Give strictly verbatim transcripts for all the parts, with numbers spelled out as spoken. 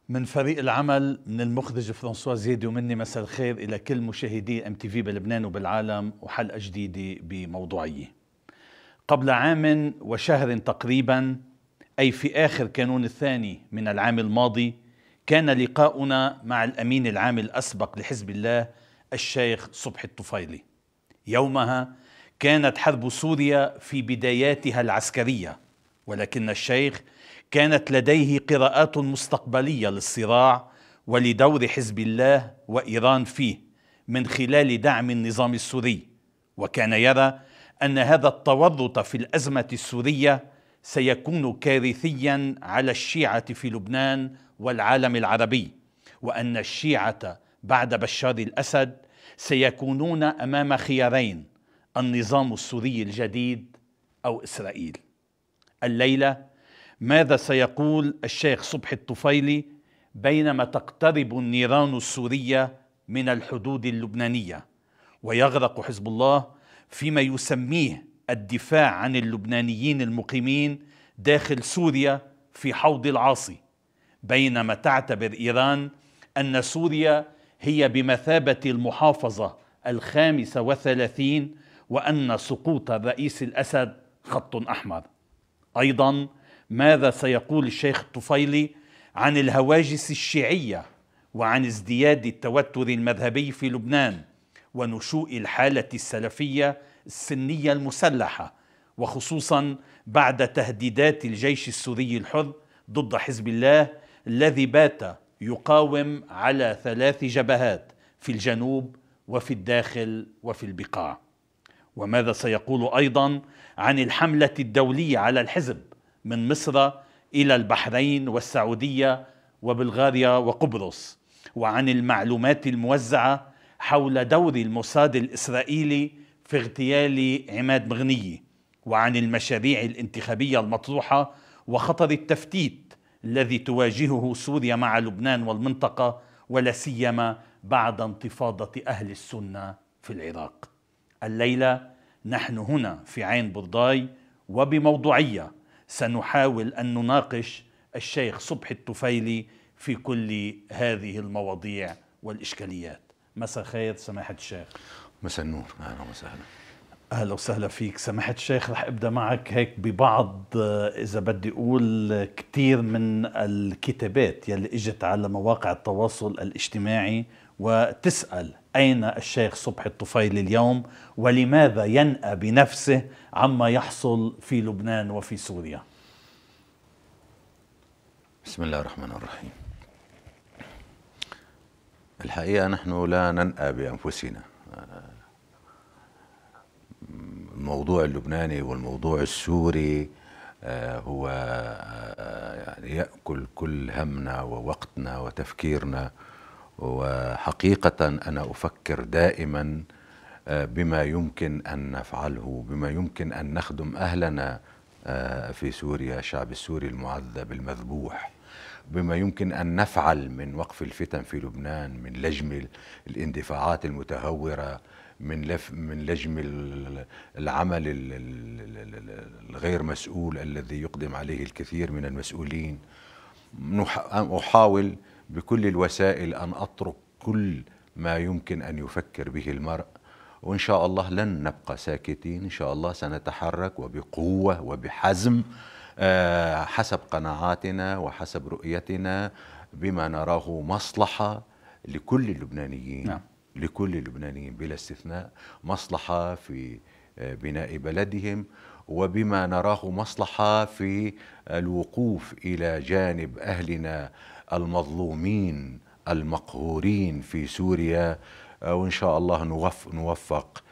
من فريق العمل، من المخرج فرانسوا زيدي ومني، مساء الخير إلى كل مشاهدي ام تي في بلبنان وبالعالم، وحلقة جديدة بموضوعية. قبل عام وشهر تقريبا، أي في آخر كانون الثاني من العام الماضي، كان لقاؤنا مع الأمين العام الأسبق لحزب الله الشيخ صبحي الطفيلي. يومها كانت حرب سوريا في بداياتها العسكرية، ولكن الشيخ كانت لديه قراءات مستقبلية للصراع ولدور حزب الله وإيران فيه من خلال دعم النظام السوري، وكان يرى أن هذا التورط في الأزمة السورية سيكون كارثيا على الشيعة في لبنان والعالم العربي، وأن الشيعة بعد بشار الأسد سيكونون أمام خيارين: النظام السوري الجديد أو إسرائيل. الليلة ماذا سيقول الشيخ صبحي الطفيلي بينما تقترب النيران السورية من الحدود اللبنانية ويغرق حزب الله فيما يسميه الدفاع عن اللبنانيين المقيمين داخل سوريا في حوض العاصي، بينما تعتبر إيران أن سوريا هي بمثابة المحافظة الخامسة والثلاثين، وأن سقوط الرئيس الأسد خط أحمر؟ أيضا ماذا سيقول الشيخ الطفيلي عن الهواجس الشيعية وعن ازدياد التوتر المذهبي في لبنان ونشوء الحالة السلفية السنية المسلحة، وخصوصا بعد تهديدات الجيش السوري الحر ضد حزب الله الذي بات يقاوم على ثلاث جبهات في الجنوب وفي الداخل وفي البقاع؟ وماذا سيقول أيضا عن الحملة الدولية على الحزب من مصر إلى البحرين والسعودية وبلغاريا وقبرص، وعن المعلومات الموزعة حول دور الموساد الإسرائيلي في اغتيال عماد مغنية، وعن المشاريع الانتخابية المطروحة وخطر التفتيت الذي تواجهه سوريا مع لبنان والمنطقة، ولا سيما بعد انتفاضة أهل السنة في العراق. الليلة نحن هنا في عين برداي، وبموضوعية سنحاول أن نناقش الشيخ صبحي الطفيلي في كل هذه المواضيع والإشكاليات. مساء خير سماحة الشيخ. مساء النور، أهلا وسهلا. أهلا وسهلا فيك سماحة الشيخ. رح أبدأ معك هيك ببعض، إذا بدي أقول كتير من الكتابات يلي إجت على مواقع التواصل الاجتماعي وتسأل أين الشيخ صبحي الطفيلي اليوم، ولماذا ينأى بنفسه عما يحصل في لبنان وفي سوريا؟ بسم الله الرحمن الرحيم. الحقيقة نحن لا ننأى بأنفسنا. الموضوع اللبناني والموضوع السوري هو يعني يأكل كل همنا ووقتنا وتفكيرنا، وحقيقة أنا أفكر دائما بما يمكن أن نفعله، بما يمكن أن نخدم أهلنا في سوريا، الشعب السوري المعذب المذبوح، بما يمكن أن نفعل من وقف الفتن في لبنان، من لجم الاندفاعات المتهورة، من لف من لجم العمل الغير مسؤول الذي يقدم عليه الكثير من المسؤولين. أحاول بكل الوسائل أن أترك كل ما يمكن أن يفكر به المرء، وإن شاء الله لن نبقى ساكتين. إن شاء الله سنتحرك وبقوة وبحزم حسب قناعاتنا وحسب رؤيتنا بما نراه مصلحة لكل اللبنانيين. نعم. لكل اللبنانيين بلا استثناء، مصلحة في بناء بلدهم، وبما نراه مصلحة في الوقوف إلى جانب أهلنا المظلومين المقهورين في سوريا، وإن شاء الله نوفق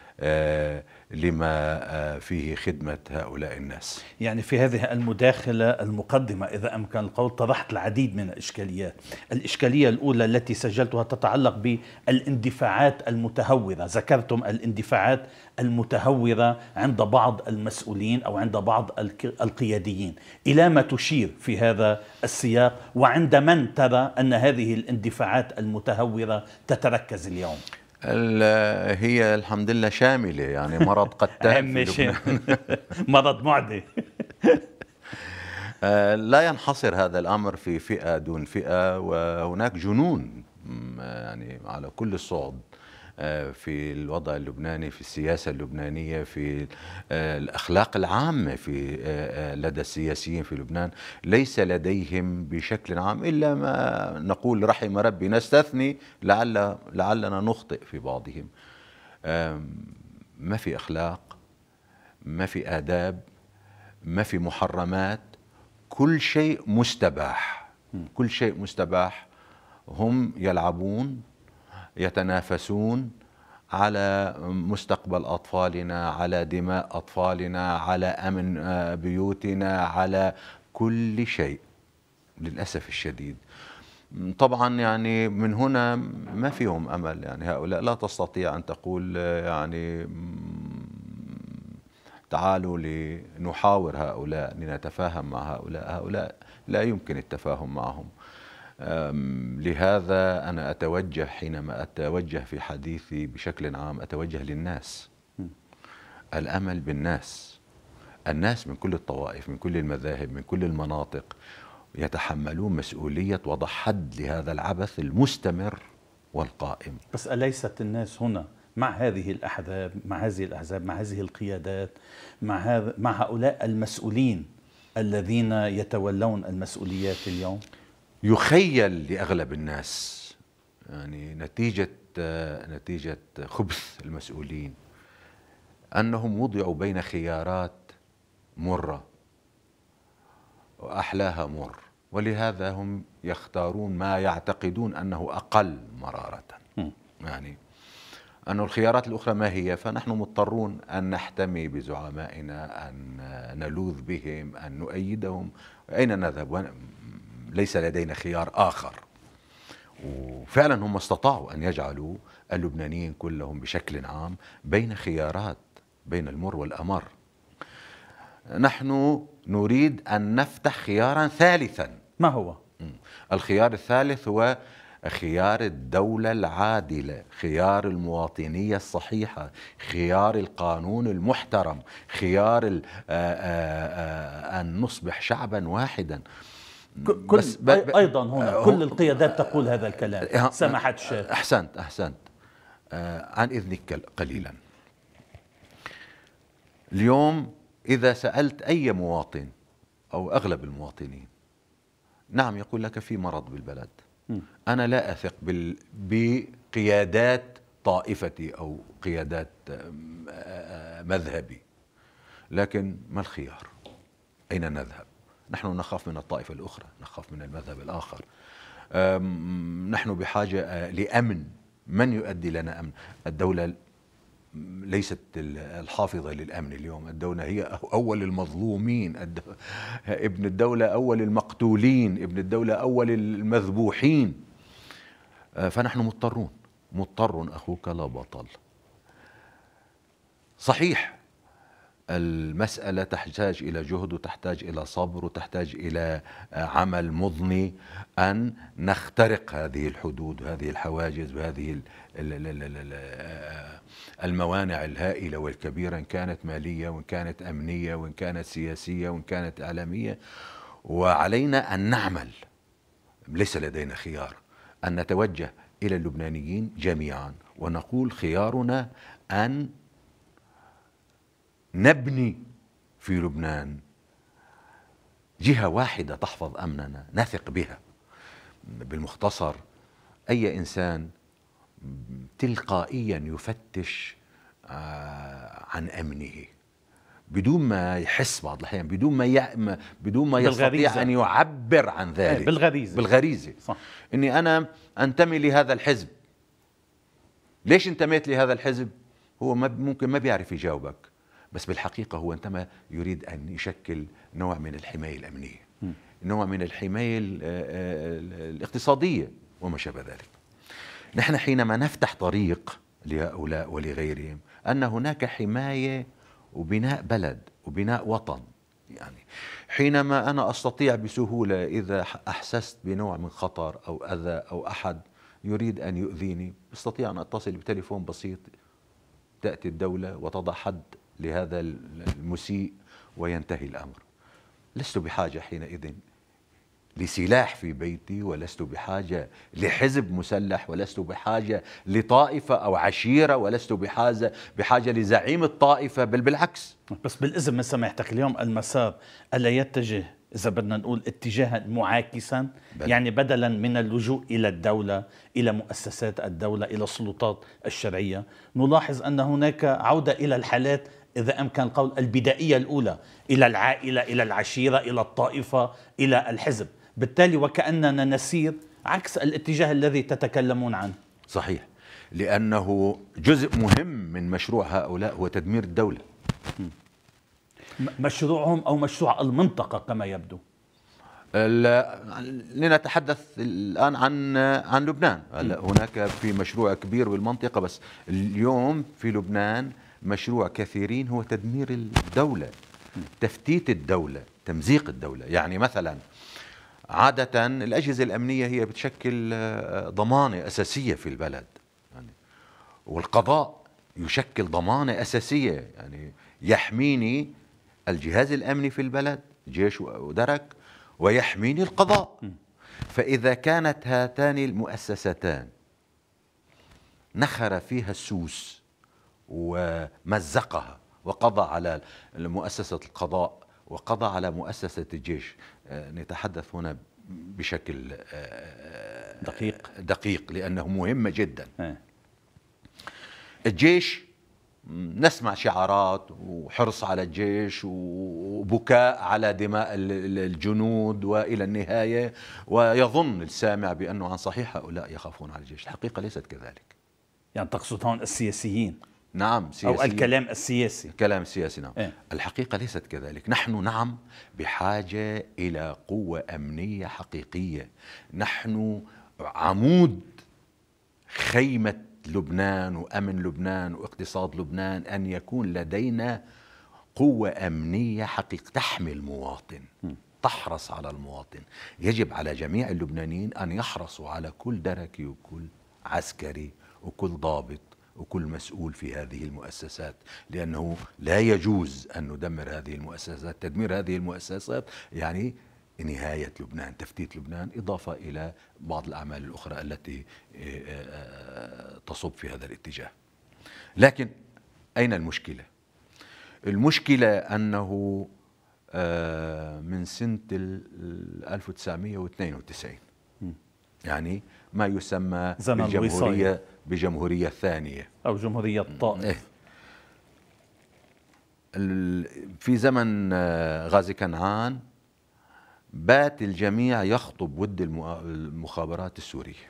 لما فيه خدمة هؤلاء الناس. يعني في هذه المداخلة المقدمة إذا أمكن القول طرحت العديد من الإشكاليات. الإشكالية الأولى التي سجلتها تتعلق بالاندفاعات المتهورة. ذكرتم الاندفاعات المتهورة عند بعض المسؤولين أو عند بعض القياديين. إلى ما تشير في هذا السياق، وعند من ترى أن هذه الاندفاعات المتهورة تتركز اليوم؟ هي الحمد لله شاملة، يعني مرض قتال في لبنان. مرض معدي. آه، لا ينحصر هذا الأمر في فئة دون فئة، وهناك جنون يعني على كل الصعد في الوضع اللبناني، في السياسة اللبنانية، في الأخلاق العامة في لدى السياسيين في لبنان. ليس لديهم بشكل عام إلا ما نقول رحم ربي، نستثني لعل لعلنا نخطئ في بعضهم. ما في أخلاق، ما في آداب، ما في محرمات، كل شيء مستباح، كل شيء مستباح. هم يلعبون، يتنافسون على مستقبل أطفالنا، على دماء أطفالنا، على أمن بيوتنا، على كل شيء للأسف الشديد. طبعا يعني من هنا ما فيهم أمل، يعني هؤلاء لا تستطيع أن تقول يعني تعالوا لنحاور هؤلاء، لنتفاهم مع هؤلاء. هؤلاء لا يمكن التفاهم معهم. لهذا أنا أتوجه حينما أتوجه في حديثي بشكل عام أتوجه للناس. الأمل بالناس، الناس من كل الطوائف، من كل المذاهب، من كل المناطق، يتحملون مسؤولية وضع حد لهذا العبث المستمر والقائم. بس أليست الناس هنا مع هذه الأحزاب، مع هذه الأحزاب، مع هذه القيادات، مع هذا مع هؤلاء المسؤولين الذين يتولون المسؤوليات اليوم؟ يخيل لأغلب الناس يعني نتيجة نتيجة خبث المسؤولين أنهم وضعوا بين خيارات مرة وأحلاها مر، ولهذا هم يختارون ما يعتقدون أنه أقل مرارة. م. يعني أن الخيارات الأخرى ما هي؟ فنحن مضطرون أن نحتمي بزعمائنا، أن نلوذ بهم، أن نؤيدهم. أين نذهب؟ ليس لدينا خيار آخر. وفعلا هم استطاعوا أن يجعلوا اللبنانيين كلهم بشكل عام بين خيارات، بين المر والأمر. نحن نريد أن نفتح خيارا ثالثا. ما هو؟ الخيار الثالث هو خيار الدولة العادلة، خيار المواطنية الصحيحة، خيار القانون المحترم، خيار آآ آآ أن نصبح شعبا واحدا. كل بس أيضا هنا كل القيادات تقول هذا الكلام. سماحة الشيخ. أحسنت أحسنت عن إذنك قليلا. اليوم إذا سألت أي مواطن أو أغلب المواطنين، نعم يقول لك في مرض بالبلد. م. أنا لا أثق بقيادات طائفتي أو قيادات مذهبي، لكن ما الخيار؟ أين نذهب؟ نحن نخاف من الطائفة الأخرى، نخاف من المذهب الآخر. نحن بحاجة لأمن. من يؤدي لنا أمن؟ الدولة ليست الحافظة للأمن اليوم. الدولة هي أول المظلومين، ابن الدولة أول المقتولين، ابن الدولة أول المذبوحين. فنحن مضطرون، مضطر أخوك لا بطل. صحيح المسألة تحتاج إلى جهد، وتحتاج إلى صبر، وتحتاج إلى عمل مضني أن نخترق هذه الحدود وهذه الحواجز وهذه الموانع الهائلة والكبيرة، إن كانت مالية وإن كانت أمنية وإن كانت سياسية وإن كانت إعلامية. وعلينا أن نعمل، ليس لدينا خيار، أن نتوجه إلى اللبنانيين جميعا ونقول خيارنا أن نبني في لبنان جهة واحدة تحفظ أمننا، نثق بها. بالمختصر أي إنسان تلقائيا يفتش عن أمنه بدون ما يحس، بعض الأحيان بدون ما ي... بدون ما يستطيع أن يعبر عن ذلك. بالغريزة بالغريزة صح. إني أنا أنتمي لهذا الحزب. ليش انتميت لهذا الحزب؟ هو ما ممكن ما بيعرف يجاوبك، بس بالحقيقة هو عندما يريد أن يشكل نوع من الحماية الأمنية، م. نوع من الحماية الاقتصادية وما شابه ذلك. نحن حينما نفتح طريق لهؤلاء ولغيرهم أن هناك حماية وبناء بلد وبناء وطن. يعني حينما أنا أستطيع بسهولة إذا أحسست بنوع من خطر أو أذى أو أحد يريد أن يؤذيني، أستطيع أن أتصل بتليفون بسيط، تأتي الدولة وتضع حد لهذا المسيء وينتهي الأمر. لست بحاجة حينئذ لسلاح في بيتي، ولست بحاجة لحزب مسلح، ولست بحاجة لطائفة أو عشيرة، ولست بحاجة بحاجة لزعيم الطائفة، بل بالعكس. بس بالإذن من سماحتك اليوم المسار ألا يتجه إذا بدنا نقول اتجاها معاكسا؟ بل. يعني بدلا من اللجوء إلى الدولة، إلى مؤسسات الدولة، إلى السلطات الشرعية، نلاحظ أن هناك عودة إلى الحالات إذا أمكن القول البدائية الأولى، إلى العائلة، إلى العشيرة، إلى الطائفة، إلى الحزب. بالتالي وكأننا نسير عكس الاتجاه الذي تتكلمون عنه. صحيح، لأنه جزء مهم من مشروع هؤلاء هو تدمير الدولة. مشروعهم أو مشروع المنطقة كما يبدو. لنتحدث الآن عن عن لبنان. هلا هناك في مشروع كبير بالمنطقة، بس اليوم في لبنان مشروع كثيرين هو تدمير الدولة، تفتيت الدولة، تمزيق الدولة. يعني مثلا عادة الأجهزة الأمنية هي بتشكل ضمانة أساسية في البلد، يعني والقضاء يشكل ضمانة أساسية، يعني يحميني الجهاز الأمني في البلد، جيش ودرك، ويحميني القضاء. فإذا كانت هاتان المؤسستان نخر فيها السوس ومزقها وقضى على مؤسسة القضاء وقضى على مؤسسة الجيش، نتحدث هنا بشكل دقيق دقيق لأنه مهمة جدا. الجيش نسمع شعارات وحرص على الجيش وبكاء على دماء الجنود، وإلى النهاية ويظن السامع بأنه عن صحيح هؤلاء يخافون على الجيش. الحقيقة ليست كذلك. يعني تقصد هون السياسيين؟ نعم، سياسيين. أو الكلام السياسي. الكلام السياسي، نعم. إيه؟ الحقيقة ليست كذلك. نحن نعم بحاجة إلى قوة أمنية حقيقية. نحن عمود خيمة لبنان وأمن لبنان واقتصاد لبنان، أن يكون لدينا قوة أمنية حقيقية تحمي المواطن، تحرص على المواطن. يجب على جميع اللبنانيين أن يحرصوا على كل دركي وكل عسكري وكل ضابط وكل مسؤول في هذه المؤسسات، لأنه لا يجوز أن ندمر هذه المؤسسات. تدمير هذه المؤسسات يعني نهاية لبنان، تفتيت لبنان، إضافة إلى بعض الأعمال الأخرى التي تصب في هذا الاتجاه. لكن أين المشكلة؟ المشكلة أنه من سنة ألف وتسعمئة واثنين وتسعين، يعني ما يسمى بالجمهورية بجمهورية الثانية أو جمهورية طائف. في زمن غازي كنعان بات الجميع يخطب ود المخابرات السورية،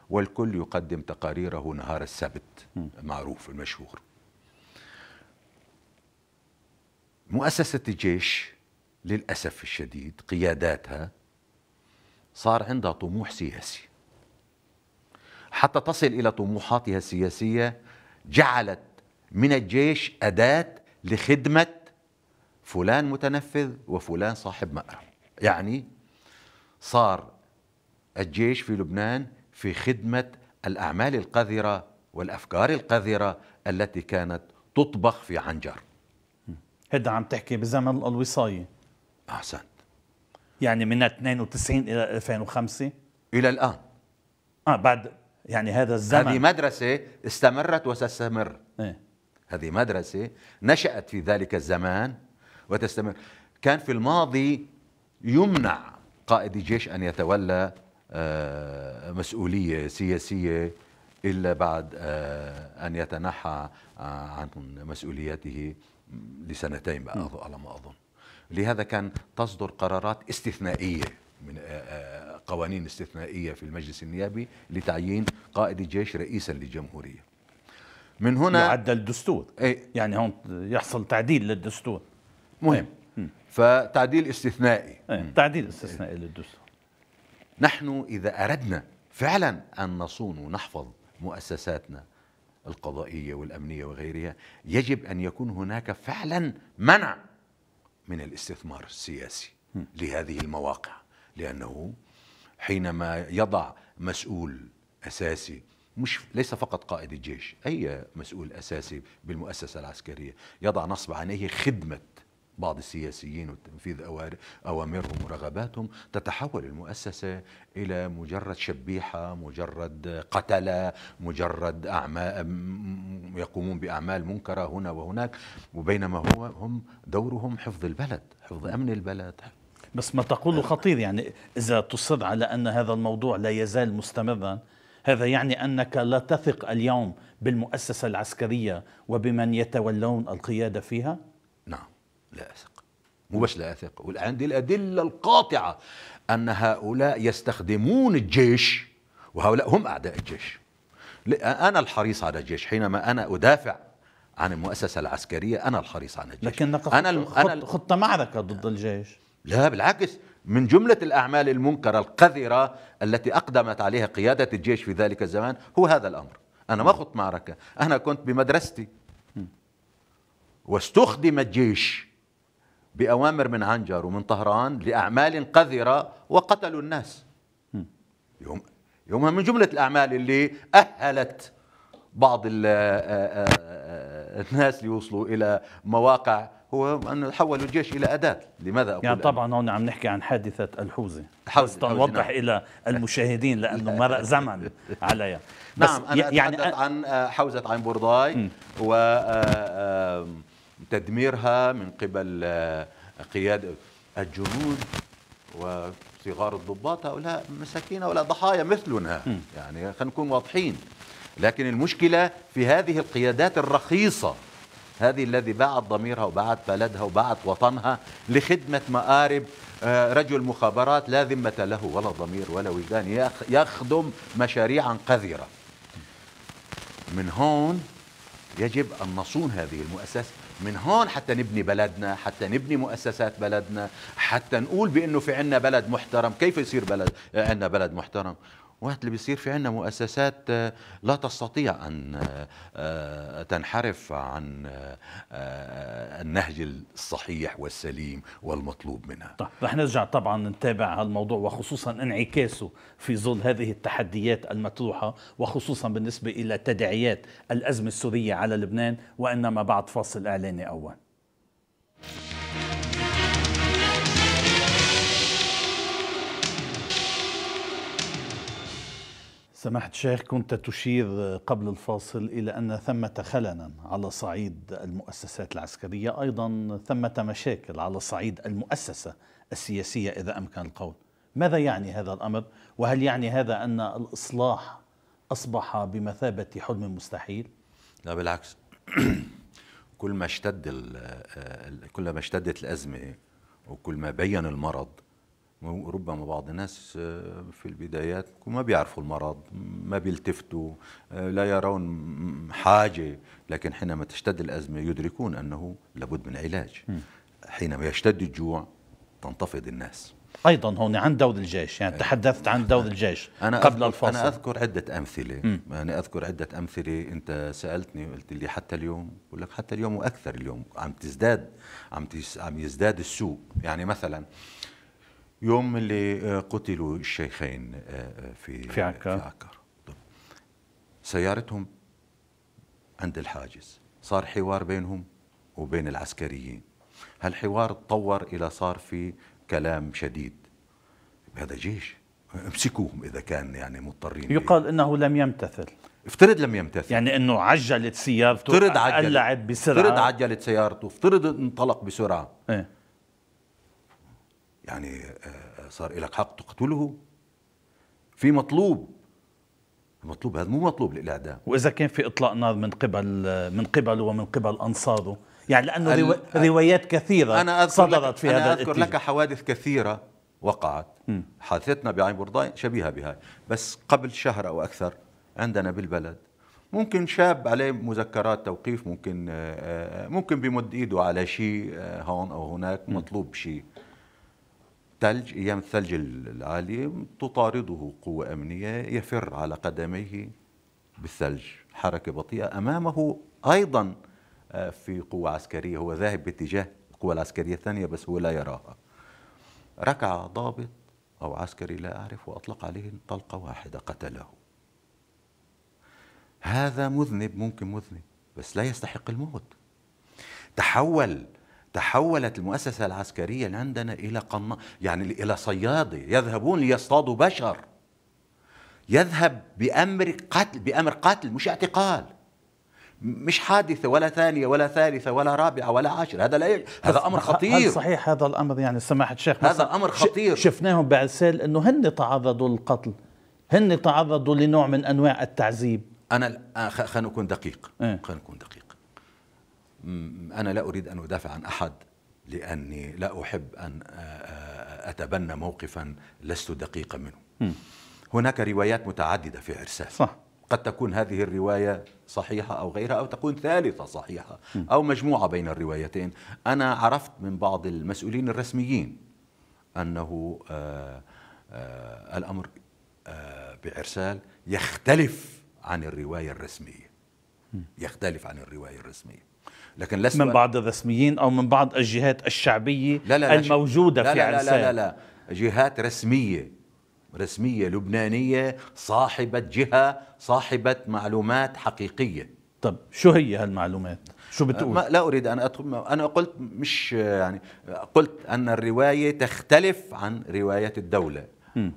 والكل يقدم تقاريره نهار السبت، معروف المشهور. مؤسسة الجيش للأسف الشديد قياداتها صار عندها طموح سياسي، حتى تصل إلى طموحاتها السياسية جعلت من الجيش أداة لخدمة فلان متنفذ وفلان صاحب مأرب. يعني صار الجيش في لبنان في خدمة الأعمال القذرة والأفكار القذرة التي كانت تطبخ في عنجر. هذا عم تحكي بزمن الوصاية. أحسنت. يعني من اثنين وتسعين إلى ألفين وخمسة إلى الآن. آه بعد يعني هذا الزمن. هذه مدرسة استمرت وستستمر. إيه؟ هذه مدرسة نشأت في ذلك الزمان وتستمر. كان في الماضي يمنع قائد الجيش أن يتولى مسؤولية سياسية إلا بعد أن يتنحى عن مسؤولياته لسنتين على ما أظن. لهذا كان تصدر قرارات استثنائية من قوانين استثنائية في المجلس النيابي لتعيين قائد الجيش رئيسا للجمهورية. من هنا يعدل الدستور. ايه؟ يعني هون يحصل تعديل للدستور مهم. ايه؟ فتعديل استثنائي. ايه؟ تعديل استثنائي ايه؟ للدستور. نحن إذا أردنا فعلا أن نصون ونحفظ مؤسساتنا القضائية والأمنية وغيرها، يجب أن يكون هناك فعلا منع من الاستثمار السياسي لهذه المواقع، لأنه حينما يضع مسؤول أساسي، مش ليس فقط قائد الجيش، أي مسؤول أساسي بالمؤسسة العسكرية، يضع نصب عينيه خدمة بعض السياسيين وتنفيذ أوامرهم ورغباتهم، تتحول المؤسسة إلى مجرد شبيحة، مجرد قتلة، مجرد أعمال يقومون بأعمال منكرة هنا وهناك، وبينما هو هم دورهم حفظ البلد، حفظ أمن البلد. بس ما تقوله خطير، يعني إذا تصر على أن هذا الموضوع لا يزال مستمرا، هذا يعني أنك لا تثق اليوم بالمؤسسة العسكرية وبمن يتولون القيادة فيها؟ نعم، لا أثق، مو بس لا أثق، وعندي الأدلة القاطعة أن هؤلاء يستخدمون الجيش، وهؤلاء هم أعداء الجيش. أنا الحريص على الجيش، حينما أنا أدافع عن المؤسسة العسكرية أنا الحريص على الجيش. لكنك أنا خط, خط معركة ضد الجيش. لا بالعكس، من جملة الأعمال المنكرة القذرة التي أقدمت عليها قيادة الجيش في ذلك الزمان هو هذا الأمر. أنا ما خط معركة، أنا كنت بمدرستي واستخدم الجيش بأوامر من عنجر ومن طهران لأعمال قذرة وقتلوا الناس. يوم يومها من جملة الأعمال اللي أهلت بعض الناس ليوصلوا إلى مواقع هو أن حولوا الجيش إلى أداة. لماذا أقول يعني طبعا هون عم نحكي عن حادثة الحوزة، حوزة نوضح نعم. إلى المشاهدين لأنه مرق زمن عليها. نعم أنا يعني أتحدث عن حوزة عين بورداي وتدميرها من قبل قيادة الجنود وصغار الضباط. هؤلاء مساكين ولا ضحايا مثلنا، يعني خلينا نكون واضحين. لكن المشكلة في هذه القيادات الرخيصة، هذه الذي باعت ضميرها وباعت بلدها وباعت وطنها لخدمة مآرب رجل مخابرات لا ذمة له ولا ضمير ولا وجدان، يخدم مشاريعا قذرة. من هون يجب أن نصون هذه المؤسسة، من هون حتى نبني بلدنا، حتى نبني مؤسسات بلدنا، حتى نقول بأنه في عنا بلد محترم. كيف يصير بلد عنا بلد محترم؟ وقت اللي بيصير في عنا مؤسسات لا تستطيع أن تنحرف عن النهج الصحيح والسليم والمطلوب منها. طيب رح نرجع طبعا نتابع هالموضوع، وخصوصا انعكاسه في ظل هذه التحديات المطروحة، وخصوصا بالنسبة إلى تداعيات الأزمة السورية على لبنان، وإنما بعد فاصل إعلاني أول. سماحة الشيخ، كنت تشير قبل الفاصل إلى أن ثمة خللا على صعيد المؤسسات العسكرية، أيضا ثمة مشاكل على صعيد المؤسسة السياسية إذا أمكن القول. ماذا يعني هذا الأمر؟ وهل يعني هذا أن الإصلاح أصبح بمثابة حلم مستحيل؟ لا بالعكس. كل ما اشتد كل ما اشتدت الأزمة وكل ما بين المرض، ربما بعض الناس في البدايات ما بيعرفوا المرض، ما بيلتفتوا، لا يرون حاجة، لكن حينما تشتد الأزمة يدركون أنه لابد من علاج. حينما يشتد الجوع تنتفض الناس. أيضا هون عن دور الجيش، يعني تحدثت عن دور الجيش أنا قبل الفاصل. أنا أذكر عدة أمثلة. أنا أذكر عدة أمثلة. أنت سألتني قلت لي حتى اليوم، بقول لك حتى اليوم وأكثر. اليوم عم تزداد عم عم يزداد السوء. يعني مثلا يوم اللي قتلوا الشيخين في في عكار, في عكار. سيارتهم عند الحاجز، صار حوار بينهم وبين العسكريين. هالحوار تطور إلى صار في كلام شديد. هذا جيش، امسكوهم إذا كان يعني مضطرين. يقال إنه لم يمتثل. افترض لم يمتثل، يعني إنه عجلت سيارته، افترض عجلت قلعت بسرعة، افترض عجلت سيارته، افترض انطلق بسرعة. ايه؟ يعني صار لك حق تقتله. في مطلوب، المطلوب هذا مو مطلوب للإعدام. وإذا كان في إطلاق نار من قبل من قبله ومن قبل أنصاره، يعني لأنه ال... روايات كثيرة أنا صدرت في أنا هذا أذكر الاتجاه. لك حوادث كثيرة وقعت. م. حادثتنا بعين بورداي شبيهة بهاي، بس قبل شهر أو أكثر عندنا بالبلد ممكن شاب عليه مذكرات توقيف، ممكن ممكن بيمد إيده على شيء هون أو هناك، مطلوب شيء. ثلج، أيام الثلج العالية، تطارده قوة أمنية، يفر على قدميه بالثلج، حركة بطيئة. أمامه أيضا في قوة عسكرية، هو ذاهب باتجاه القوة العسكرية الثانية بس هو لا يراها. ركع ضابط أو عسكري لا أعرف وأطلق عليه طلقة واحدة قتله. هذا مذنب، ممكن مذنب بس لا يستحق الموت. تحول تحولت المؤسسة العسكرية اللي عندنا إلى قنا، يعني إلى صيادة يذهبون ليصطادوا بشر، يذهب بأمر قتل، بأمر قتل مش اعتقال، مش حادثة ولا ثانية ولا ثالثة ولا رابعة ولا عاشرة. هذا لا ي... هذا أمر خطير. هل صحيح هذا الأمر يعني سماحة الشيخ؟ هذا أمر خطير. شفناهم بعسال أنه هن تعرضوا للقتل، هن تعرضوا لنوع من أنواع التعذيب. أنا خلينا نكون دقيق، إيه؟ خلينا نكون دقيق. أنا لا أريد أن أدافع عن أحد، لأني لا أحب أن أتبنى موقفا لست دقيقا منه. م. هناك روايات متعددة في عرسال، صح. قد تكون هذه الرواية صحيحة أو غيرها، أو تكون ثالثة صحيحة، أو مجموعة بين الروايتين. أنا عرفت من بعض المسؤولين الرسميين أنه آآ آآ الأمر آآ بعرسال يختلف عن الرواية الرسمية، يختلف عن الرواية الرسمية. لكن لست من بعض الرسميين أو من بعض الجهات الشعبية لا لا لا الموجودة لا في لا عرسال. لا لا لا جهات رسمية، رسمية لبنانية، صاحبة جهة، صاحبة معلومات حقيقية. طب شو هي هالمعلومات؟ شو بتقول؟ ما لا أريد أن أدخل، أنا قلت مش يعني قلت أن الرواية تختلف عن روايات الدولة. م.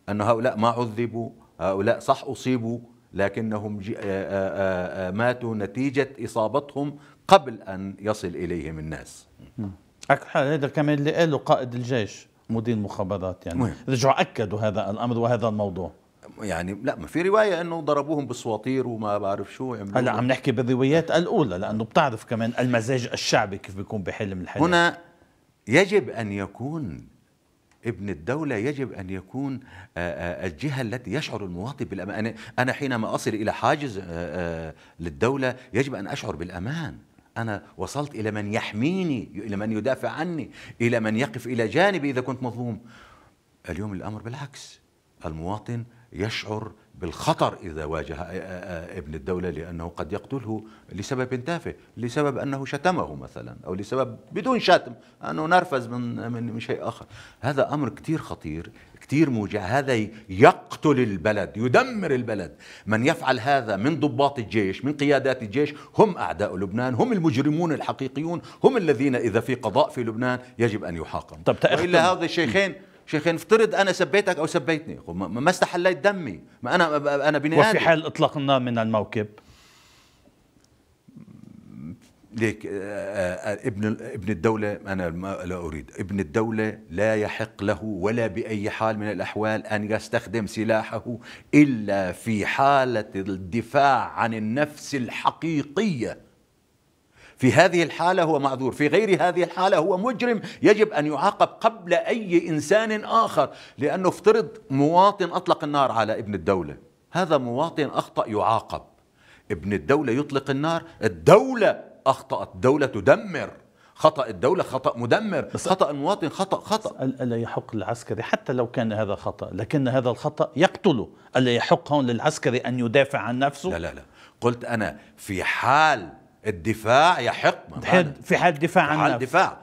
أن هؤلاء ما عذبوا، هؤلاء صح أصيبوا، لكنهم ماتوا نتيجة إصابتهم قبل أن يصل إليهم الناس. أكحل هذا كمان اللي قاله قائد الجيش مدير المخابرات، يعني مهم. رجعوا أكدوا هذا الأمر وهذا الموضوع. يعني لا، ما في رواية أنه ضربوهم بالسواطير وما بعرف شو عملوا. هلا عم نحكي بالروايات الأولى، لأنه بتعرف كمان المزاج الشعبي كيف بيكون بحلم الحياة. هنا يجب أن يكون ابن الدولة، يجب أن يكون الجهة التي يشعر المواطن بالأمان. أنا حينما أصل إلى حاجز للدولة يجب أن أشعر بالأمان. أنا وصلت إلى من يحميني، إلى من يدافع عني، إلى من يقف إلى جانبي إذا كنت مظلوم. اليوم الأمر بالعكس، المواطن يشعر بالخطر إذا واجه ابن الدولة، لأنه قد يقتله لسبب تافه، لسبب أنه شتمه مثلا، أو لسبب بدون شتم أنه نرفز من من شيء آخر. هذا أمر كتير خطير، كتير موجع. هذا يقتل البلد، يدمر البلد. من يفعل هذا من ضباط الجيش، من قيادات الجيش، هم أعداء لبنان، هم المجرمون الحقيقيون، هم الذين إذا في قضاء في لبنان يجب أن يحاكم. وإلا هذا الشيخين شيخين افترض انا سبيتك او سبيتني، ما استحليت دمي، ما انا انا بني وفي حال اطلاق النار من الموكب ليك ابن ابن الدولة، انا لا اريد ابن الدولة لا يحق له ولا باي حال من الاحوال ان يستخدم سلاحه الا في حالة الدفاع عن النفس الحقيقية. في هذه الحالة هو معذور، في غير هذه الحالة هو مجرم يجب أن يعاقب قبل أي إنسان آخر. لأنه افترض مواطن أطلق النار على ابن الدولة، هذا مواطن أخطأ يعاقب. ابن الدولة يطلق النار، الدولة أخطأت، الدولة تدمر. خطأ الدولة خطأ مدمر، خطأ المواطن خطأ خطأ. ألا يحق للعسكري حتى لو كان هذا خطأ، لكن هذا الخطأ يقتله؟ ألا يحق هون للعسكري أن يدافع عن نفسه؟ لا لا لا قلت أنا في حال الدفاع يحق، في حال دفاع عن حال دفاع.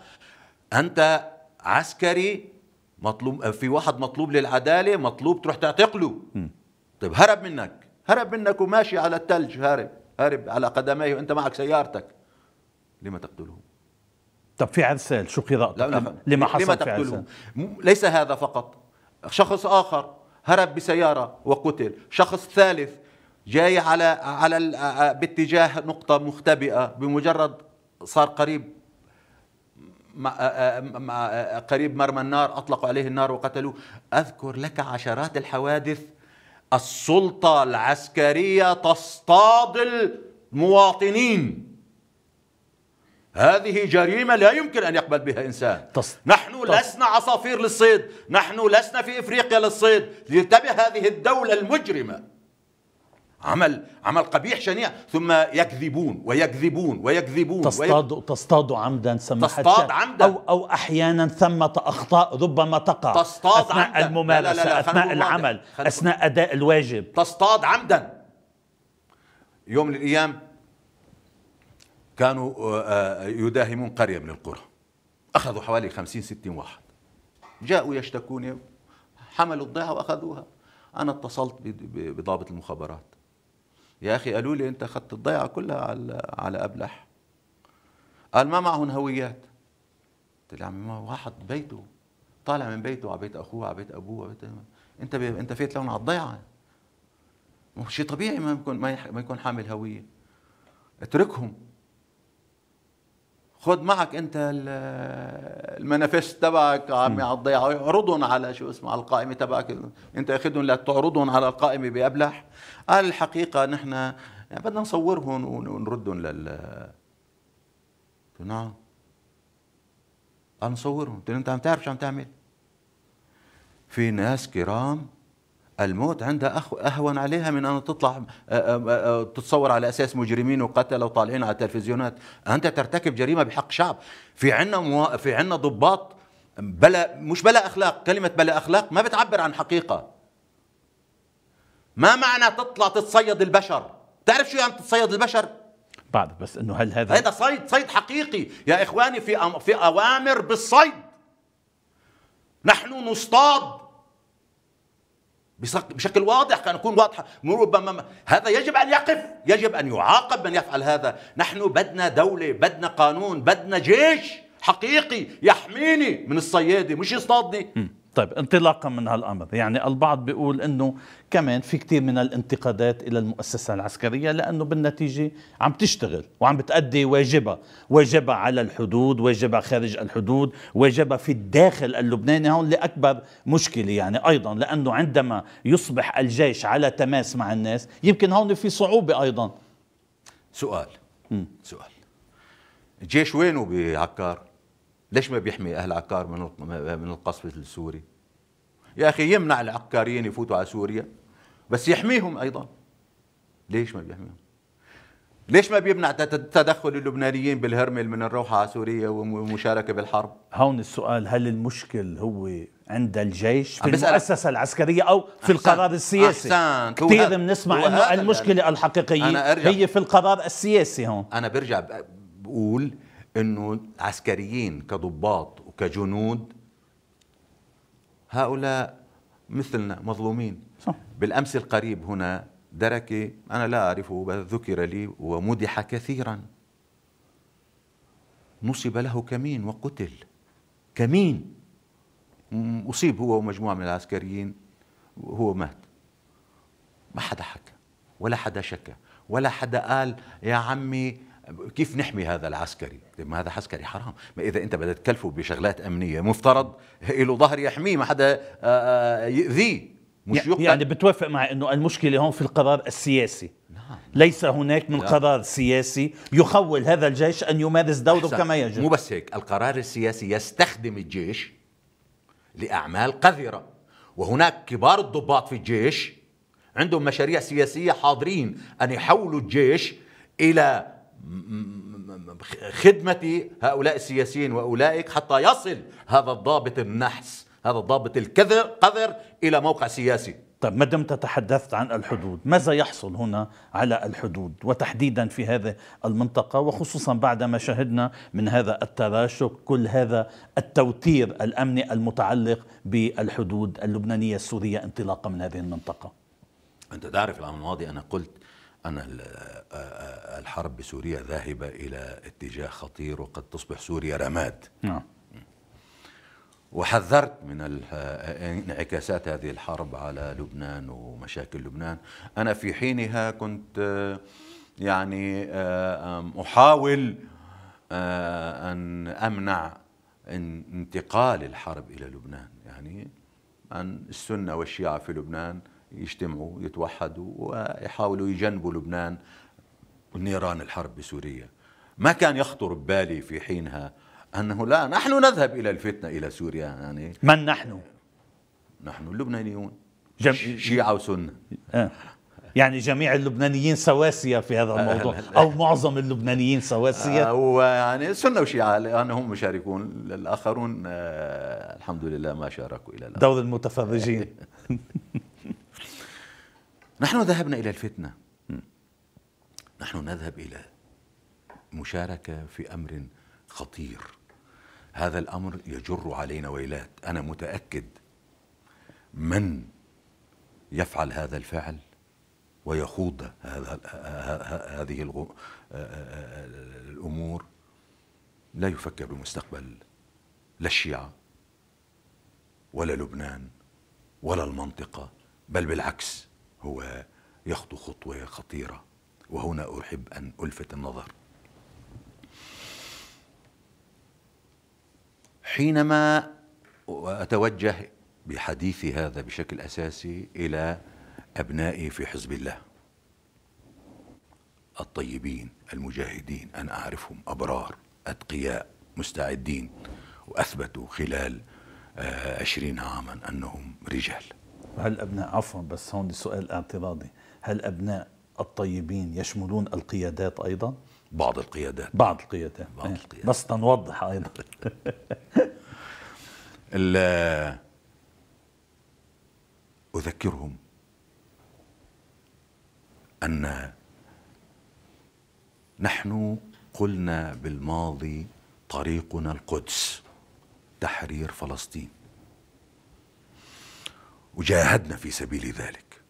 أنت عسكري مطلوب، في واحد مطلوب للعدالة، مطلوب تروح تعتقله. طيب هرب منك، هرب منك وماشي على الثلج، هارب هارب على قدميه وأنت معك سيارتك، لما تقتله؟ طب في عرسال شو قراءتك لما حصل لما في عرسال؟ ليس هذا فقط، شخص آخر هرب بسيارة وقتل، شخص ثالث جاي على على باتجاه نقطة مختبئة، بمجرد صار قريب مع قريب مرمى النار أطلقوا عليه النار وقتلوه. أذكر لك عشرات الحوادث. السلطة العسكرية تصطاد المواطنين، هذه جريمة لا يمكن أن يقبل بها إنسان. تص... نحن تص... لسنا عصافير للصيد، نحن لسنا في إفريقيا للصيد. لتنتبه هذه الدولة المجرمة، عمل عمل قبيح شنيع، ثم يكذبون ويكذبون ويكذبون تصطاد وي... تصطاد عمدا، تصطاد عمدا، أو أو أحيانا ثمة أخطاء ربما تقع تصطاد أثناء عمدا. الممارسة، لا لا لا أثناء العمل، أثناء أداء الواجب، تصطاد عمدا. يوم من الأيام كانوا يداهمون قرية من القرى، أخذوا حوالي خمسين ستين واحد، جاءوا يشتكوني، حملوا الضيعة وأخذوها. أنا اتصلت بضابط المخابرات، يا أخي قالوا لي أنت أخذت الضيعة كلها على على أبلح. قال ما معهم هويات. قلت له عمي ما واحد بيته طالع من بيته على بيت اخوه على بيت ابوه على بيت انت بي... انت فيت لون على الضيعه. شيء طبيعي ما يكون ما, يح... ما يكون حامل هويه. اتركهم، خذ معك انت المانيفست تبعك عمي على الضيعه، اعرضهم على شو اسمه على القائمه تبعك، انت اخذهم لتعرضهم على القائمه بابلح. قال الحقيقه نحن يعني بدنا نصورهم ونردهم لل نعم. قال نصورهم. قلت له انت عم تعرف شو عم تعمل؟ في ناس كرام الموت عندها أخ... أهون عليها من أن تطلع تتصور على أساس مجرمين وقتلة وطالعين على التلفزيونات. أنت ترتكب جريمة بحق شعب. في عنا مو... في عنا ضباط بلا مش بلا أخلاق. كلمة بلا أخلاق ما بتعبر عن حقيقة. ما معنى تطلع تتصيد البشر؟ تعرف شو يعني تتصيد البشر؟ بعد بس إنه هل هذا هذا صيد صيد حقيقي يا إخواني. في أم... في أوامر بالصيد. نحن نصطاد بشكل واضح. كان يكون واضح. ربما هذا يجب أن يقف، يجب أن يعاقب من يفعل هذا. نحن بدنا دولة، بدنا قانون، بدنا جيش حقيقي يحميني من الصيادة مش يصطادني. طيب انطلاقا من هالأمر، يعني البعض بيقول أنه كمان في كتير من الانتقادات إلى المؤسسة العسكرية لأنه بالنتيجة عم تشتغل وعم بتأدي واجبها، واجبها على الحدود، واجبها خارج الحدود، واجبها في الداخل اللبناني. هون لأكبر مشكلة يعني أيضا، لأنه عندما يصبح الجيش على تماس مع الناس يمكن هون في صعوبة أيضا. سؤال م. سؤال الجيش وينه بعكار؟ ليش ما بيحمي أهل عكار من من القصف السوري؟ يا أخي يمنع العكاريين يفوتوا على سوريا بس يحميهم أيضا. ليش ما بيحميهم؟ ليش ما بيمنع تدخل اللبنانيين بالهرمل من الروحة على سوريا والمشاركة بالحرب؟ هون السؤال، هل المشكل هو عند الجيش في المؤسسة العسكرية أو في القرار السياسي؟ أحسنت. كثير بنسمع أنه المشكلة الحقيقية هي في القرار السياسي. هون أنا برجع بقول انه عسكريين كضباط وكجنود هؤلاء مثلنا مظلومين. صح. بالامس القريب هنا دركي انا لا اعرفه بل ذكر لي ومدح كثيرا، نصب له كمين وقتل. كمين اصيب هو ومجموعه من العسكريين وهو مات. ما حدا حكى ولا حدا شكى ولا حدا قال يا عمي كيف نحمي هذا العسكري؟ ما هذا عسكري حرام. ما إذا أنت بدك تكلفه بشغلات أمنية مفترض له ظهر يحميه، ما حدا يؤذيه مش يعني, يعني بتوافق مع أنه المشكلة هون في القرار السياسي؟ نعم. ليس هناك من لا. قرار سياسي يخول هذا الجيش أن يمارس دوره كما يجب. مو بس هيك، القرار السياسي يستخدم الجيش لأعمال قذرة، وهناك كبار الضباط في الجيش عندهم مشاريع سياسية حاضرين أن يحولوا الجيش إلى خدمة هؤلاء السياسيين وأولئك حتى يصل هذا الضابط النحس، هذا الضابط الكذر قذر إلى موقع سياسي. طيب ما دمت تحدثت عن الحدود، ماذا يحصل هنا على الحدود وتحديدا في هذه المنطقة، وخصوصا بعد ما شهدنا من هذا التراشق، كل هذا التوتير الأمني المتعلق بالحدود اللبنانية السورية انطلاقا من هذه المنطقة؟ أنت تعرف العام الماضي أنا قلت أن الحرب بسوريا ذاهبة إلى اتجاه خطير وقد تصبح سوريا رماد. نعم. وحذرت من انعكاسات هذه الحرب على لبنان ومشاكل لبنان. أنا في حينها كنت يعني أحاول أن أمنع انتقال الحرب إلى لبنان، يعني أن السنة والشيعة في لبنان يجتمعوا يتوحدوا ويحاولوا يجنبوا لبنان نيران الحرب بسوريا. ما كان يخطر ببالي في حينها أنه لا، نحن نذهب إلى الفتنة إلى سوريا. يعني من نحن؟ نحن اللبنانيون جم... شيعة وسنة. آه. يعني جميع اللبنانيين سواسية في هذا الموضوع أو معظم اللبنانيين سواسية؟ آه ويعني سنة وشيعة لأنهم مشاركون، الآخرون آه الحمد لله ما شاركوا إلى الآن. دور المتفرجين. نحن ذهبنا إلى الفتنة، نحن نذهب إلى مشاركة في أمر خطير. هذا الأمر يجر علينا ويلات. أنا متأكد من يفعل هذا الفعل ويخوض هذا هذه الأمور لا يفكر بمستقبل لا الشيعة ولا لبنان ولا المنطقة، بل بالعكس هو يخطو خطوة خطيرة. وهنا أحب أن ألفت النظر، حينما أتوجه بحديثي هذا بشكل أساسي إلى أبنائي في حزب الله الطيبين المجاهدين، أنا أعرفهم أبرار أتقياء مستعدين، وأثبتوا خلال عشرين عاما أنهم رجال. هل أبناء، عفوا بس هون سؤال اعتراضي، هل أبناء الطيبين يشملون القيادات أيضا؟ بعض القيادات بعض القيادات, بعض القيادات. بس تنوضح أيضا. أذكرهم أن نحن قلنا بالماضي طريقنا القدس، تحرير فلسطين، وجاهدنا في سبيل ذلك،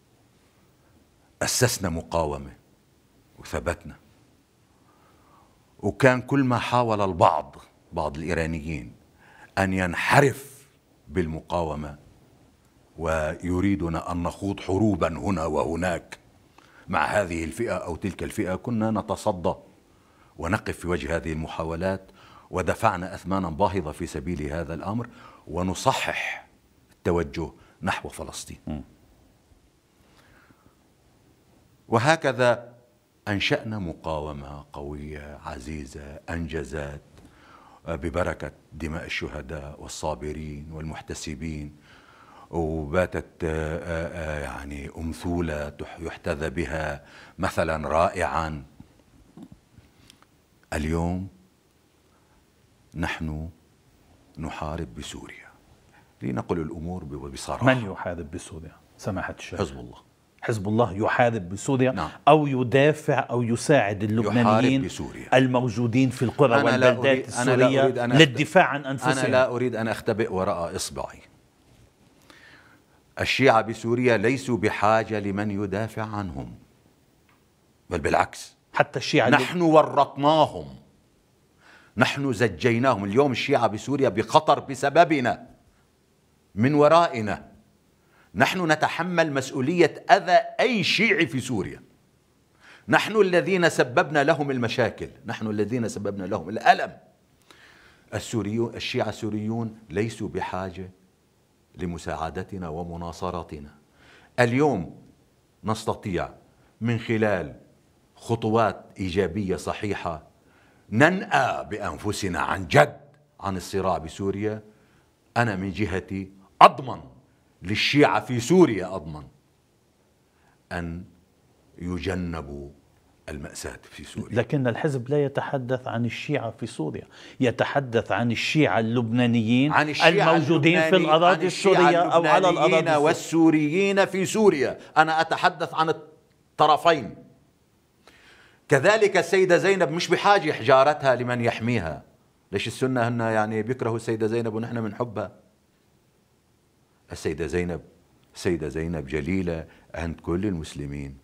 أسسنا مقاومة وثبتنا. وكان كل ما حاول البعض بعض الإيرانيين أن ينحرف بالمقاومة ويريدنا أن نخوض حروبا هنا وهناك مع هذه الفئة أو تلك الفئة، كنا نتصدى ونقف في وجه هذه المحاولات، ودفعنا أثمانا باهظة في سبيل هذا الأمر، ونصحح التوجه نحو فلسطين. م. وهكذا أنشأنا مقاومة قوية عزيزة أنجزت ببركة دماء الشهداء والصابرين والمحتسبين، وباتت يعني أمثولة يحتذى بها مثلا رائعا. اليوم نحن نحارب بسوريا، لنقل الأمور بصراحة. من يحارب بسوريا سماحة الشيخ؟ حزب الله. حزب الله يحارب بسوريا؟ نعم. أو يدافع أو يساعد اللبنانيين الموجودين في القرى والبلدات السورية للدفاع عن أنفسهم؟ أنا لا أريد أن أختبئ وراء إصبعي. الشيعة بسوريا ليسوا بحاجة لمن يدافع عنهم، بل بالعكس، حتى الشيعة نحن ورطناهم، نحن زجيناهم. اليوم الشيعة بسوريا بخطر بسببنا، من ورائنا. نحن نتحمل مسؤولية أذى أي شيعي في سوريا، نحن الذين سببنا لهم المشاكل، نحن الذين سببنا لهم الألم. السوريون الشيعة السوريون ليسوا بحاجة لمساعدتنا ومناصرتنا. اليوم نستطيع من خلال خطوات إيجابية صحيحة ننأى بأنفسنا عن جد عن الصراع بسوريا. أنا من جهتي أضمن للشيعة في سوريا، أضمن أن يجنبوا المأساة في سوريا. لكن الحزب لا يتحدث عن الشيعة في سوريا، يتحدث عن الشيعة اللبنانيين عن الشيعة الموجودين اللبناني في الأراضي السورية أو على الأراضي السورية والسوريين في سوريا. أنا أتحدث عن الطرفين. كذلك السيدة زينب مش بحاجة حجارتها لمن يحميها. ليش السنة هن يعني بيكرهوا السيدة زينب ونحن بنحبها؟ السيدة زينب السيدة زينب جليلة عند كل المسلمين.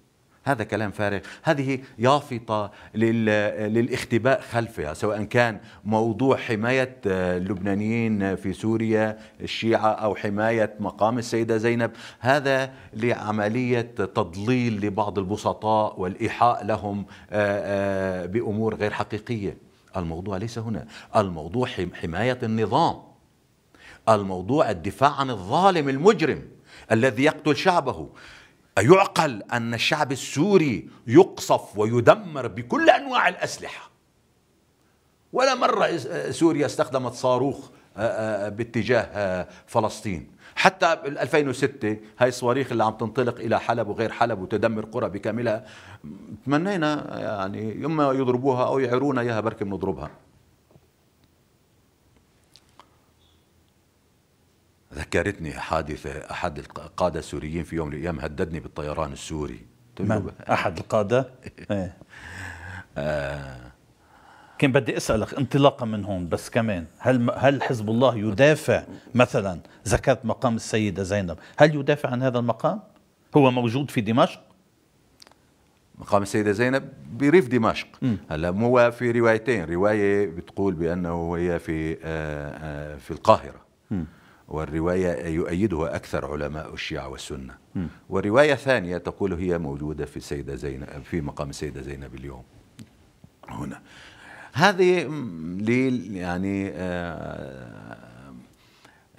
هذا كلام فارغ. هذه يافطة للاختباء خلفها، سواء كان موضوع حماية اللبنانيين في سوريا الشيعة أو حماية مقام السيدة زينب. هذا لعملية تضليل لبعض البسطاء والإيحاء لهم بأمور غير حقيقية. الموضوع ليس هنا، الموضوع حماية النظام، الموضوع الدفاع عن الظالم المجرم الذي يقتل شعبه. أيعقل أن الشعب السوري يقصف ويدمر بكل أنواع الأسلحة؟ ولا مرة سوريا استخدمت صاروخ باتجاه فلسطين. حتى ألفين وستة هاي الصواريخ اللي عم تنطلق إلى حلب وغير حلب وتدمر قرى بكاملها، تمنينا يعني يما يضربوها أو يعيرونا إياها بركي بنضربها. ذكرتني حادثة أحد القادة السوريين في يوم من الأيام هددني بالطيران السوري. من؟ أحد القادة؟ ايه. آه. كان بدي أسألك انطلاقا من هون بس كمان، هل هل حزب الله يدافع مثلا، ذكرت مقام السيدة زينب، هل يدافع عن هذا المقام؟ هو موجود في دمشق؟ مقام السيدة زينب بريف دمشق. هلا هو في روايتين، رواية بتقول بأنه هي في في القاهرة، م. والرواية يؤيدها أكثر علماء الشيعة والسنة، م. ورواية ثانية تقول هي موجودة في السيدة زينب في مقام السيدة زينب اليوم هنا. هذه يعني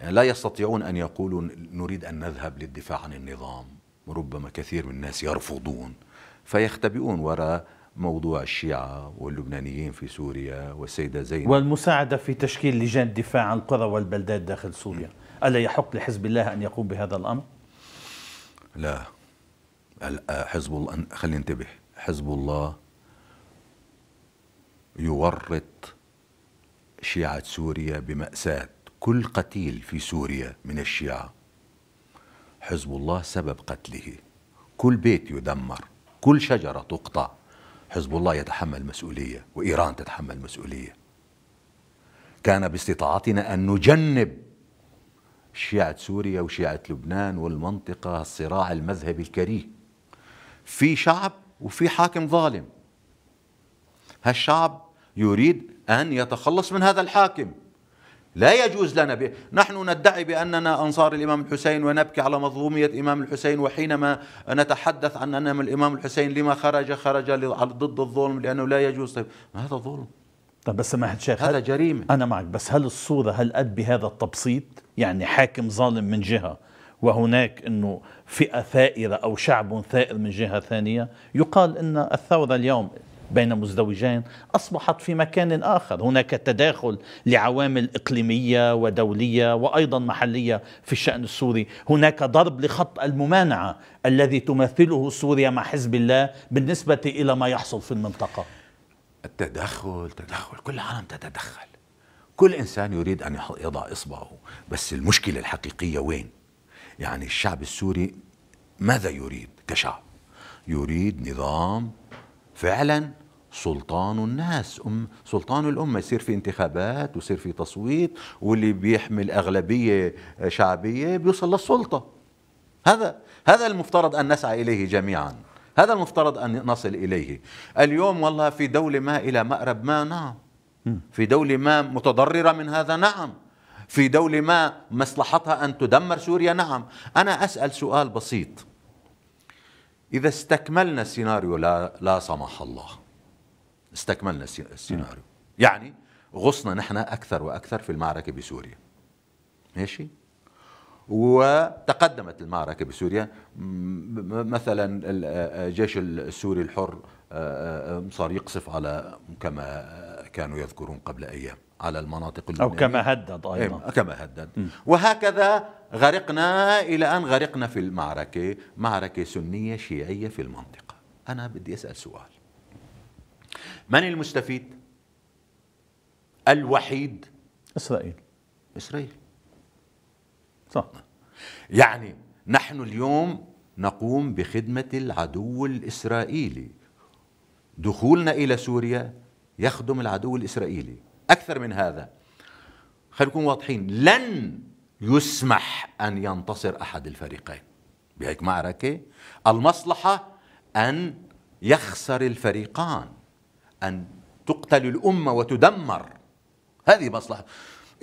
لا يستطيعون أن يقولوا نريد أن نذهب للدفاع عن النظام، وربما كثير من الناس يرفضون فيختبئون وراء موضوع الشيعة واللبنانيين في سوريا والسيدة زينب والمساعدة في تشكيل لجان دفاع عن القرى والبلدات داخل سوريا. ألا يحق لحزب الله أن يقوم بهذا الأمر؟ لا، حزب الله، خلينا ننتبه، حزب الله يورط شيعة سوريا بمأساة. كل قتيل في سوريا من الشيعة حزب الله سبب قتله، كل بيت يدمر، كل شجرة تقطع، حزب الله يتحمل مسؤولية، وإيران تتحمل مسؤولية. كان باستطاعتنا أن نجنب شيعة سوريا وشيعة لبنان والمنطقة الصراع المذهبي الكريه. في شعب وفي حاكم ظالم، هالشعب يريد أن يتخلص من هذا الحاكم. لا يجوز لنا ب... نحن ندعي بأننا أنصار الإمام الحسين ونبكي على مظلومية إمام الحسين، وحينما نتحدث عن أن الإمام الحسين لما خرج خرج ضد الظلم لأنه لا يجوز. طيب هذا ظلم. طيب بس سماحة الشيخ، هذا جريمة. أنا معك، بس هل الصورة هل قد بهذا التبسيط؟ يعني حاكم ظالم من جهة وهناك أنه فئة ثائرة أو شعب ثائر من جهة ثانية. يقال أن الثورة اليوم بين مزدوجين أصبحت في مكان آخر، هناك تداخل لعوامل إقليمية ودولية وأيضا محلية في الشأن السوري، هناك ضرب لخط الممانعة الذي تمثله سوريا مع حزب الله بالنسبة إلى ما يحصل في المنطقة. التدخل تدخل كل العالم تتدخل، كل إنسان يريد أن يضع إصبعه، بس المشكلة الحقيقية وين؟ يعني الشعب السوري ماذا يريد كشعب؟ يريد نظام فعلا سلطان الناس، أم سلطان الأمة، يصير في انتخابات ويصير في تصويت، واللي بيحمل أغلبية شعبية بيوصل للسلطة. هذا هذا المفترض أن نسعى إليه جميعا، هذا المفترض أن نصل إليه. اليوم والله في دولة ما إلى مأرب ما، نعم، في دولة ما متضررة من هذا، نعم، في دولة ما مصلحتها أن تدمر سوريا، نعم. أنا أسأل سؤال بسيط، إذا استكملنا السيناريو، لا, لا سمح الله، استكملنا السيناريو، يعني غصنا نحن أكثر وأكثر في المعركة بسوريا، ماشي، وتقدمت المعركة بسوريا، مثلا الجيش السوري الحر صار يقصف على، كما كانوا يذكرون قبل أيام، على المناطق اللبنانية، أو كما هدد أيضا، كما هدد، وهكذا غرقنا إلى أن غرقنا في المعركة، معركة سنية شيعية في المنطقة. أنا بدي أسأل سؤال، من المستفيد الوحيد؟ إسرائيل. إسرائيل، صح. يعني نحن اليوم نقوم بخدمة العدو الإسرائيلي، دخولنا إلى سوريا يخدم العدو الإسرائيلي. أكثر من هذا، خلينا نكون واضحين، لن يسمح أن ينتصر أحد الفريقين بهيك معركة. المصلحة أن يخسر الفريقان، أن تقتل الأمة وتدمر، هذه مصلحة.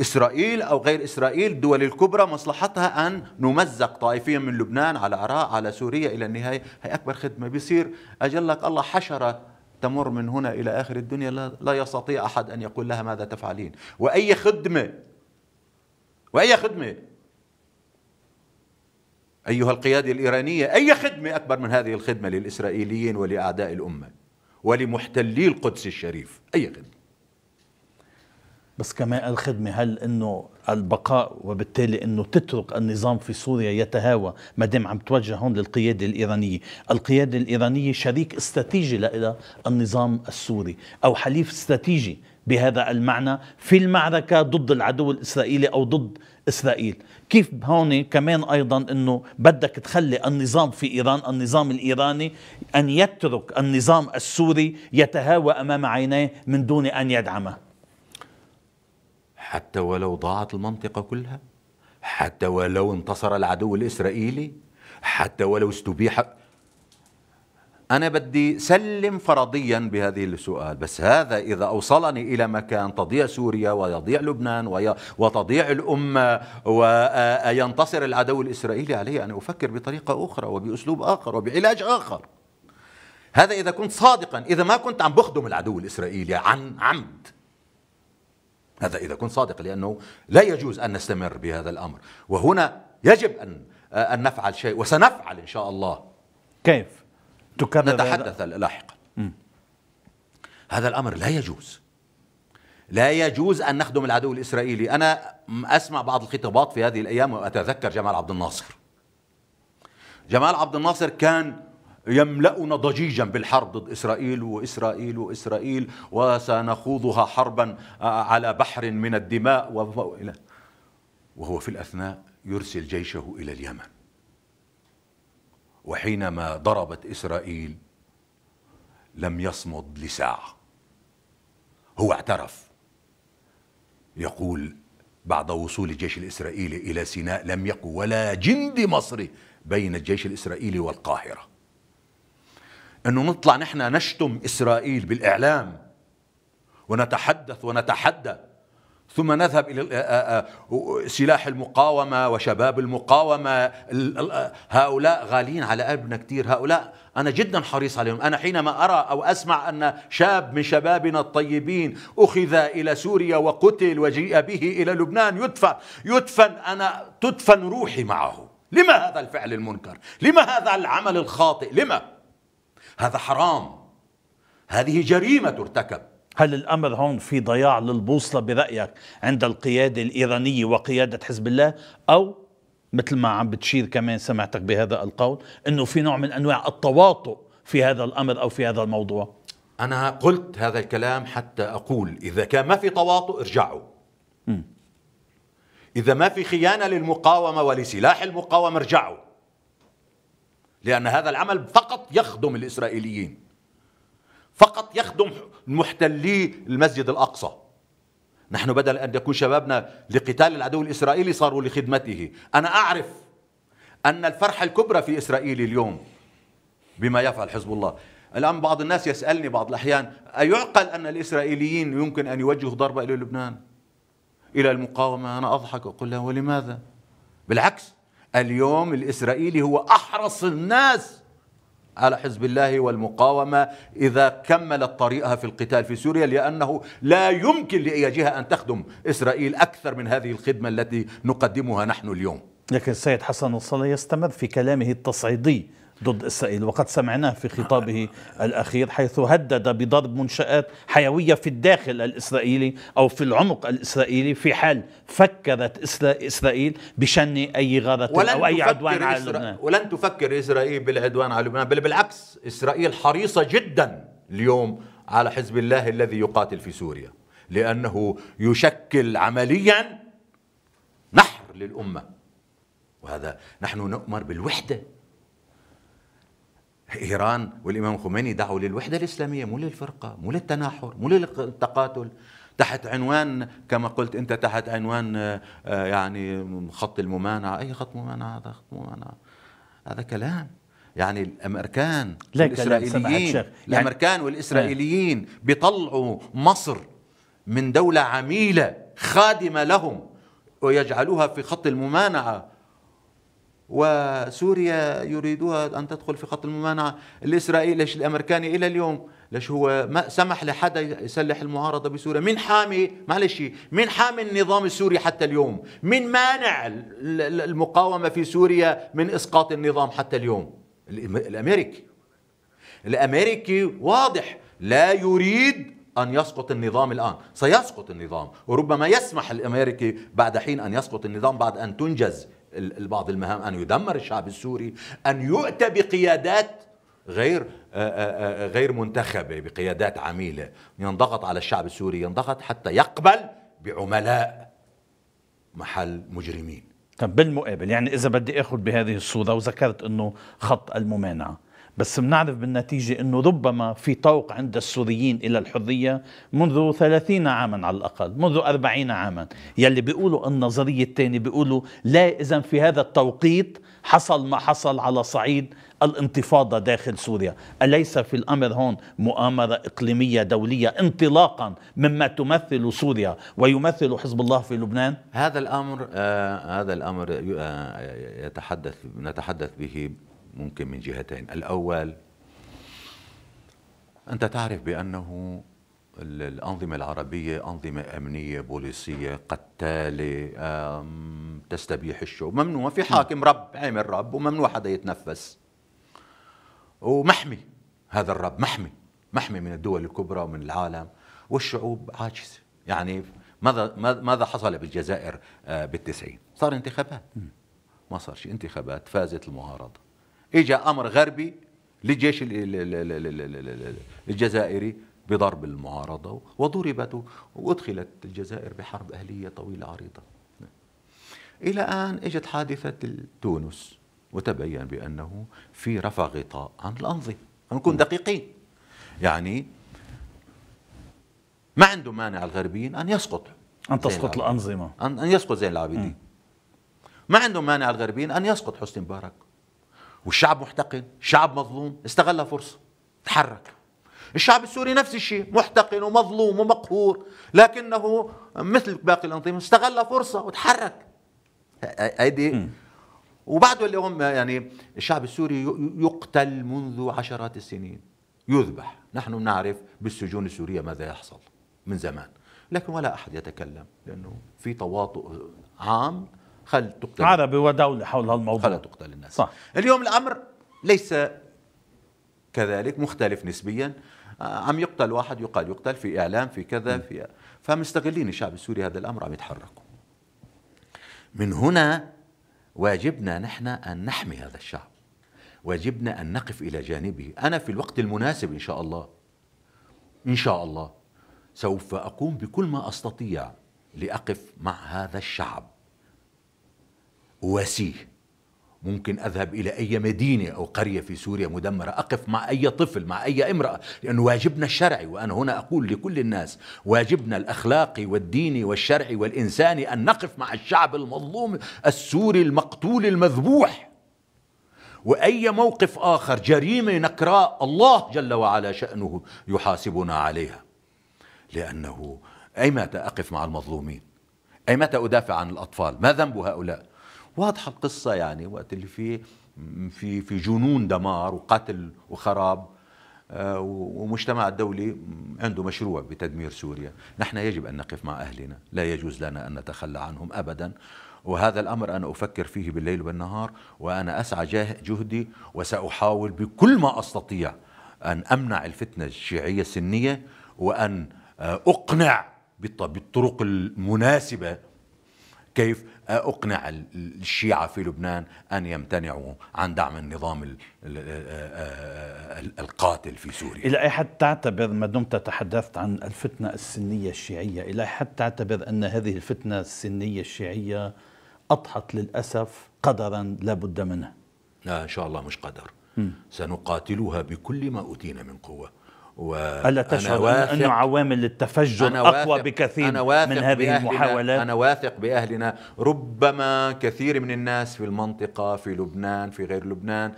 إسرائيل أو غير إسرائيل، الدول الكبرى مصلحتها أن نمزق طائفيا من لبنان على العراق على سوريا إلى النهاية. هي أكبر خدمة. بيصير أجلك الله حشرة تمر من هنا إلى آخر الدنيا، لا, لا يستطيع أحد أن يقول لها ماذا تفعلين. وأي خدمة وأي خدمة أيها القيادة الإيرانية، أي خدمة أكبر من هذه الخدمة للإسرائيليين ولأعداء الأمة ولمحتلي القدس الشريف؟ أي خدمة. بس كمان الخدمة، هل أنه البقاء وبالتالي أنه تترك النظام في سوريا يتهاوى، ما دام عم توجه هون للقيادة الإيرانية. القيادة الإيرانية شريك استراتيجي لإلى النظام السوري أو حليف استراتيجي بهذا المعنى في المعركة ضد العدو الإسرائيلي أو ضد إسرائيل. كيف هون كمان أيضا أنه بدك تخلي النظام في إيران، النظام الإيراني، أن يترك النظام السوري يتهاوى أمام عينيه من دون أن يدعمه، حتى ولو ضاعت المنطقة كلها، حتى ولو انتصر العدو الإسرائيلي، حتى ولو استبيح. أنا بدي سلم فرضيا بهذه السؤال، بس هذا إذا أوصلني إلى مكان تضيع سوريا ويضيع لبنان وتضيع الأمة وينتصر العدو الإسرائيلي، علي أن أفكر بطريقة أخرى وبأسلوب آخر وبعلاج آخر. هذا إذا كنت صادقا، إذا ما كنت عم بخدم العدو الإسرائيلي عن عمد، هذا إذا كنت صادق، لأنه لا يجوز أن نستمر بهذا الأمر، وهنا يجب أن أن نفعل شيء، وسنفعل إن شاء الله. كيف؟ تكرر نتحدث لاحقا. هذا الأمر لا يجوز، لا يجوز أن نخدم العدو الإسرائيلي. أنا أسمع بعض الخطابات في هذه الأيام وأتذكر جمال عبد الناصر. جمال عبد الناصر كان يملأنا ضجيجا بالحرب ضد إسرائيل وإسرائيل وإسرائيل وسنخوضها حربا على بحر من الدماء، وهو في الأثناء يرسل جيشه إلى اليمن. وحينما ضربت إسرائيل لم يصمد لساعة، هو اعترف، يقول بعد وصول الجيش الإسرائيلي إلى سيناء لم يكن ولا جندي مصري بين الجيش الإسرائيلي والقاهرة. أنه نطلع نحن نشتم إسرائيل بالإعلام ونتحدث ونتحدى، ثم نذهب إلى سلاح المقاومة وشباب المقاومة، هؤلاء غالين على قلبنا كثير، هؤلاء أنا جدا حريص عليهم. أنا حينما أرى أو أسمع أن شاب من شبابنا الطيبين أخذ إلى سوريا وقتل وجيء به إلى لبنان يدفن يدفن أنا تدفن روحي معه. لما هذا الفعل المنكر؟ لما هذا العمل الخاطئ؟ لما؟ هذا حرام، هذه جريمة ترتكب. هل الأمر هون في ضياع للبوصلة برأيك عند القيادة الإيرانية وقيادة حزب الله، أو مثل ما عم بتشير كمان سمعتك بهذا القول أنه في نوع من أنواع التواطؤ في هذا الأمر أو في هذا الموضوع؟ أنا قلت هذا الكلام حتى أقول إذا كان ما في تواطؤ ارجعوا، م. إذا ما في خيانة للمقاومة ولسلاح المقاومة ارجعوا، لأن هذا العمل فقط يخدم الإسرائيليين، فقط يخدم محتلي المسجد الأقصى. نحن بدل أن يكون شبابنا لقتال العدو الإسرائيلي صاروا لخدمته. أنا أعرف أن الفرحة الكبرى في إسرائيل اليوم بما يفعل حزب الله. الآن بعض الناس يسألني بعض الأحيان أيعقل أن الإسرائيليين يمكن أن يوجهوا ضربة إلى لبنان إلى المقاومة؟ أنا أضحك وأقول له ولماذا؟ بالعكس، اليوم الإسرائيلي هو أحرص الناس على حزب الله والمقاومة إذا كملت طريقها في القتال في سوريا، لأنه لا يمكن لأي جهة أن تخدم إسرائيل أكثر من هذه الخدمة التي نقدمها نحن اليوم. لكن السيد حسن نصر يستمر في كلامه التصعيدي ضد إسرائيل، وقد سمعناه في خطابه الأخير حيث هدد بضرب منشآت حيوية في الداخل الإسرائيلي أو في العمق الإسرائيلي في حال فكرت إسرائيل بشن أي غارة أو أي عدوان على لبنان. ولن تفكر إسرائيل بالعدوان على لبنان، بل بالعكس، إسرائيل حريصة جدا اليوم على حزب الله الذي يقاتل في سوريا، لأنه يشكل عمليا نحر للأمة، وهذا نحن نؤمر بالوحدة. إيران والإمام خميني دعوا للوحدة الإسلامية، مو للفرقة، مو للتناحر، مو للتقاتل، تحت عنوان كما قلت أنت، تحت عنوان يعني خط الممانعة. أي خط ممانعة؟ هذا خط ممانعة، هذا كلام. يعني الأمريكان والإسرائيليين يعني الأمريكان والإسرائيليين بيطلعوا مصر من دولة عميلة خادمة لهم ويجعلوها في خط الممانعة، وسوريا يريدوها أن تدخل في خط الممانعة. الإسرائيلي ليش الأمريكاني إلى اليوم ليش هو ما سمح لحدا يسلح المعارضة بسوريا؟ من حامي معلش من حامي النظام السوري حتى اليوم؟ من مانع المقاومة في سوريا من إسقاط النظام حتى اليوم؟ الأمريكي. الأمريكي واضح لا يريد أن يسقط النظام الآن، سيسقط النظام، وربما يسمح الأمريكي بعد حين أن يسقط النظام بعد أن تنجز بعض المهام، أن يدمر الشعب السوري، أن يؤتى بقيادات غير غير منتخبة، بقيادات عميلة، ينضغط على الشعب السوري، ينضغط حتى يقبل بعملاء محل مجرمين. طب بالمقابل، يعني إذا بدي أخذ بهذه الصورة وذكرت أنه خط الممانعة، بس بنعرف بالنتيجة أنه ربما في طوق عند السوريين إلى الحرية منذ ثلاثين عاما على الأقل، منذ أربعين عاما. يلي بيقولوا النظرية الثانية بيقولوا لا، إذن في هذا التوقيت حصل ما حصل على صعيد الانتفاضة داخل سوريا. أليس في الأمر هون مؤامرة إقليمية دولية انطلاقا مما تمثل سوريا ويمثل حزب الله في لبنان؟ هذا الأمر آه هذا الأمر آه يتحدث نتحدث به ممكن من جهتين. الأول، أنت تعرف بأنه الأنظمة العربية أنظمة أمنية بوليسية قتالة تستبيح الشعوب، ممنوع في حاكم رب عمل رب وممنوع حدا يتنفس، ومحمي هذا الرب، محمي محمي من الدول الكبرى ومن العالم، والشعوب عاجزة. يعني ماذا ماذا حصل بالجزائر بالتسعين؟ صار انتخابات، ما صار شيء، انتخابات فازت المعارضة، اجى أمر غربي للجيش الجزائري بضرب المعارضة وضربت وادخلت الجزائر بحرب أهلية طويلة عريضة، إلى أن اجت حادثة تونس وتبين بأنه في رفع غطاء عن الأنظمة. نكون دقيقين، يعني ما عنده مانع الغربيين أن يسقط أن تسقط الأنظمة، أن يسقط زين العابدين، ما عنده مانع الغربيين أن يسقط حسني مبارك، والشعب محتقن، شعب مظلوم استغل فرصة تحرك. الشعب السوري نفس الشيء، محتقن ومظلوم ومقهور، لكنه مثل باقي الأنظمة استغل فرصة وتحرك. هيدي وبعده اليوم يعني الشعب السوري يقتل منذ عشرات السنين، يذبح، نحن نعرف بالسجون السورية ماذا يحصل من زمان، لكن ولا أحد يتكلم لأنه في تواطؤ عام، خل تقتل عربي ودولة حول هالموضوع، خل تقتل الناس. صح. اليوم الأمر ليس كذلك، مختلف نسبيا، عم يقتل واحد يقال يقتل في إعلام في كذا في، فمستغلين الشعب السوري هذا الأمر عم يتحركوا. من هنا واجبنا نحن أن نحمي هذا الشعب، واجبنا أن نقف إلى جانبه. أنا في الوقت المناسب إن شاء الله إن شاء الله سوف أقوم بكل ما أستطيع لأقف مع هذا الشعب، أواسيه. ممكن أذهب إلى أي مدينة أو قرية في سوريا مدمرة، أقف مع أي طفل، مع أي امرأة، لأنه واجبنا الشرعي. وأنا هنا أقول لكل الناس واجبنا الأخلاقي والديني والشرعي والإنساني أن نقف مع الشعب المظلوم السوري المقتول المذبوح. وأي موقف آخر جريمة نكراء الله جل وعلا شأنه يحاسبنا عليها، لأنه أي متى أقف مع المظلومين؟ أي متى أدافع عن الأطفال؟ ما ذنب هؤلاء؟ واضحة القصة، يعني وقت اللي فيه في في جنون دمار وقتل وخراب، ومجتمع الدولي عنده مشروع بتدمير سوريا. نحن يجب أن نقف مع أهلنا، لا يجوز لنا أن نتخلى عنهم أبدا. وهذا الأمر أنا أفكر فيه بالليل والنهار، وأنا أسعى جهدي وسأحاول بكل ما أستطيع أن أمنع الفتنة الشيعية السنية، وأن أقنع بالطرق المناسبة كيف أقنع الشيعة في لبنان أن يمتنعوا عن دعم النظام القاتل في سوريا. إلى أي حد تعتبر، ما دمت تحدثت عن الفتنة السنية الشيعية، إلى أي حد تعتبر أن هذه الفتنة السنية الشيعية أضحت للأسف قدرا لا بد منه؟ لا إن شاء الله مش قدر، م. سنقاتلها بكل ما أوتينا من قوة. ألا تشعر أن عوامل التفجر أقوى بكثير من هذه المحاولات؟ أنا واثق بأهلنا. ربما كثير من الناس في المنطقة، في لبنان، في غير لبنان،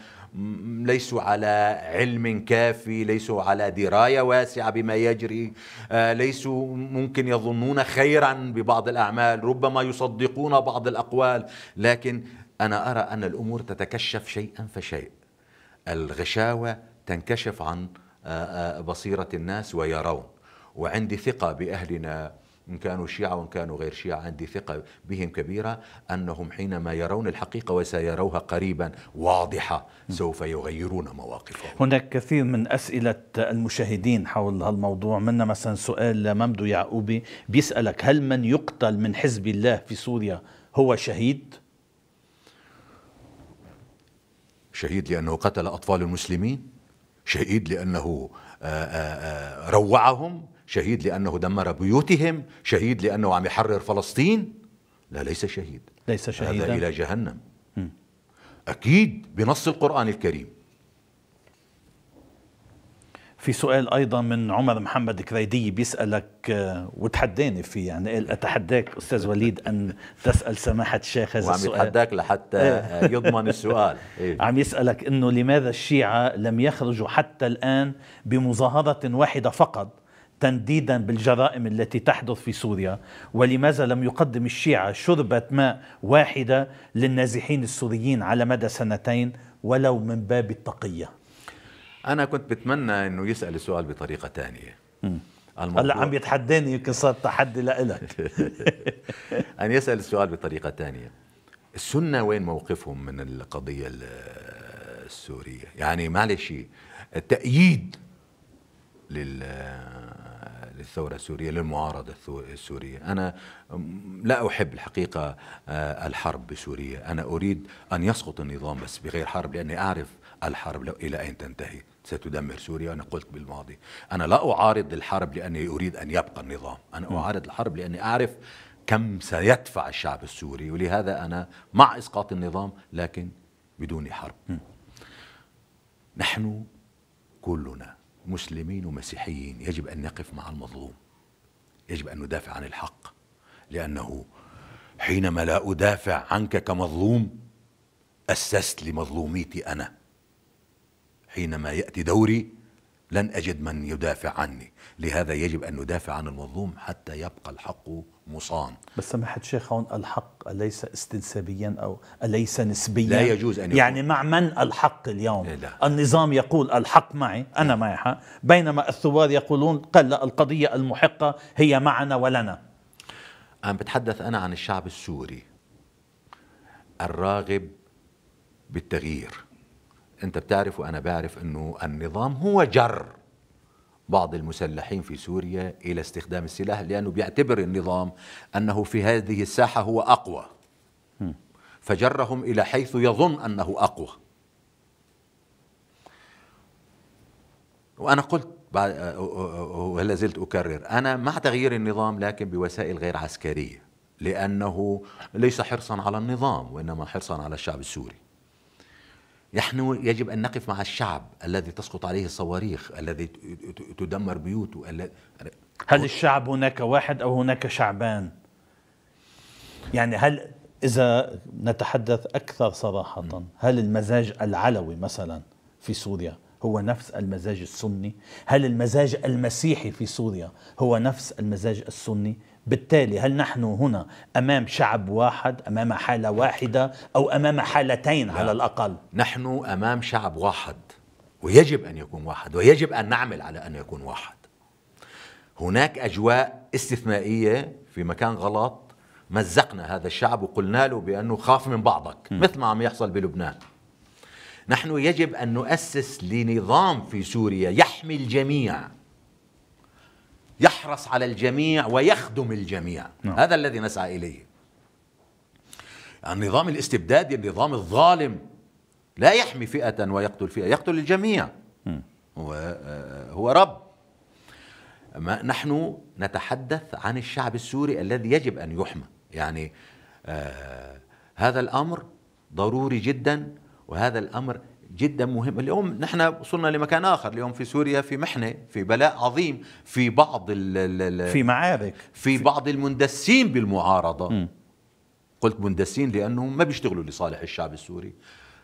ليسوا على علم كافي، ليسوا على دراية واسعة بما يجري، ليسوا ممكن يظنون خيرا ببعض الأعمال، ربما يصدقون بعض الأقوال، لكن أنا أرى أن الأمور تتكشف شيئا فشيء. الغشاوة تنكشف عن بصيرة الناس ويرون. وعندي ثقة بأهلنا، إن كانوا شيعة وإن كانوا غير شيعة، عندي ثقة بهم كبيرة أنهم حينما يرون الحقيقة وسيروها قريبا واضحة سوف يغيرون مواقفهم. هناك كثير من أسئلة المشاهدين حول هالموضوع، منا مثلا سؤال لممدو يعقوبي بيسألك: هل من يقتل من حزب الله في سوريا هو شهيد؟ شهيد لأنه قتل أطفال المسلمين، شهيد لأنه روعهم، شهيد لأنه دمر بيوتهم، شهيد لأنه عم يحرر فلسطين. لا، ليس شهيد، ليس شهيدا، هذا إلى جهنم. م. أكيد بنص القرآن الكريم. في سؤال أيضا من عمر محمد كريدي بيسألك وتحداني فيه، يعني قال أتحداك أستاذ وليد أن تسأل سماحة الشيخ هذا السؤال. وعم يتحداك لحتى يضمن السؤال. إيه؟ عم يسألك أنه لماذا الشيعة لم يخرجوا حتى الآن بمظاهرة واحدة فقط تنديدا بالجرائم التي تحدث في سوريا، ولماذا لم يقدم الشيعة شربة ماء واحدة للنازحين السوريين على مدى سنتين ولو من باب التقية؟ أنا كنت بتمنى أنه يسأل السؤال بطريقة تانية. هلا عم يتحداني، يمكن صار تحدي لإلك. أن يسأل السؤال بطريقة تانية. السنة وين موقفهم من القضية السورية؟ يعني معلش التأييد للثورة السورية، للمعارضة السورية. أنا لا أحب الحقيقة الحرب بسوريا، أنا أريد أن يسقط النظام بس بغير حرب، لأني أعرف الحرب لو إلى أين تنتهي ستدمر سوريا. أنا قلت بالماضي أنا لا أعارض الحرب لأني أريد أن يبقى النظام، أنا أعارض الحرب لأني أعرف كم سيدفع الشعب السوري، ولهذا أنا مع إسقاط النظام لكن بدون حرب. نحن كلنا مسلمين ومسيحيين يجب أن نقف مع المظلوم، يجب أن ندافع عن الحق، لأنه حينما لا أدافع عنك كمظلوم أسست لمظلوميتي أنا. حينما يأتي دوري لن أجد من يدافع عني، لهذا يجب أن ندافع عن المظلوم حتى يبقى الحق مصان. بس سماحة الشيخ، هون الحق أليس استنسابيا أو أليس نسبيا؟ لا يجوز أن يكون. يعني مع من الحق اليوم؟ لا. النظام يقول الحق معي، أنا معي حق، بينما الثوار يقولون قال لا، القضية المحقة هي معنا ولنا. أنا بتحدث أنا عن الشعب السوري الراغب بالتغيير. أنت بتعرف وأنا بعرف أنه النظام هو جر بعض المسلحين في سوريا إلى استخدام السلاح، لأنه بيعتبر النظام أنه في هذه الساحة هو أقوى، فجرهم إلى حيث يظن أنه أقوى. وأنا قلت ولا زلت أكرر، أنا مع تغيير النظام لكن بوسائل غير عسكرية، لأنه ليس حرصا على النظام وإنما حرصا على الشعب السوري. نحن يجب أن نقف مع الشعب الذي تسقط عليه الصواريخ، الذي تدمر بيوته. هل الشعب هناك واحد أو هناك شعبان؟ يعني هل إذا نتحدث أكثر صراحة، هل المزاج العلوي مثلا في سوريا هو نفس المزاج السني؟ هل المزاج المسيحي في سوريا هو نفس المزاج السني؟ بالتالي هل نحن هنا أمام شعب واحد، أمام حالة واحدة، أو أمام حالتين على الأقل؟ نحن أمام شعب واحد ويجب أن يكون واحد، ويجب أن نعمل على أن يكون واحد. هناك أجواء استثنائية في مكان غلط، مزقنا هذا الشعب وقلنا له بأنه خاف من بعضك، م. مثل ما عم يحصل بلبنان. نحن يجب أن نؤسس لنظام في سوريا يحمي الجميع، يحرص على الجميع ويخدم الجميع. نعم. هذا الذي نسعى إليه. النظام الاستبدادي، النظام الظالم لا يحمي فئة ويقتل فئة، يقتل الجميع. هو, هو رب. ما نحن نتحدث عن الشعب السوري الذي يجب أن يحمى. يعني آه هذا الأمر ضروري جدا، وهذا الأمر جدا مهم. اليوم نحن وصلنا لمكان آخر، اليوم في سوريا في محنة، في بلاء عظيم، في بعض ال في معارك، في بعض المندسين بالمعارضة. م. قلت مندسين لأنهم ما بيشتغلوا لصالح الشعب السوري،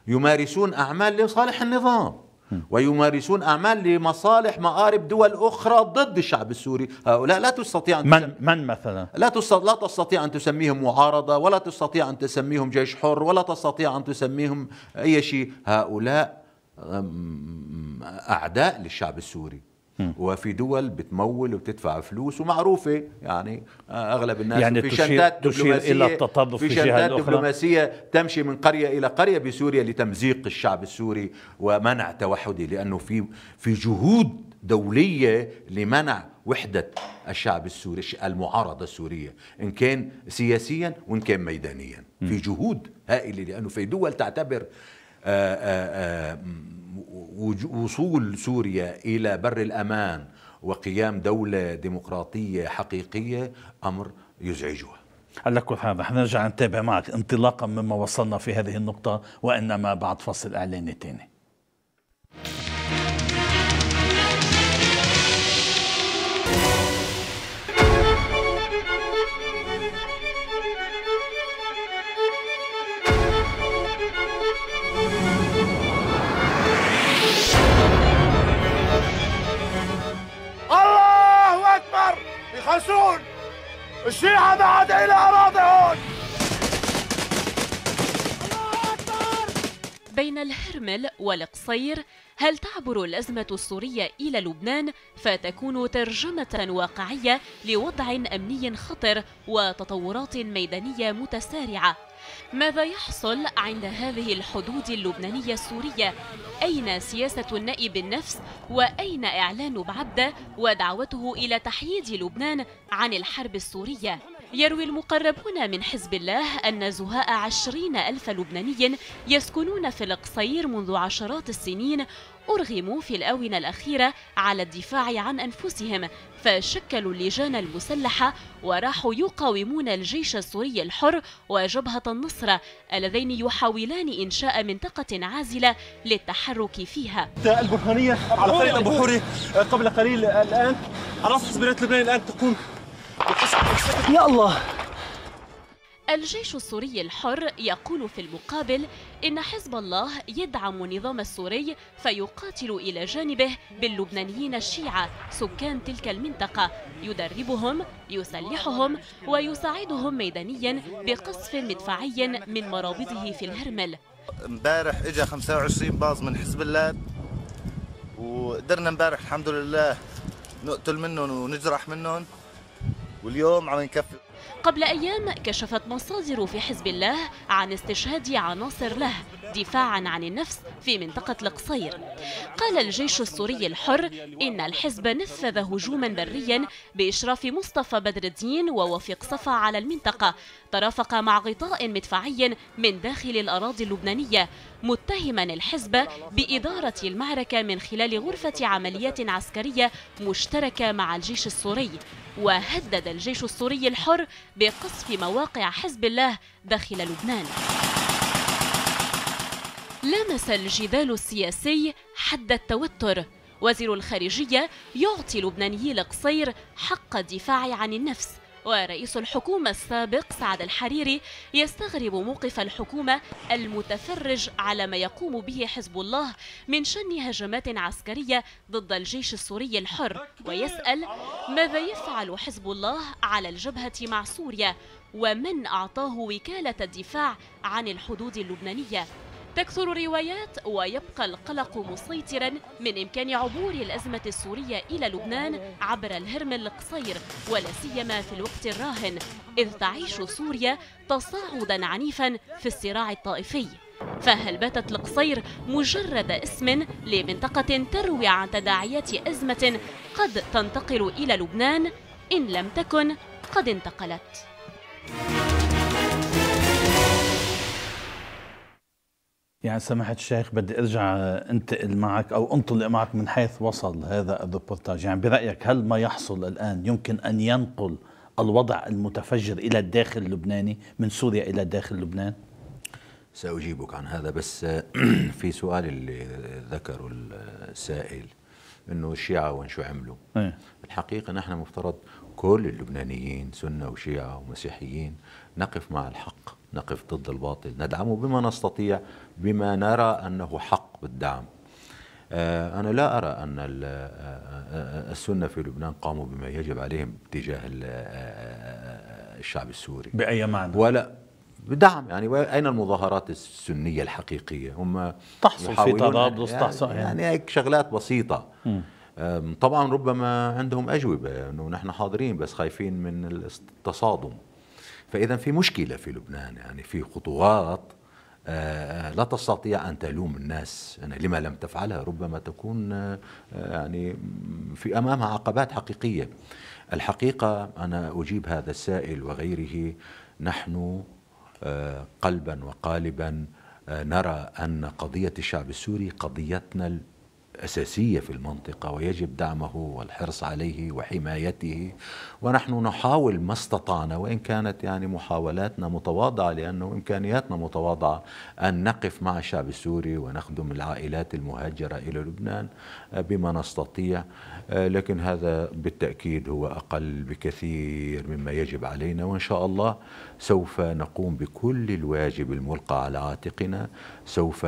يمارسون أعمال لصالح النظام، م. ويمارسون أعمال لمصالح مآرب دول أخرى ضد الشعب السوري. هؤلاء لا تستطيع أن من, من مثلا لا لا تستطيع أن تسميهم معارضة، ولا تستطيع أن تسميهم جيش حر، ولا تستطيع أن تسميهم أي شيء. هؤلاء أعداء للشعب السوري، م. وفي دول بتمول وبتدفع فلوس ومعروفة، يعني أغلب الناس يعني في تشير شنطات تشير إلى التطرف في في شنطات دبلوماسية تمشي من قرية إلى قرية بسوريا لتمزيق الشعب السوري ومنع توحده، لأنه في في جهود دولية لمنع وحدة الشعب السوري، المعارضة السورية، إن كان سياسيا وإن كان ميدانيا. م. في جهود هائلة، لأنه في دول تعتبر آآ آآ وصول سوريا إلى بر الأمان وقيام دولة ديمقراطية حقيقية أمر يزعجها. على كل حال حنرجع نتابع معك انطلاقا مما وصلنا في هذه النقطة، وإنما بعد فصل إعلاني تاني. يخلصون الشيعة ما عاد إلى أراضيهم. بين الهرمل والقصير، هل تعبر الأزمة السورية إلى لبنان فتكون ترجمة واقعية لوضع أمني خطر وتطورات ميدانية متسارعة؟ ماذا يحصل عند هذه الحدود اللبنانية السورية؟ أين سياسة النائب النفس؟ وأين إعلان بعبدة ودعوته إلى تحييد لبنان عن الحرب السورية؟ يروي المقربون من حزب الله أن زهاء عشرين ألف لبناني يسكنون في القصير منذ عشرات السنين أرغموا في الآونة الأخيرة على الدفاع عن أنفسهم، فشكلوا اللجان المسلحة وراحوا يقاومون الجيش السوري الحر وجبهة النصرة اللذين يحاولان إنشاء منطقة عازلة للتحرك فيها. البرهانية على طريق أبو حوري قبل قليل الآن على رأس حزب لبنان الآن تقوم. يا الله. الجيش السوري الحر يقول في المقابل إن حزب الله يدعم النظام السوري فيقاتل إلى جانبه باللبنانيين الشيعة سكان تلك المنطقة، يدربهم، يسلحهم ويساعدهم ميدانيا بقصف مدفعي من مرابطه في الهرمل. امبارح اجى خمسة وعشرين باص من حزب الله وقدرنا امبارح الحمد لله نقتل منهم ونجرح منهم، واليوم عم نكفي. قبل أيام كشفت مصادر في حزب الله عن استشهاد عناصر له دفاعا عن النفس في منطقة القصير. قال الجيش السوري الحر إن الحزب نفذ هجوما بريا بإشراف مصطفى بدر الدين ووفيق صفا على المنطقة، ترافق مع غطاء مدفعي من داخل الأراضي اللبنانية، متهما الحزب بإدارة المعركة من خلال غرفة عمليات عسكرية مشتركة مع الجيش السوري. وهدد الجيش السوري الحر بقصف مواقع حزب الله داخل لبنان. لامس الجدال السياسي حد التوتر. وزير الخارجية يعطي لبنانيي القصير حق الدفاع عن النفس، ورئيس الحكومة السابق سعد الحريري يستغرب موقف الحكومة المتفرج على ما يقوم به حزب الله من شن هجمات عسكرية ضد الجيش السوري الحر، ويسأل ماذا يفعل حزب الله على الجبهة مع سوريا، ومن أعطاه وكالة الدفاع عن الحدود اللبنانية. تكثر الروايات ويبقى القلق مسيطرا من إمكان عبور الأزمة السورية إلى لبنان عبر الهرمل القصير، ولا سيما في الوقت الراهن إذ تعيش سوريا تصاعدا عنيفا في الصراع الطائفي. فهل باتت القصير مجرد اسم لمنطقة تروي عن تداعيات أزمة قد تنتقل إلى لبنان إن لم تكن قد انتقلت؟ يعني سماحة الشيخ بدي ارجع انتقل معك او انطلق معك من حيث وصل هذا الريبورتاج. يعني برأيك هل ما يحصل الآن يمكن أن ينقل الوضع المتفجر إلى الداخل اللبناني من سوريا إلى داخل لبنان؟ سأجيبك عن هذا، بس في سؤال اللي ذكره السائل انه الشيعة وين شو عملوا. ايه؟ الحقيقة نحن مفترض كل اللبنانيين سنة وشيعة ومسيحيين نقف مع الحق، نقف ضد الباطل، ندعمه بما نستطيع بما نرى أنه حق بالدعم. أنا لا أرى أن السنة في لبنان قاموا بما يجب عليهم تجاه الشعب السوري بأي معنى؟ ولا بدعم. يعني أين المظاهرات السنية الحقيقية؟ هم تحصل في طرابلس، تحصل يعني, يعني هيك شغلات بسيطة. م. طبعا ربما عندهم أجوبة أنه نحن حاضرين بس خايفين من التصادم. فإذا في مشكلة في لبنان، يعني في خطوات آه لا تستطيع أن تلوم الناس يعني لما لم تفعلها، ربما تكون آه يعني في أمامها عقبات حقيقية. الحقيقة أنا أجيب هذا السائل وغيره، نحن آه قلبا وقالبا آه نرى أن قضية الشعب السوري قضيتنا أساسية في المنطقة ويجب دعمه والحرص عليه وحمايته، ونحن نحاول ما استطعنا وإن كانت يعني محاولاتنا متواضعة لأنه إمكانياتنا متواضعة أن نقف مع الشعب السوري ونخدم العائلات المهاجرة إلى لبنان بما نستطيع، لكن هذا بالتأكيد هو أقل بكثير مما يجب علينا، وإن شاء الله سوف نقوم بكل الواجب الملقى على عاتقنا، سوف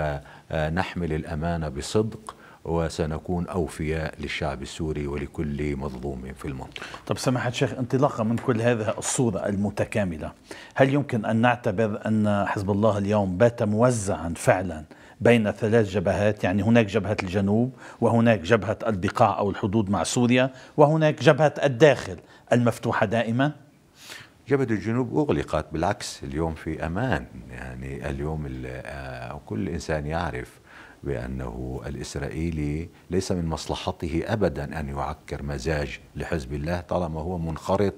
نحمل الأمانة بصدق وسنكون أوفياء للشعب السوري ولكل مظلوم في المنطقة. طب سماحة الشيخ، انطلاقا من كل هذه الصورة المتكاملة، هل يمكن أن نعتبر أن حزب الله اليوم بات موزعا فعلا بين ثلاث جبهات؟ يعني هناك جبهة الجنوب، وهناك جبهة البقاع أو الحدود مع سوريا، وهناك جبهة الداخل المفتوحة دائما؟ جبهة الجنوب أغلقت، بالعكس اليوم في أمان. يعني اليوم كل إنسان يعرف بأنه الإسرائيلي ليس من مصلحته أبدا أن يعكر مزاج لحزب الله طالما هو منخرط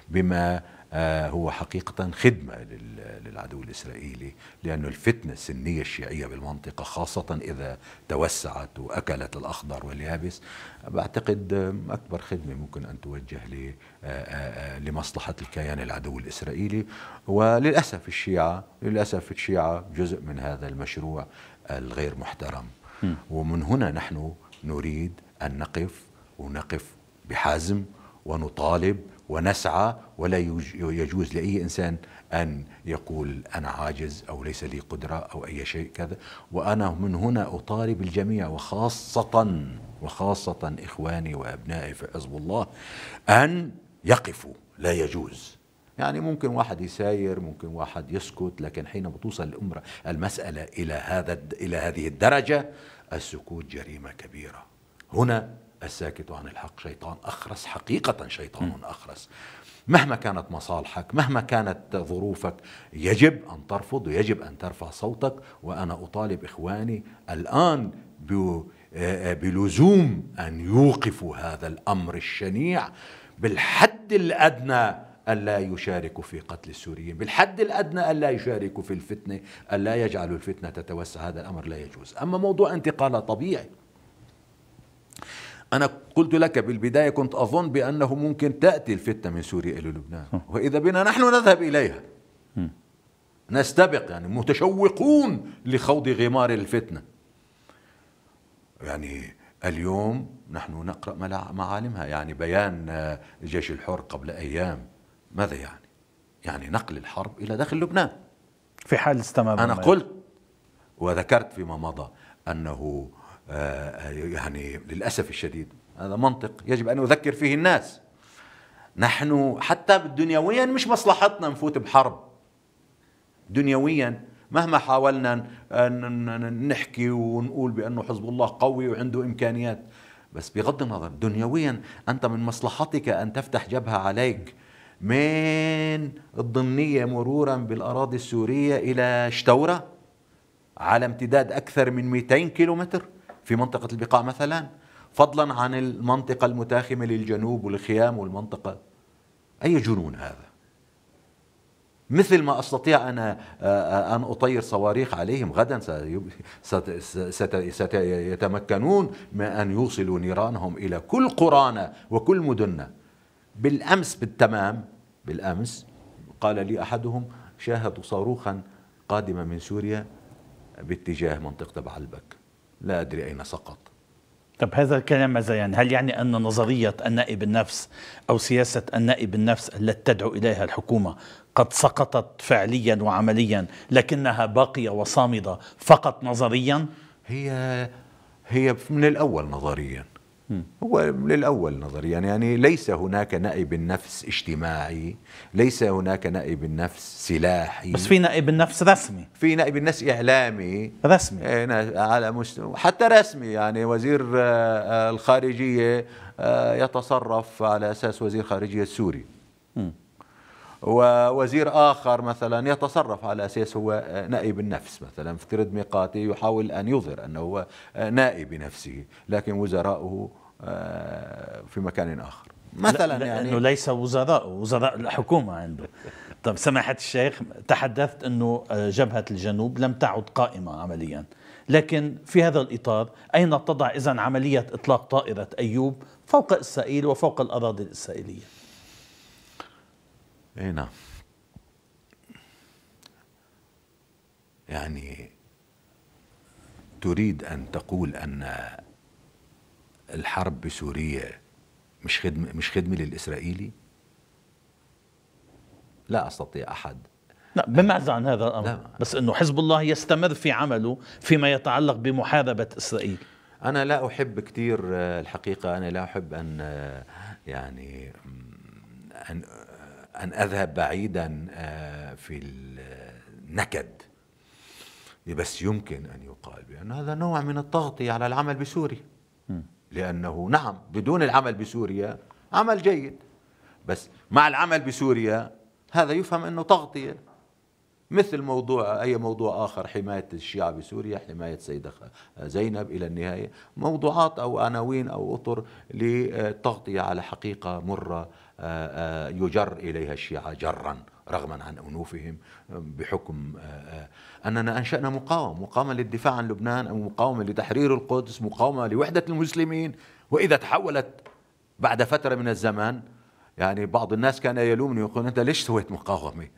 بما هو حقيقة خدمة للعدو الإسرائيلي، لأن الفتنة السنية الشيعية بالمنطقة خاصة إذا توسعت وأكلت الأخضر واليابس، بعتقد أكبر خدمة ممكن أن توجه لمصلحة الكيان العدو الإسرائيلي. وللأسف الشيعة للأسف الشيعة جزء من هذا المشروع الغير محترم. م. ومن هنا نحن نريد أن نقف ونقف بحزم ونطالب ونسعى، ولا يجوز لأي إنسان أن يقول أنا عاجز أو ليس لي قدرة أو أي شيء كذا. وأنا من هنا أطالب الجميع وخاصة وخاصة إخواني وأبنائي في حزب الله أن يقفوا. لا يجوز، يعني ممكن واحد يساير، ممكن واحد يسكت، لكن حينما توصل الأمر المسألة إلى هذا إلى هذه الدرجة السكوت جريمة كبيرة. هنا الساكت عن الحق شيطان أخرس، حقيقة شيطان أخرس. مهما كانت مصالحك، مهما كانت ظروفك، يجب أن ترفض ويجب أن ترفع صوتك. وأنا أطالب إخواني الآن بلزوم أن يوقفوا هذا الأمر الشنيع بالحد الأدنى، ألا يشاركوا في قتل السوريين، بالحد الأدنى ألا يشاركوا في الفتنة، ألا يجعلوا الفتنة تتوسع. هذا الأمر لا يجوز. أما موضوع انتقال طبيعي، أنا قلت لك بالبداية كنت أظن بأنه ممكن تأتي الفتنة من سوريا إلى لبنان، وإذا بنا نحن نذهب إليها نستبق، يعني متشوقون لخوض غمار الفتنة. يعني اليوم نحن نقرأ معالمها، يعني بيان الجيش الحر قبل أيام ماذا يعني؟ يعني نقل الحرب إلى داخل لبنان في حال استمر. أنا قلت وذكرت فيما مضى أنه يعني للأسف الشديد هذا منطق يجب أن نذكر فيه الناس. نحن حتى دنيويا مش مصلحتنا نفوت بحرب دنيويا، مهما حاولنا نحكي ونقول بأنه حزب الله قوي وعنده إمكانيات، بس بغض النظر دنيويا أنت من مصلحتك أن تفتح جبهة عليك من الضمنية مرورا بالأراضي السورية إلى شتورة على امتداد أكثر من مئتين كيلومتر في منطقة البقاع مثلا، فضلا عن المنطقة المتاخمة للجنوب والخيام والمنطقة. أي جنون هذا؟ مثل ما أستطيع أنا أن أطير صواريخ عليهم غدا سيتمكنون من أن يوصلوا نيرانهم إلى كل قرانا وكل مدننا. بالأمس بالتمام بالأمس قال لي أحدهم شاهدوا صاروخا قادمة من سوريا باتجاه منطقة بعلبك، لا أدري أين سقط. طب هذا الكلام ماذا يعني؟ هل يعني أن نظرية النائب النفس أو سياسة النائب النفس التي تدعو إليها الحكومة قد سقطت فعليا وعمليا لكنها باقية وصامدة فقط نظريا؟ هي هي من الأول نظريا، هو من الأول نظريا، يعني ليس هناك نائب النفس اجتماعي، ليس هناك نائب النفس سلاحي، بس في نائب النفس رسمي، في نائب النفس إعلامي رسمي على مستوى حتى رسمي. يعني وزير الخارجية يتصرف على أساس وزير خارجية سوري، م. ووزير آخر مثلا يتصرف على أساس هو نائب النفس. مثلا افترض ميقاتي يحاول أن يظهر أنه هو نائب نفسه، لكن وزراؤه في مكان آخر مثلا. لا يعني أنه ليس وزراء وزراء الحكومة عنده. طب سماحة الشيخ، تحدثت أنه جبهة الجنوب لم تعد قائمة عمليا، لكن في هذا الإطار أين تضع إذن عملية إطلاق طائرة أيوب فوق إسرائيل وفوق الأراضي الإسرائيلية؟ اي نعم، يعني تريد أن تقول أن الحرب بسوريا مش خدمة مش خدمة للإسرائيلي؟ لا أستطيع أحد. لا بمعزة عن هذا الأمر، لا. بس أنه حزب الله يستمر في عمله فيما يتعلق بمحاربة إسرائيل. أنا لا أحب كثير الحقيقة، أنا لا أحب أن يعني أن أن أذهب بعيدا في النكد، بس يمكن أن يقال بأن هذا نوع من التغطية على العمل بسوريا، لأنه نعم بدون العمل بسوريا عمل جيد، بس مع العمل بسوريا هذا يفهم أنه تغطية، مثل موضوع أي موضوع آخر، حماية الشيعة بسوريا، حماية سيدة زينب، إلى النهاية موضوعات أو عناوين أو أطر للتغطية على حقيقة مرة يجر إليها الشيعة جرا رغما عن أنوفهم، بحكم أننا أنشأنا مقاومة مقاومة للدفاع عن لبنان، أو مقاومة لتحرير القدس، مقاومة لوحدة المسلمين. وإذا تحولت بعد فترة من الزمان، يعني بعض الناس كان يلومني ويقول أنت ليش سويت مقاومة؟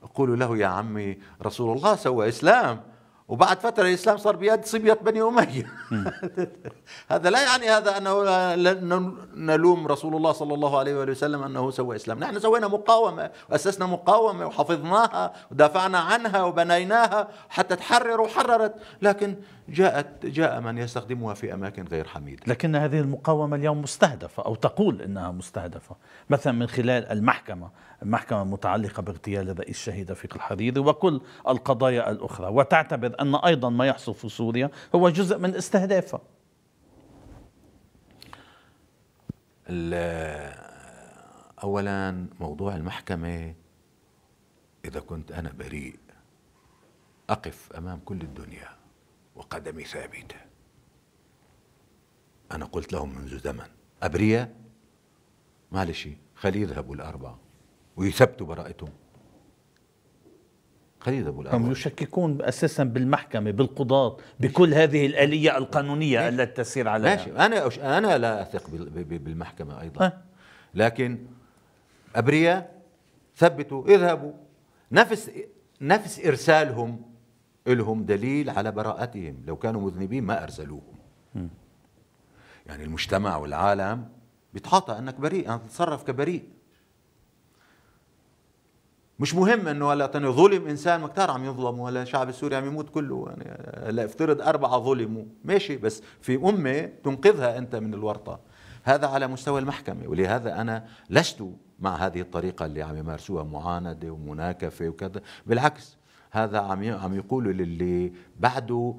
أقول له يا عمي رسول الله سوى إسلام، وبعد فترة الإسلام صار بيد صبية بني أمية. هذا لا يعني هذا أنه نلوم رسول الله صلى الله عليه وآله وسلم أنه سوى إسلام. نحن سوينا مقاومة وأسسنا مقاومة وحفظناها ودافعنا عنها وبنيناها حتى تحرر وحررت، لكن جاءت جاء من يستخدمها في أماكن غير حميدة. لكن هذه المقاومة اليوم مستهدفة، أو تقول أنها مستهدفة، مثلا من خلال المحكمة المحكمة المتعلقة باغتيال الرئيس الشهيد رفيق الحريري وكل القضايا الأخرى، وتعتبر أن أيضا ما يحصل في سوريا هو جزء من استهدافها. أولا موضوع المحكمة، إذا كنت أنا بريء أقف أمام كل الدنيا وقدمي ثابتة. أنا قلت لهم منذ زمن أبرياء، معلش خلي يذهبوا الأربعة ويثبتوا براءتهم، خلي يذهبوا الأربعة. هم يشككون أساسا بالمحكمة بالقضاة بكل هذه الآلية القانونية التي تسير عليها. ماشي، أنا أنا لا أثق بالمحكمة أيضا، أه؟ لكن أبرياء ثبتوا اذهبوا. نفس نفس إرسالهم لهم دليل على براءتهم، لو كانوا مذنبين ما أرسلوهم. م. يعني المجتمع والعالم بيتعاطى أنك بريء، أنك تتصرف كبريء. مش مهم انه هلا ظلم انسان، ما كتار عم يظلم، ولا الشعب السوري عم يموت كله، يعني هلا افترض اربعه ظلموا ماشي، بس في امه تنقذها انت من الورطه. هذا على مستوى المحكمه، ولهذا انا لست مع هذه الطريقه اللي عم يمارسوها، معانده ومناكفه وكذا. بالعكس هذا عم عم يقولوا للي بعده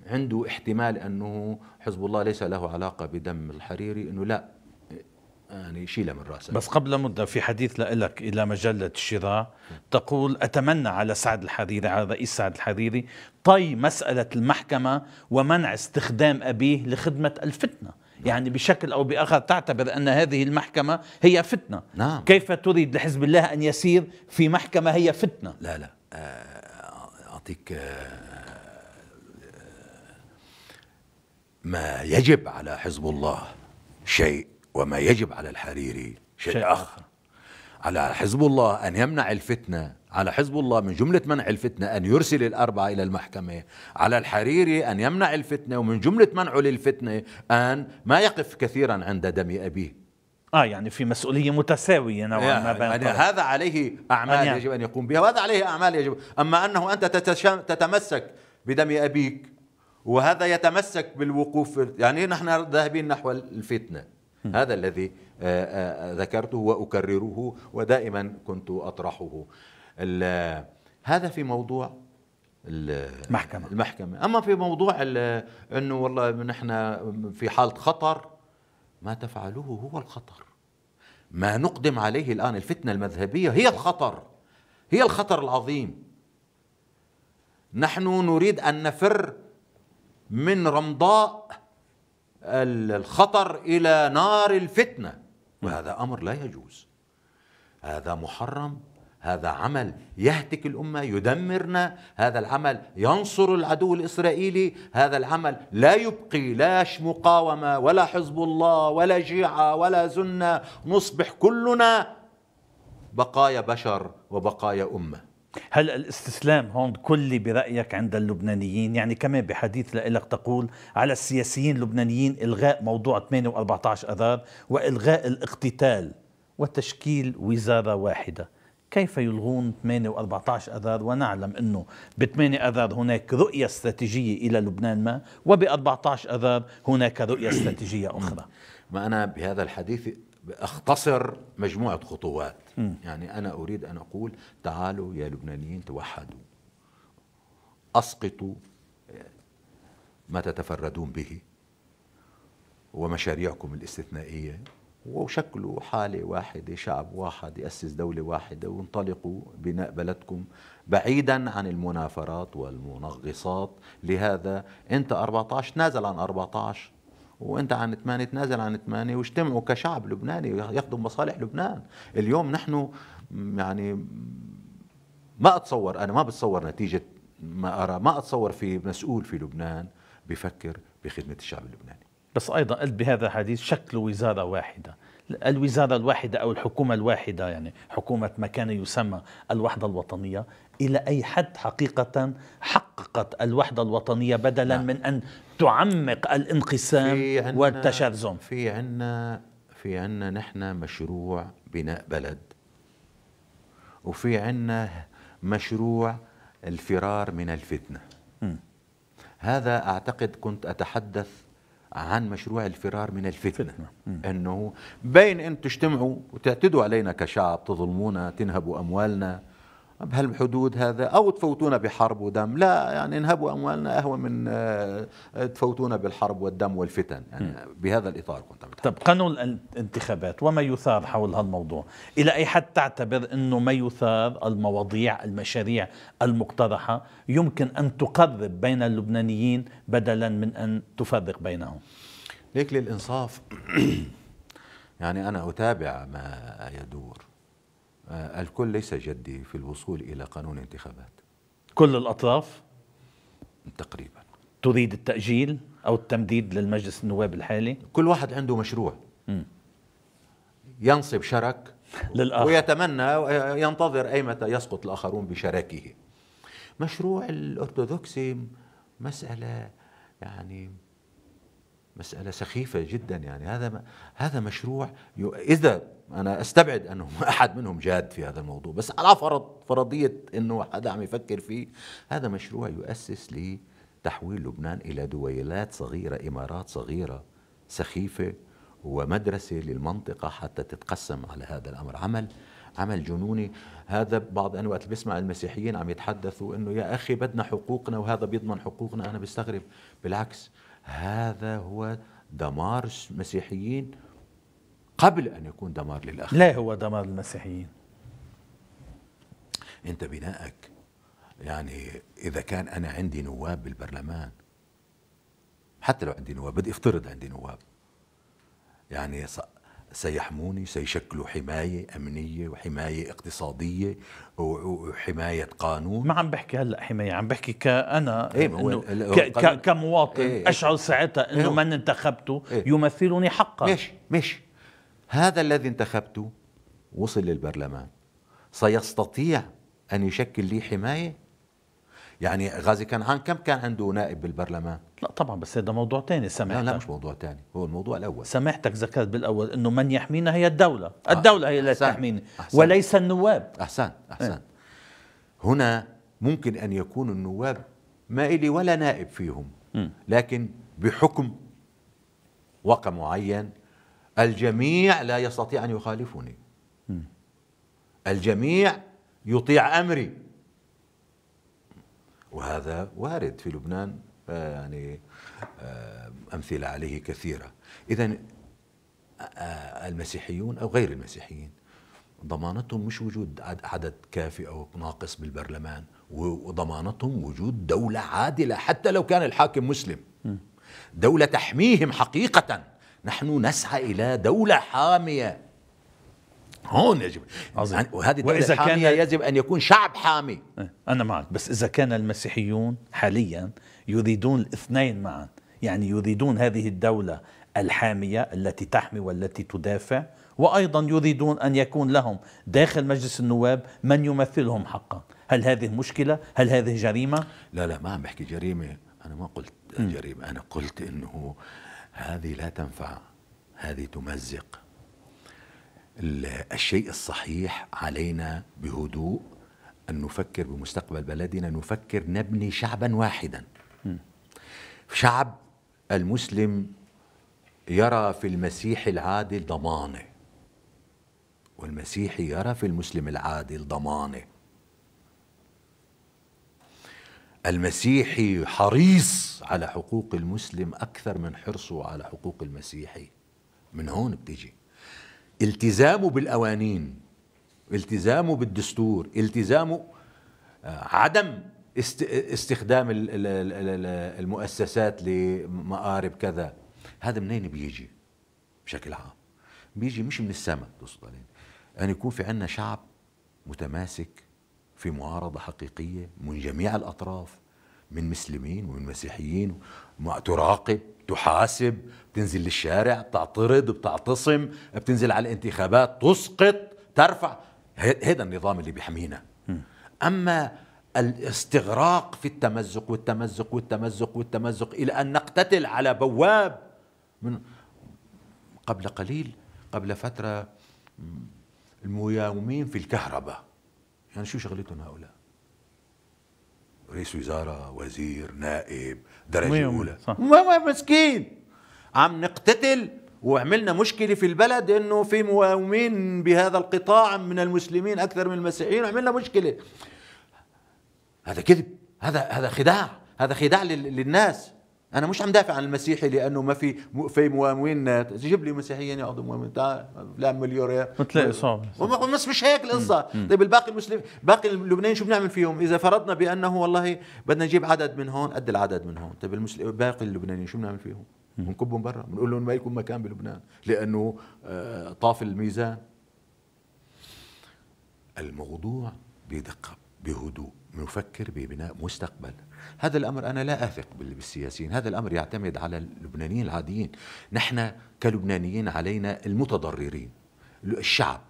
عنده احتمال انه حزب الله ليس له علاقه بدم الحريري، انه لا يعني شيلها من راسك. بس قبل مدة في حديث لك إلى مجلة الشراء تقول أتمنى على سعد الحريري، على رئيس سعد الحريري، طي مسألة المحكمة ومنع استخدام أبيه لخدمة الفتنة. يعني بشكل أو بآخر تعتبر أن هذه المحكمة هي فتنة. نعم. كيف تريد لحزب الله أن يسير في محكمة هي فتنة؟ لا لا أعطيك ما يجب على حزب الله شيء، وما يجب على الحريري شيء, شيء آخر. على حزب الله أن يمنع الفتنة، على حزب الله من جملة منع الفتنة أن يرسل الأربعة إلى المحكمة، على الحريري أن يمنع الفتنة، ومن جملة منعه للفتنة أن ما يقف كثيرا عند دم أبيه. آه يعني في مسؤولية متساوية نوعا ما بين يعني هذا عليه أعمال يجب أن يقوم بها، وهذا عليه أعمال يجب. أما أنه أنت تتمسك بدم أبيك وهذا يتمسك بالوقوف، يعني نحن ذاهبين نحو الفتنة. هذا الذي ذكرته وأكرره ودائما كنت أطرحه. هذا في موضوع المحكمة. المحكمة. أما في موضوع أنه والله نحن في حالة خطر، ما تفعلوه هو الخطر. ما نقدم عليه الآن الفتنة المذهبية هي الخطر، هي الخطر العظيم. نحن نريد أن نفر من رمضاء الخطر إلى نار الفتنة، وهذا أمر لا يجوز، هذا محرم، هذا عمل يهتك الأمة، يدمرنا، هذا العمل ينصر العدو الإسرائيلي، هذا العمل لا يبقي لاش مقاومة ولا حزب الله ولا شيعة ولا سنة، نصبح كلنا بقايا بشر وبقايا أمة. هل الاستسلام هون كلي برأيك عند اللبنانيين؟ يعني كمان بحديث لك تقول على السياسيين اللبنانيين إلغاء موضوع ثمانية وأربعة عشر أذار وإلغاء الاقتتال وتشكيل وزارة واحدة. كيف يلغون ثمانية وأربعة عشر أذار ونعلم أنه ب ثمانية أذار هناك رؤية استراتيجية إلى لبنان ما، وب أربعة عشر أذار هناك رؤية استراتيجية أخرى. ما أنا بهذا الحديث أختصر مجموعة خطوات. م. يعني أنا أريد أن أقول تعالوا يا لبنانيين توحدوا، أسقطوا ما تتفردون به ومشاريعكم الاستثنائية، وشكلوا حالة واحدة، شعب واحد، يأسس دولة واحدة، وانطلقوا بناء بلدكم بعيدا عن المنافرات والمنغصات. لهذا أنت أربعة عشر تنازل عن أربعة عشر، وأنت عن ثمانية تنازل عن ثمانية، واجتمعوا كشعب لبناني يخدم مصالح لبنان. اليوم نحن يعني ما أتصور، أنا ما بتصور نتيجة ما أرى، ما أتصور في مسؤول في لبنان بفكر بخدمة الشعب اللبناني. بس أيضا قلت بهذا الحديث شكل وزارة واحدة، الوزارة الواحدة أو الحكومة الواحدة، يعني حكومة ما كان يسمى الوحدة الوطنية، إلى أي حد حقيقة حققت الوحدة الوطنية بدلا نعم. من أن تعمق الانقسام والتشرذم؟ في عنا في عنا نحن مشروع بناء بلد، وفي عنا مشروع الفرار من الفتنة. م. هذا أعتقد كنت أتحدث عن مشروع الفرار من الفتنة، أنه بين أن تجتمعوا وتعتدوا علينا كشعب، تظلمونا، تنهبوا أموالنا بهالحدود هذا، أو تفوتونا بحرب ودم. لا، يعني انهبوا أموالنا أهون من تفوتونا بالحرب والدم والفتن. يعني بهذا الإطار كنت بتحدث. طب قانون الانتخابات وما يثار حول هالموضوع، إلى أي حد تعتبر أنه ما يثار، المواضيع، المشاريع المقترحة، يمكن أن تقرب بين اللبنانيين بدلا من أن تفرق بينهم؟ ليك للإنصاف يعني أنا أتابع ما يدور. الكل ليس جدي في الوصول إلى قانون انتخابات. كل الأطراف تقريبا تريد التأجيل أو التمديد للمجلس النواب الحالي. كل واحد عنده مشروع م. ينصب شرك للآخر، ويتمنى ينتظر أيمتى يسقط الآخرون بشراكه. مشروع الأرثوذكسي مسألة يعني مسألة سخيفة جدا. يعني هذا هذا مشروع إذا أنا أستبعد أنه أحد منهم جاد في هذا الموضوع، بس على فرض فرضية أنه حدا عم يفكر فيه، هذا مشروع يؤسس لتحويل لبنان إلى دويلات صغيرة، إمارات صغيرة سخيفة، ومدرسة للمنطقة حتى تتقسم على هذا الأمر. عمل عمل جنوني. هذا بعض أنا وقت بسمع المسيحيين عم يتحدثوا أنه يا أخي بدنا حقوقنا وهذا بيضمن حقوقنا، أنا بستغرب. بالعكس، هذا هو دمار المسيحيين قبل أن يكون دمار للآخرين. لا، هو دمار المسيحيين. أنت بنائك يعني إذا كان أنا عندي نواب بالبرلمان، حتى لو عندي نواب، بدي افترض عندي نواب، يعني سيحموني، سيشكلوا حماية أمنية وحماية اقتصادية وحماية قانون. ما عم بحكي هلأ حماية، عم بحكي كأنا إيه إنه ك كمواطن إيه أشعر ساعتها إنه من انتخبته إيه يمثلني حقا. ماشي ماشي هذا الذي انتخبته وصل للبرلمان، سيستطيع أن يشكل لي حماية؟ يعني غازي كنعان كم كان عنده نائب بالبرلمان؟ لا طبعا، بس هذا موضوع تاني. سمحتك. لا لا مش موضوع تاني، هو الموضوع الأول. سمحتك ذكرت بالأول إنه من يحمينا هي الدولة. الدولة هي التي تحميني وليس النواب. أحسن أحسن اه. هنا ممكن أن يكون النواب ما إلي ولا نائب فيهم، م. لكن بحكم وقع معين الجميع لا يستطيع أن يخالفني، م. الجميع يطيع أمري، وهذا وارد في لبنان. آه يعني آه أمثلة عليه كثيرة. إذن آه المسيحيون أو غير المسيحيين ضمانتهم مش وجود عدد كافي أو ناقص بالبرلمان، وضمانتهم وجود دولة عادلة حتى لو كان الحاكم مسلم، دولة تحميهم حقيقة. نحن نسعى إلى دولة حامية. هون يجب يعني، وهذه الدولة الحامية يجب أن يكون شعب حامي. أنا معك، بس إذا كان المسيحيون حاليا يريدون الاثنين معا، يعني يريدون هذه الدولة الحامية التي تحمي والتي تدافع، وأيضا يريدون أن يكون لهم داخل مجلس النواب من يمثلهم حقا، هل هذه مشكلة؟ هل هذه جريمة؟ لا لا، ما عم بحكي جريمة، أنا ما قلت جريمة، أنا قلت إنه هذه لا تنفع، هذه تمزق. الشيء الصحيح علينا بهدوء أن نفكر بمستقبل بلدنا، نفكر نبني شعبا واحدا. شعب المسلم يرى في المسيح العادل ضمانه، والمسيحي يرى في المسلم العادل ضمانه. المسيحي حريص على حقوق المسلم أكثر من حرصه على حقوق المسيحي. من هون بتيجي التزامه بالقوانين، التزامه بالدستور، التزامه عدم استخدام المؤسسات لمآرب كذا. هذا منين بيجي؟ بشكل عام بيجي مش من السماء تصل علينا، أن يكون في عنا شعب متماسك في معارضة حقيقية من جميع الأطراف، من مسلمين ومن مسيحيين، تراقب، تحاسب، بتنزل للشارع، بتعترض، بتعتصم، بتنزل على الانتخابات، تسقط، ترفع. هذا النظام اللي بيحمينا. أما الاستغراق في التمزق والتمزق والتمزق والتمزق إلى أن نقتتل على بواب. من قبل قليل، قبل فترة، المياومين في الكهرباء، يعني شو شغلتهم هؤلاء؟ رئيس وزارة، وزير، نائب، درجة أولى، مسكين. عم نقتتل وعملنا مشكلة في البلد إنه في مياومين بهذا القطاع من المسلمين أكثر من المسيحيين، وعملنا مشكلة. هذا كذب، هذا هذا خداع، هذا خداع للناس. أنا مش عم دافع عن المسيحي لأنه ما في في موامين. جيب لي مسيحيين ياخذوا موامين، تعال لا مليونير بتلاقي صعب. بس مش هيك القصة. طيب الباقي المسلم، باقي اللبنانيين شو بنعمل فيهم؟ إذا فرضنا بأنه والله بدنا نجيب عدد من هون قد العدد من هون، طيب المسلم باقي اللبنانيين شو بنعمل فيهم؟ بنكبهم برا، بنقول لهم ما لكم مكان بلبنان لأنه طاف الميزان. الموضوع بدقة، بهدوء، نفكر ببناء مستقبل. هذا الأمر أنا لا أثق بالسياسيين، هذا الأمر يعتمد على اللبنانيين العاديين. نحن كلبنانيين علينا المتضررين، الشعب.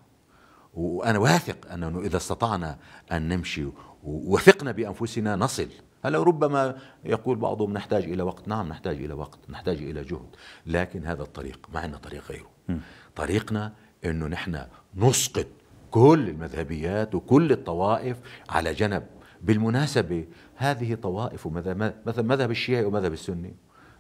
وأنا واثق أنه إذا استطعنا أن نمشي ووثقنا بأنفسنا نصل. هلا ربما يقول بعضهم نحتاج إلى وقت، نعم نحتاج إلى وقت، نحتاج إلى جهد، لكن هذا الطريق ما عندنا طريق غيره. طريقنا أنه نحن نسقط كل المذهبيات وكل الطوائف على جنب. بالمناسبة هذه طوائف، مثلا مذهب الشيعي ومذهب السني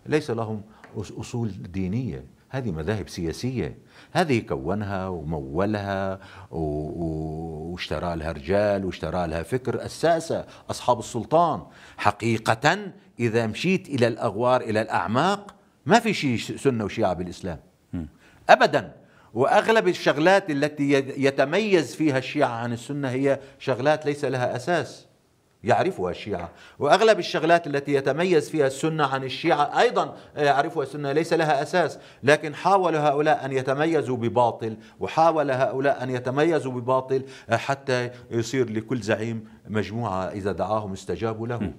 ليس لهم أصول دينية، هذه مذاهب سياسية. هذه كونها ومولها واشترى لها رجال واشترى لها فكر أساسا أصحاب السلطان. حقيقة إذا مشيت إلى الأغوار، إلى الأعماق، ما في شيء سنة وشيعة بالإسلام أبدا. وأغلب الشغلات التي يتميز فيها الشيعة عن السنة هي شغلات ليس لها أساس يعرفها الشيعة، وأغلب الشغلات التي يتميز فيها السنة عن الشيعة أيضا يعرفها السنة ليس لها أساس. لكن حاول هؤلاء أن يتميزوا بباطل، وحاول هؤلاء أن يتميزوا بباطل حتى يصير لكل زعيم مجموعة إذا دعاهم استجابوا له.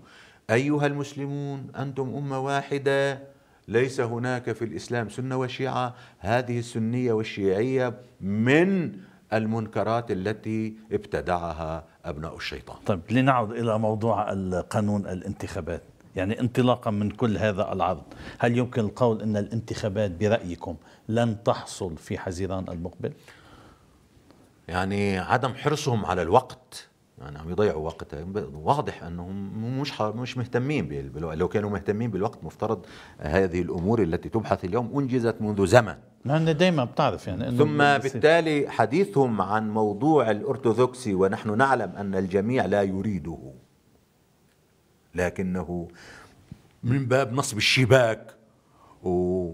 أيها المسلمون أنتم أمة واحدة، ليس هناك في الإسلام سنة وشيعة. هذه السنية والشيعية من المنكرات التي ابتدعها أبناء الشيطان. طيب لنعود إلى موضوع القانون الانتخابات، يعني انطلاقا من كل هذا العرض، هل يمكن القول أن الانتخابات برأيكم لن تحصل في حزيران المقبل؟ يعني عدم حرصهم على الوقت، يعني عم يضيعوا وقتها. واضح انهم مش مش مهتمين بالوقت. لو كانوا مهتمين بالوقت مفترض هذه الامور التي تبحث اليوم انجزت منذ زمن. لأن دائما بتعرف يعني إنه ثم بالتالي حديثهم عن موضوع الأرثوذكسي، ونحن نعلم أن الجميع لا يريده، لكنه من باب نصب الشباك و...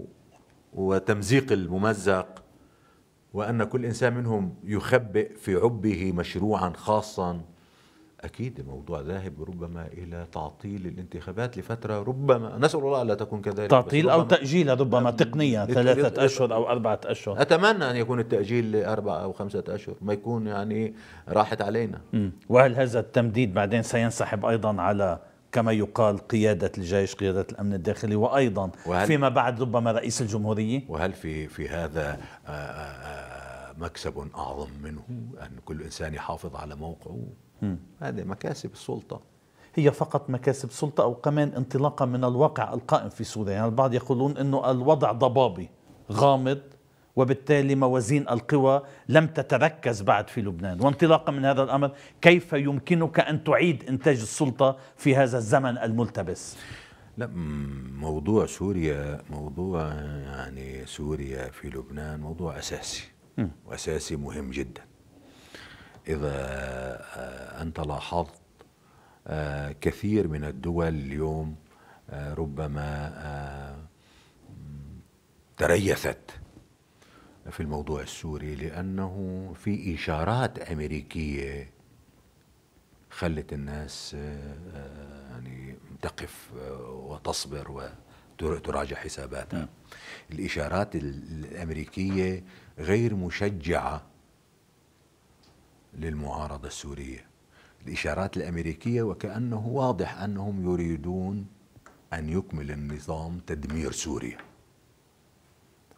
وتمزيق الممزق، وأن كل إنسان منهم يخبئ في عبه مشروعا خاصا. أكيد الموضوع ذاهب ربما إلى تعطيل الانتخابات لفترة، ربما نسأل الله ألا تكون كذلك، تعطيل أو تأجيل ربما تقنيا ثلاثة أشهر أو أربعة أشهر. أتمنى أن يكون التأجيل لأربعة أو خمسة أشهر، ما يكون يعني راحت علينا. م. وهل هذا التمديد بعدين سينسحب أيضا على كما يقال قيادة الجيش، قيادة الأمن الداخلي، وأيضا فيما بعد ربما رئيس الجمهورية؟ وهل في في هذا مكسب أعظم منه أن كل إنسان يحافظ على موقعه؟ هذه مكاسب السلطة. هي فقط مكاسب سلطة أو كمان انطلاقا من الواقع القائم في سوريا؟ يعني البعض يقولون أنه الوضع ضبابي غامض وبالتالي موازين القوى لم تتركز بعد في لبنان. وانطلاقا من هذا الأمر كيف يمكنك أن تعيد إنتاج السلطة في هذا الزمن الملتبس؟ لا، موضوع سوريا موضوع يعني سوريا في لبنان موضوع أساسي م. وأساسي مهم جدا. إذا أنت لاحظت كثير من الدول اليوم ربما تريثت في الموضوع السوري لأنه في إشارات أمريكية خلت الناس يعني تقف وتصبر وتراجع حساباتها. الإشارات الأمريكية غير مشجعة للمعارضة السورية. الإشارات الأمريكية وكأنه واضح أنهم يريدون أن يكمل النظام تدمير سوريا.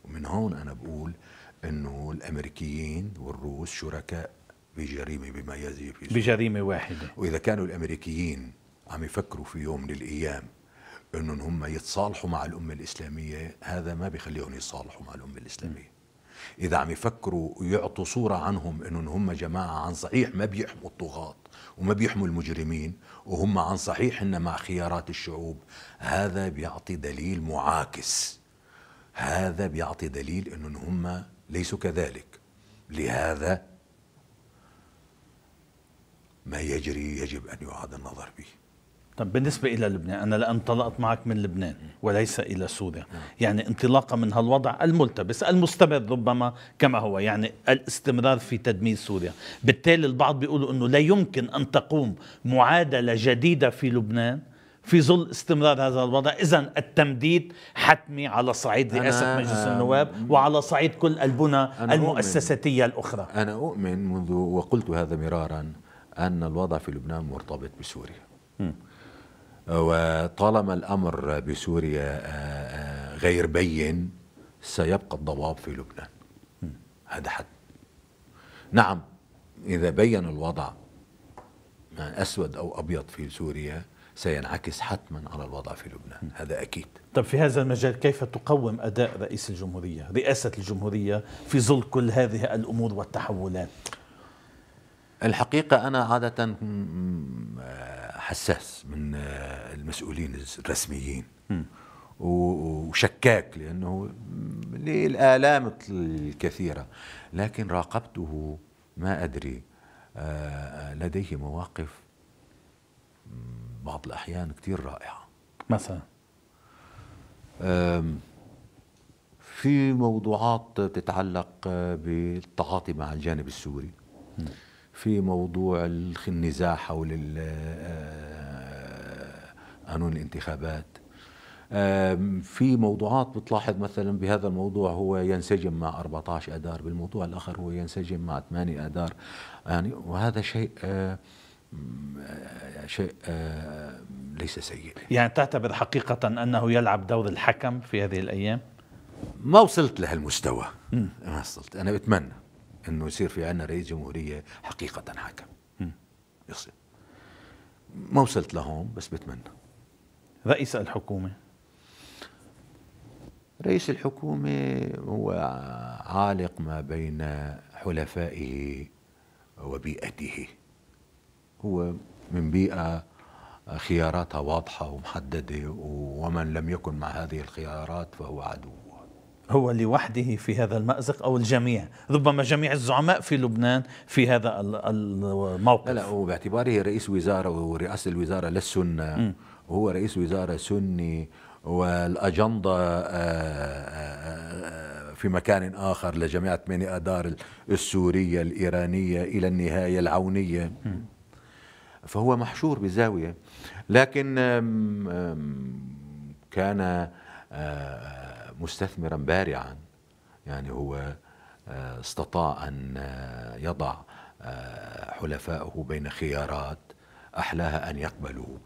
ومن هون أنا بقول أنه الأمريكيين والروس شركاء بجريمة بما يزي في سوريا، بجريمة واحدة. وإذا كانوا الأمريكيين عم يفكروا في يوم من الأيام أنهم هم يتصالحوا مع الأمة الإسلامية، هذا ما بيخليهم يتصالحوا مع الأمة الإسلامية. إذا عم يفكروا يعطوا صورة عنهم أنهم هم جماعة عن صحيح ما بيحموا الطغاة وما بيحموا المجرمين وهم عن صحيح إن مع خيارات الشعوب، هذا بيعطي دليل معاكس. هذا بيعطي دليل أنهم هم ليسوا كذلك. لهذا ما يجري يجب أن يعاد النظر به. طب بالنسبة إلى لبنان، أنا لأن انطلقت معك من لبنان وليس إلى سوريا، يعني انطلاقا من هالوضع الملتبس المستمر ربما كما هو، يعني الاستمرار في تدمير سوريا، بالتالي البعض بيقولوا أنه لا يمكن أن تقوم معادلة جديدة في لبنان في ظل استمرار هذا الوضع. إذن التمديد حتمي على صعيد رئاسة مجلس النواب وعلى صعيد كل البنى المؤسساتية الأخرى. أنا أؤمن منذ وقلت هذا مرارا أن الوضع في لبنان مرتبط بسوريا. م. وطالما الأمر بسوريا غير بين سيبقى الضباب في لبنان. م. هذا حد. نعم، إذا بين الوضع أسود أو أبيض في سوريا سينعكس حتما على الوضع في لبنان. هذا أكيد. طب في هذا المجال كيف تقوم أداء رئيس الجمهورية، رئاسة الجمهورية في ظل كل هذه الأمور والتحولات؟ الحقيقة أنا عادة حساس من المسؤولين الرسميين وشكاك لأنه للآلام الكثيرة، لكن راقبته ما أدري لديه مواقف بعض الأحيان كتير رائعة. مثلا في موضوعات تتعلق بالتعاطي مع الجانب السوري، في موضوع النزاع حول قانون الانتخابات، في موضوعات بتلاحظ مثلا بهذا الموضوع هو ينسجم مع أربعة عشر آذار، بالموضوع الآخر هو ينسجم مع ثمانية آذار، يعني وهذا شيء شيء ليس سيء. يعني تعتبر حقيقة أنه يلعب دور الحكم في هذه الأيام؟ ما وصلت لهالمستوى. م. ما وصلت. أنا بتمنى أنه يصير في عنا رئيس جمهورية حقيقة حكم. م. يصير. ما وصلت لهون بس بتمنى. رئيس الحكومة رئيس الحكومة هو عالق ما بين حلفائه وبيئته. هو من بيئة خياراتها واضحة ومحددة، ومن لم يكن مع هذه الخيارات فهو عدو. هو لوحده في هذا المأزق أو الجميع؟ ربما جميع الزعماء في لبنان في هذا الموقف. لا، هو باعتباره رئيس وزارة ورئاسة الوزارة للسنة، وهو رئيس وزارة سني، والأجندة في مكان آخر لجماعة ثمانية آذار السورية الإيرانية إلى النهاية العونية، فهو محشور بزاوية. لكن كان مستثمرا بارعا، يعني هو استطاع أن يضع حلفائه بين خيارات أحلاها أن يقبلوا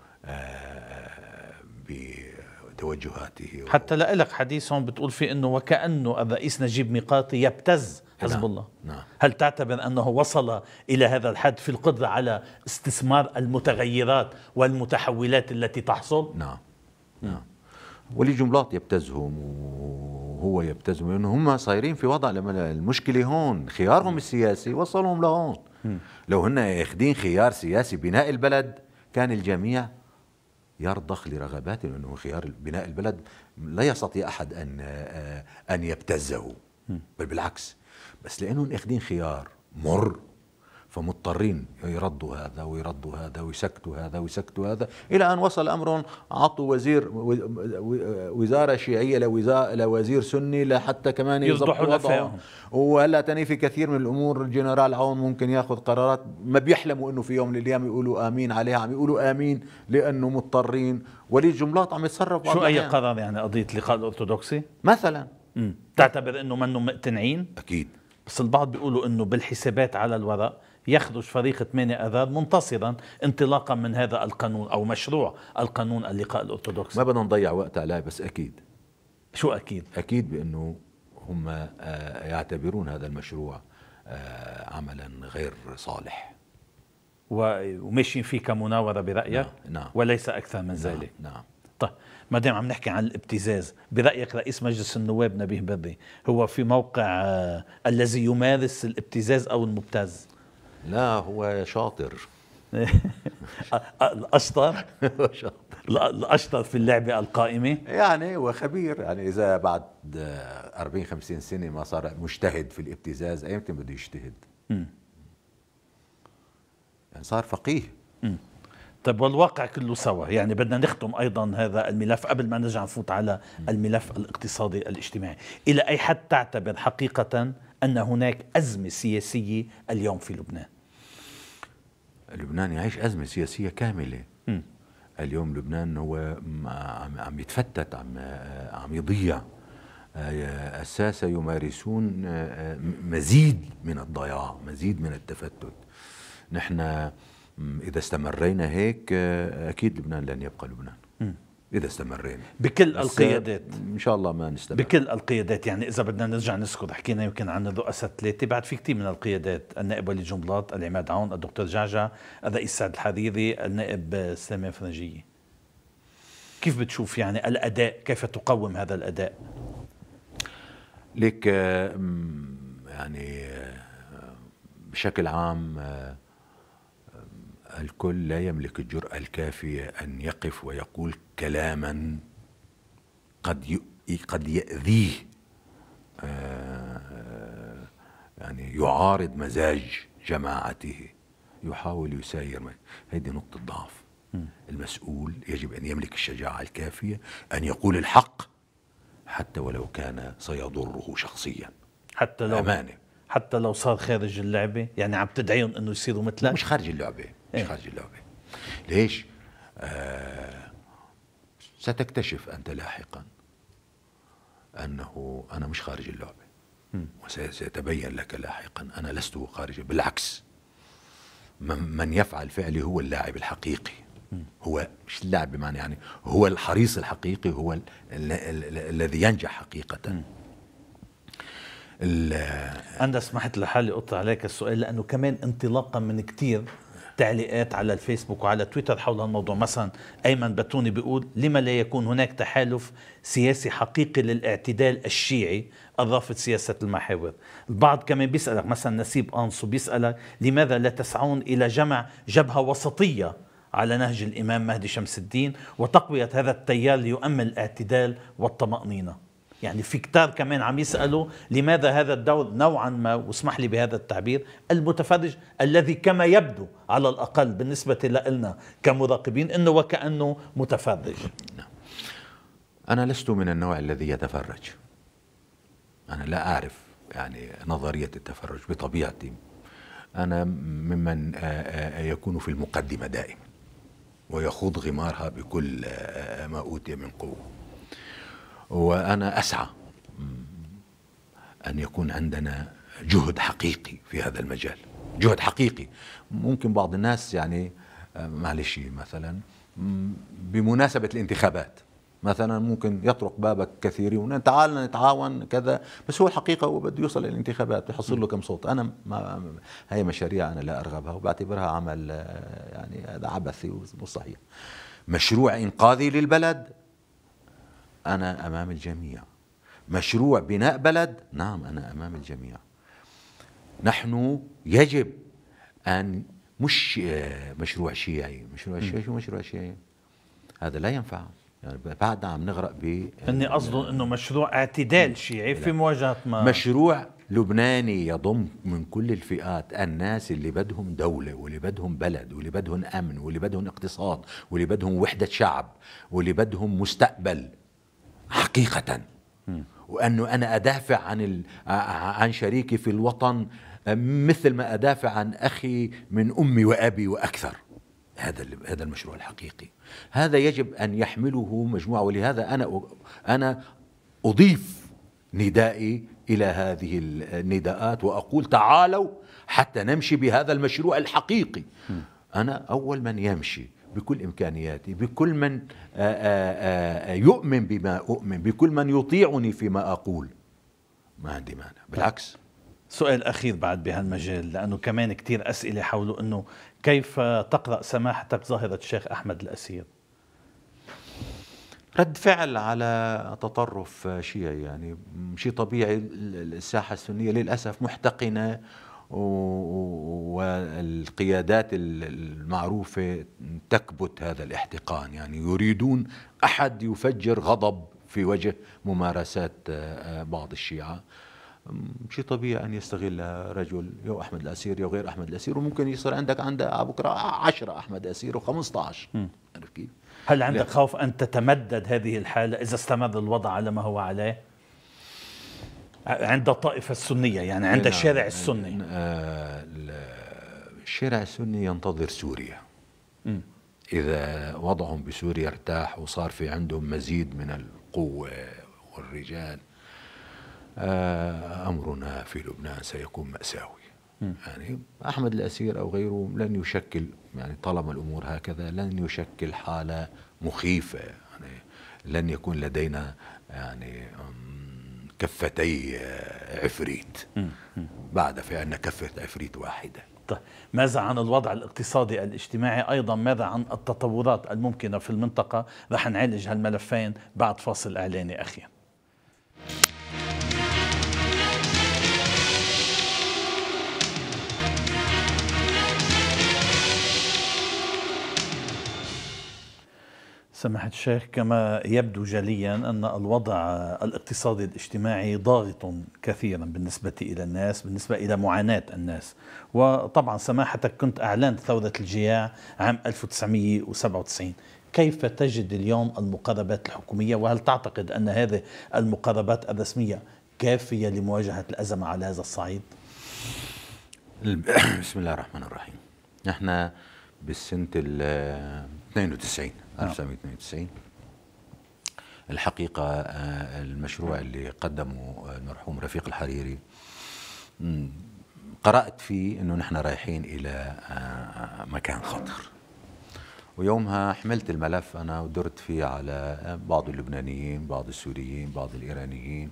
بتوجهاته. حتى لك حديث هون بتقول فيه أنه وكأنه الرئيس نجيب ميقاتي يبتز حزب نعم. الله. نعم. هل تعتبر أنه وصل إلى هذا الحد في القدرة على استثمار المتغيرات والمتحولات التي تحصل؟ نعم. نعم. وليد جنبلاط يبتزهم وهو يبتزهم، لأنه هم صايرين في وضع، لما المشكلة هون خيارهم السياسي وصلهم لهون. لو هن ياخدين خيار سياسي بناء البلد كان الجميع يرضخ لرغباته، لأنه خيار بناء البلد لا يستطيع أحد أن أن يبتزه، بل بالعكس، بس لأنهم اخدين خيار مر فمضطرين يردوا هذا ويردوا هذا ويسكتوا هذا ويسكتوا هذا، إلى أن وصل أمرهم عطوا وزير وزارة شيعية لوزير سني لحتى كمان يضبطوا وضعهم. وهلا تاني في كثير من الأمور الجنرال عون ممكن ياخذ قرارات ما بيحلموا إنه في يوم من الأيام يقولوا آمين عليها، عم يقولوا آمين لأنه مضطرين. وليد جنبلاط عم يتصرف. شو أي قرار يعني قضية اللقاء الأرثوذكسي مثلا؟ مم. تعتبر إنه منهم مقتنعين؟ أكيد. بس البعض بيقولوا إنه بالحسابات على الورق يخرج فريق ثمانية آذار منتصرا انطلاقا من هذا القانون أو مشروع القانون اللقاء الأرثوذكسي. ما بدنا نضيع وقت عليه، بس أكيد. شو أكيد؟ أكيد بأنه هم يعتبرون هذا المشروع عملا غير صالح وماشيين فيه كمناورة برأيك؟ نعم. نعم. وليس أكثر من نعم. ذلك. نعم. طيب ما دام عم نحكي عن الابتزاز، برأيك رئيس مجلس النواب نبيه بري هو في موقع آه الذي يمارس الابتزاز أو المبتز؟ لا، هو شاطر. الأشطر شاطر الأشطر في اللعبة القائمة، يعني هو خبير. يعني إذا بعد أربعين خمسين سنة ما صار مجتهد في الابتزاز، أيمتى بده يجتهد؟ م. يعني صار فقيه. م. طيب والواقع كله سوا، يعني بدنا نختم أيضا هذا الملف قبل ما نرجع نفوت على الملف الاقتصادي الاجتماعي. إلى أي حد تعتبر حقيقة أن هناك أزمة سياسية اليوم في لبنان؟ لبنان يعيش أزمة سياسية كاملة. م. اليوم لبنان هو عم يتفتت، عم عم يضيع. الساسة يمارسون مزيد من الضياع، مزيد من التفتت. نحن إذا استمرينا هيك أكيد لبنان لن يبقى لبنان. م. إذا استمرينا بكل القيادات إن شاء الله ما نستمر بكل القيادات. يعني إذا بدنا نرجع نذكر، حكينا يمكن عن الرؤساء الثلاثة، بعد في كثير من القيادات: النائب وليد جنبلاط، العماد عون، الدكتور جعجع، الرئيس سعد الحريري، النائب سليمان فرنجية. كيف بتشوف يعني الأداء؟ كيف تقوم هذا الأداء؟ لك يعني بشكل عام الكل لا يملك الجرأة الكافية أن يقف ويقول كلاما قد قد يأذيه، يعني يعارض مزاج جماعته، يحاول يساير. هذه نقطة ضعف. المسؤول يجب أن يملك الشجاعة الكافية أن يقول الحق حتى ولو كان سيضره شخصيا، حتى لو أمانة، حتى لو صار خارج اللعبة. يعني عم تدعيهم أنه يصيروا مثلك؟ مش خارج اللعبة، مش خارج اللعبة. ليش؟ آه ستكتشف أنت لاحقا أنه أنا مش خارج اللعبة، وسيتبين لك لاحقا أنا لست خارج. بالعكس، من يفعل فعلي هو اللاعب الحقيقي. هو مش اللاعب بمعنى، يعني هو الحريص الحقيقي، هو ال ال ال الذي ينجح حقيقة. أنا سمحت لحالي أقطع عليك السؤال، لأنه كمان انطلاقا من كتير تعليقات على الفيسبوك وعلى تويتر حول الموضوع. مثلا أيمن بتوني بيقول: لما لا يكون هناك تحالف سياسي حقيقي للاعتدال الشيعي الرافض سياسة المحاور؟ البعض كمان بيسألك، مثلا نسيب أنصو بيسألك: لماذا لا تسعون إلى جمع جبهة وسطية على نهج الإمام مهدي شمس الدين وتقوية هذا التيار ليؤمن الاعتدال والطمأنينة؟ يعني في كتار كمان عم يسألوا لماذا هذا الدور نوعا ما، واسمح لي بهذا التعبير، المتفرج الذي كما يبدو على الأقل بالنسبة لنا كمراقبين أنه وكأنه متفرج. أنا لست من النوع الذي يتفرج. أنا لا أعرف يعني نظرية التفرج بطبيعتي. أنا ممن يكون في المقدمة دائما ويخوض غمارها بكل ما أوتي من قوة. وأنا أسعى أن يكون عندنا جهد حقيقي في هذا المجال، جهد حقيقي. ممكن بعض الناس يعني معلش مثلا بمناسبة الانتخابات مثلا ممكن يطرق بابك كثيرين، تعال نتعاون كذا، بس هو الحقيقة هو بده يوصل للانتخابات يحصل له كم صوت. أنا ما هي مشاريع أنا لا أرغبها وبعتبرها عمل يعني هذا عبثي ومش صحيح. مشروع إنقاذي للبلد أنا أمام الجميع. مشروع بناء بلد، نعم أنا أمام الجميع. نحن يجب أن مش مشروع شيعي، مشروع شيعي شو مشروع شيعي؟ هذا لا ينفع، يعني بعدنا عم نغرق ب اني قصده انه مشروع اعتدال شيعي في مواجهه ما مشروع لبناني يضم من كل الفئات، الناس اللي بدهم دولة واللي بدهم بلد واللي بدهم أمن واللي بدهم اقتصاد واللي بدهم وحدة شعب واللي بدهم مستقبل حقيقة. وأنه أنا أدافع عن ال... عن شريكي في الوطن مثل ما أدافع عن أخي من أمي وأبي وأكثر. هذا هذا المشروع الحقيقي، هذا يجب أن يحمله مجموعة. ولهذا أنا أنا أضيف ندائي إلى هذه النداءات وأقول تعالوا حتى نمشي بهذا المشروع الحقيقي. أنا أول من يمشي بكل إمكانياتي، بكل من يؤمن بما أؤمن، بكل من يطيعني فيما أقول، ما عندي مانع، بالعكس. سؤال أخير بعد بهالمجال، لأنه كمان كتير أسئلة حوله، أنه كيف تقرأ سماحتك ظاهرة الشيخ أحمد الأسير؟ رد فعل على تطرف شيعي، يعني شيء طبيعي. الساحة السنية للأسف محتقنة، والقيادات المعروفة تكبت هذا الاحتقان، يعني يريدون أحد يفجر غضب في وجه ممارسات بعض الشيعة. شيء طبيعي أن يستغل رجل يو أحمد الأسير يو غير أحمد الأسير، وممكن يصير عندك عند بكرة عشرة أحمد أسير وخمسة عشر. عارف كيف؟ هل عندك لا. خوف أن تتمدد هذه الحالة إذا استمر الوضع على ما هو عليه عند الطائفة السنية، يعني عند نعم. الشارع السني؟ الشارع السني ينتظر سوريا. م. إذا وضعهم بسوريا ارتاح وصار في عندهم مزيد من القوة والرجال، أمرنا في لبنان سيكون مأساوي. م. يعني أحمد الأسير أو غيره لن يشكل، يعني طالما الأمور هكذا لن يشكل حالة مخيفة، يعني لن يكون لدينا يعني كفتي عفريت بعد في أن كفة عفريت واحدة. طيب ماذا عن الوضع الاقتصادي الاجتماعي؟ أيضا ماذا عن التطورات الممكنة في المنطقة؟ رح نعالج هالملفين بعد فاصل إعلاني أخير. سماحة الشيخ، كما يبدو جليا أن الوضع الاقتصادي الاجتماعي ضاغط كثيرا بالنسبة إلى الناس، بالنسبة إلى معاناة الناس. وطبعا سماحتك كنت أعلنت ثورة الجياع عام ألف وتسعمئة وسبعة وتسعين، كيف تجد اليوم المقربات الحكومية؟ وهل تعتقد أن هذه المقربات الرسمية كافية لمواجهة الأزمة على هذا الصعيد؟ بسم الله الرحمن الرحيم. نحن بالسنة ال اثنين وتسعين ألف وتسعمئة واثنين وتسعين الحقيقة المشروع اللي قدمه المرحوم رفيق الحريري قرأت فيه أنه نحن رايحين إلى مكان خطر، ويومها حملت الملف أنا ودرت فيه على بعض اللبنانيين، بعض السوريين، بعض الإيرانيين،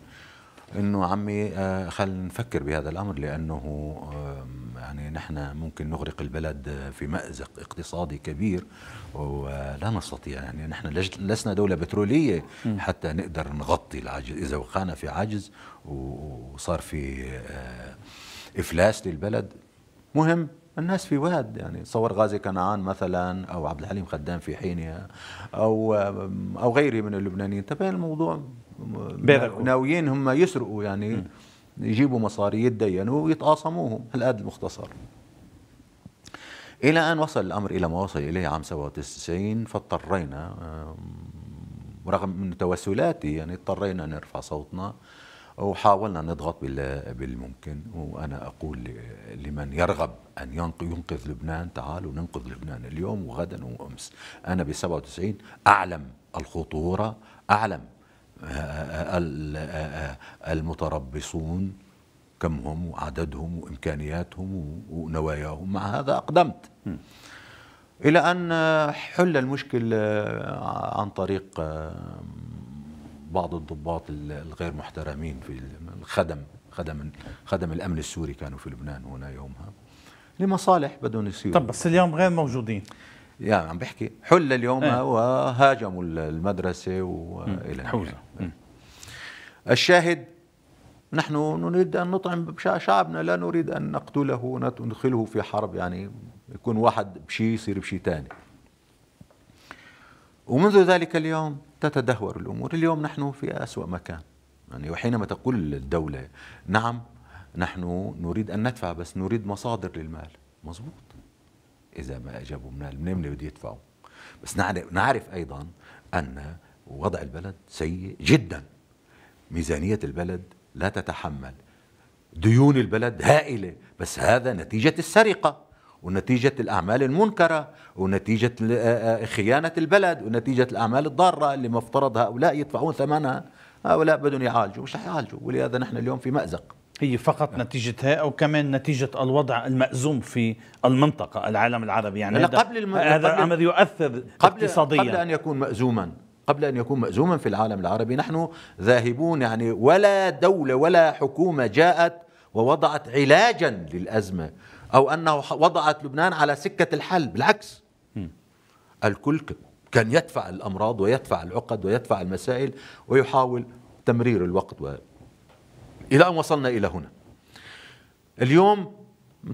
انه عمي خلينا نفكر بهذا الامر، لانه يعني نحن ممكن نغرق البلد في مأزق اقتصادي كبير ولا نستطيع، يعني نحن لسنا دولة بترولية حتى نقدر نغطي العجز. اذا وقعنا في عجز وصار في افلاس للبلد، مهم الناس في واد، يعني تصور غازي كنعان مثلا او عبد الحليم خدام في حينها او او غيره من اللبنانيين، تبين الموضوع ناويين هم يسرقوا، يعني م. يجيبوا مصاري يتدينوا ويتقاسموهم. هالقد المختصر. الى ان وصل الامر الى ما وصل اليه عام سبعة وتسعين، فاضطرينا رغم من توسلاتي يعني اضطرينا نرفع صوتنا وحاولنا نضغط بالممكن. وانا اقول لمن يرغب ان ينقذ لبنان تعالوا ننقذ لبنان اليوم وغدا وامس. انا ب سبعة وتسعين اعلم الخطوره، اعلم المتربصون كم هم وعددهم وإمكانياتهم ونواياهم، مع هذا أقدمت م. إلى أن حل المشكل عن طريق بعض الضباط الغير محترمين في الخدم خدم خدم الأمن السوري كانوا في لبنان هنا يومها لمصالح بدهم يصيروا. طب بس اليوم غير موجودين. يعني عم بحكي حل اليوم ايه. وهاجموا المدرسة وإلى حوزة. الشاهد نحن نريد أن نطعم شعبنا، لا نريد أن نقتله وندخله في حرب، يعني يكون واحد بشيء يصير بشيء ثاني. ومنذ ذلك اليوم تتدهور الأمور. اليوم نحن في أسوأ مكان، يعني وحينما تقول الدولة نعم نحن نريد أن ندفع بس نريد مصادر للمال، مظبوط، إذا ما أجابوا من منين بده يدفعوا، بس نعرف, نعرف أيضا أن وضع البلد سيء جدا، ميزانية البلد لا تتحمل، ديون البلد هائلة، بس هذا نتيجة السرقة ونتيجة الأعمال المنكرة ونتيجة خيانة البلد ونتيجة الأعمال الضارة اللي مفترض هؤلاء يدفعون ثمنها. هؤلاء بدهم يعالجوا، مش رح يعالجوا، ولهذا نحن اليوم في مأزق. هي فقط نتيجتها أو كمان نتيجة الوضع المأزوم في المنطقة العالم العربي؟ يعني هذا قبل الم... هذا قبل... أمر يؤثر قبل... اقتصاديا قبل أن يكون مأزوما قبل أن يكون مأزوما في العالم العربي نحن ذاهبون، يعني ولا دولة ولا حكومة جاءت ووضعت علاجا للأزمة أو أنه وضعت لبنان على سكة الحل، بالعكس م. الكل كان يدفع الأمراض ويدفع العقد ويدفع المسائل ويحاول تمرير الوقت و... إلى أن وصلنا إلى هنا. اليوم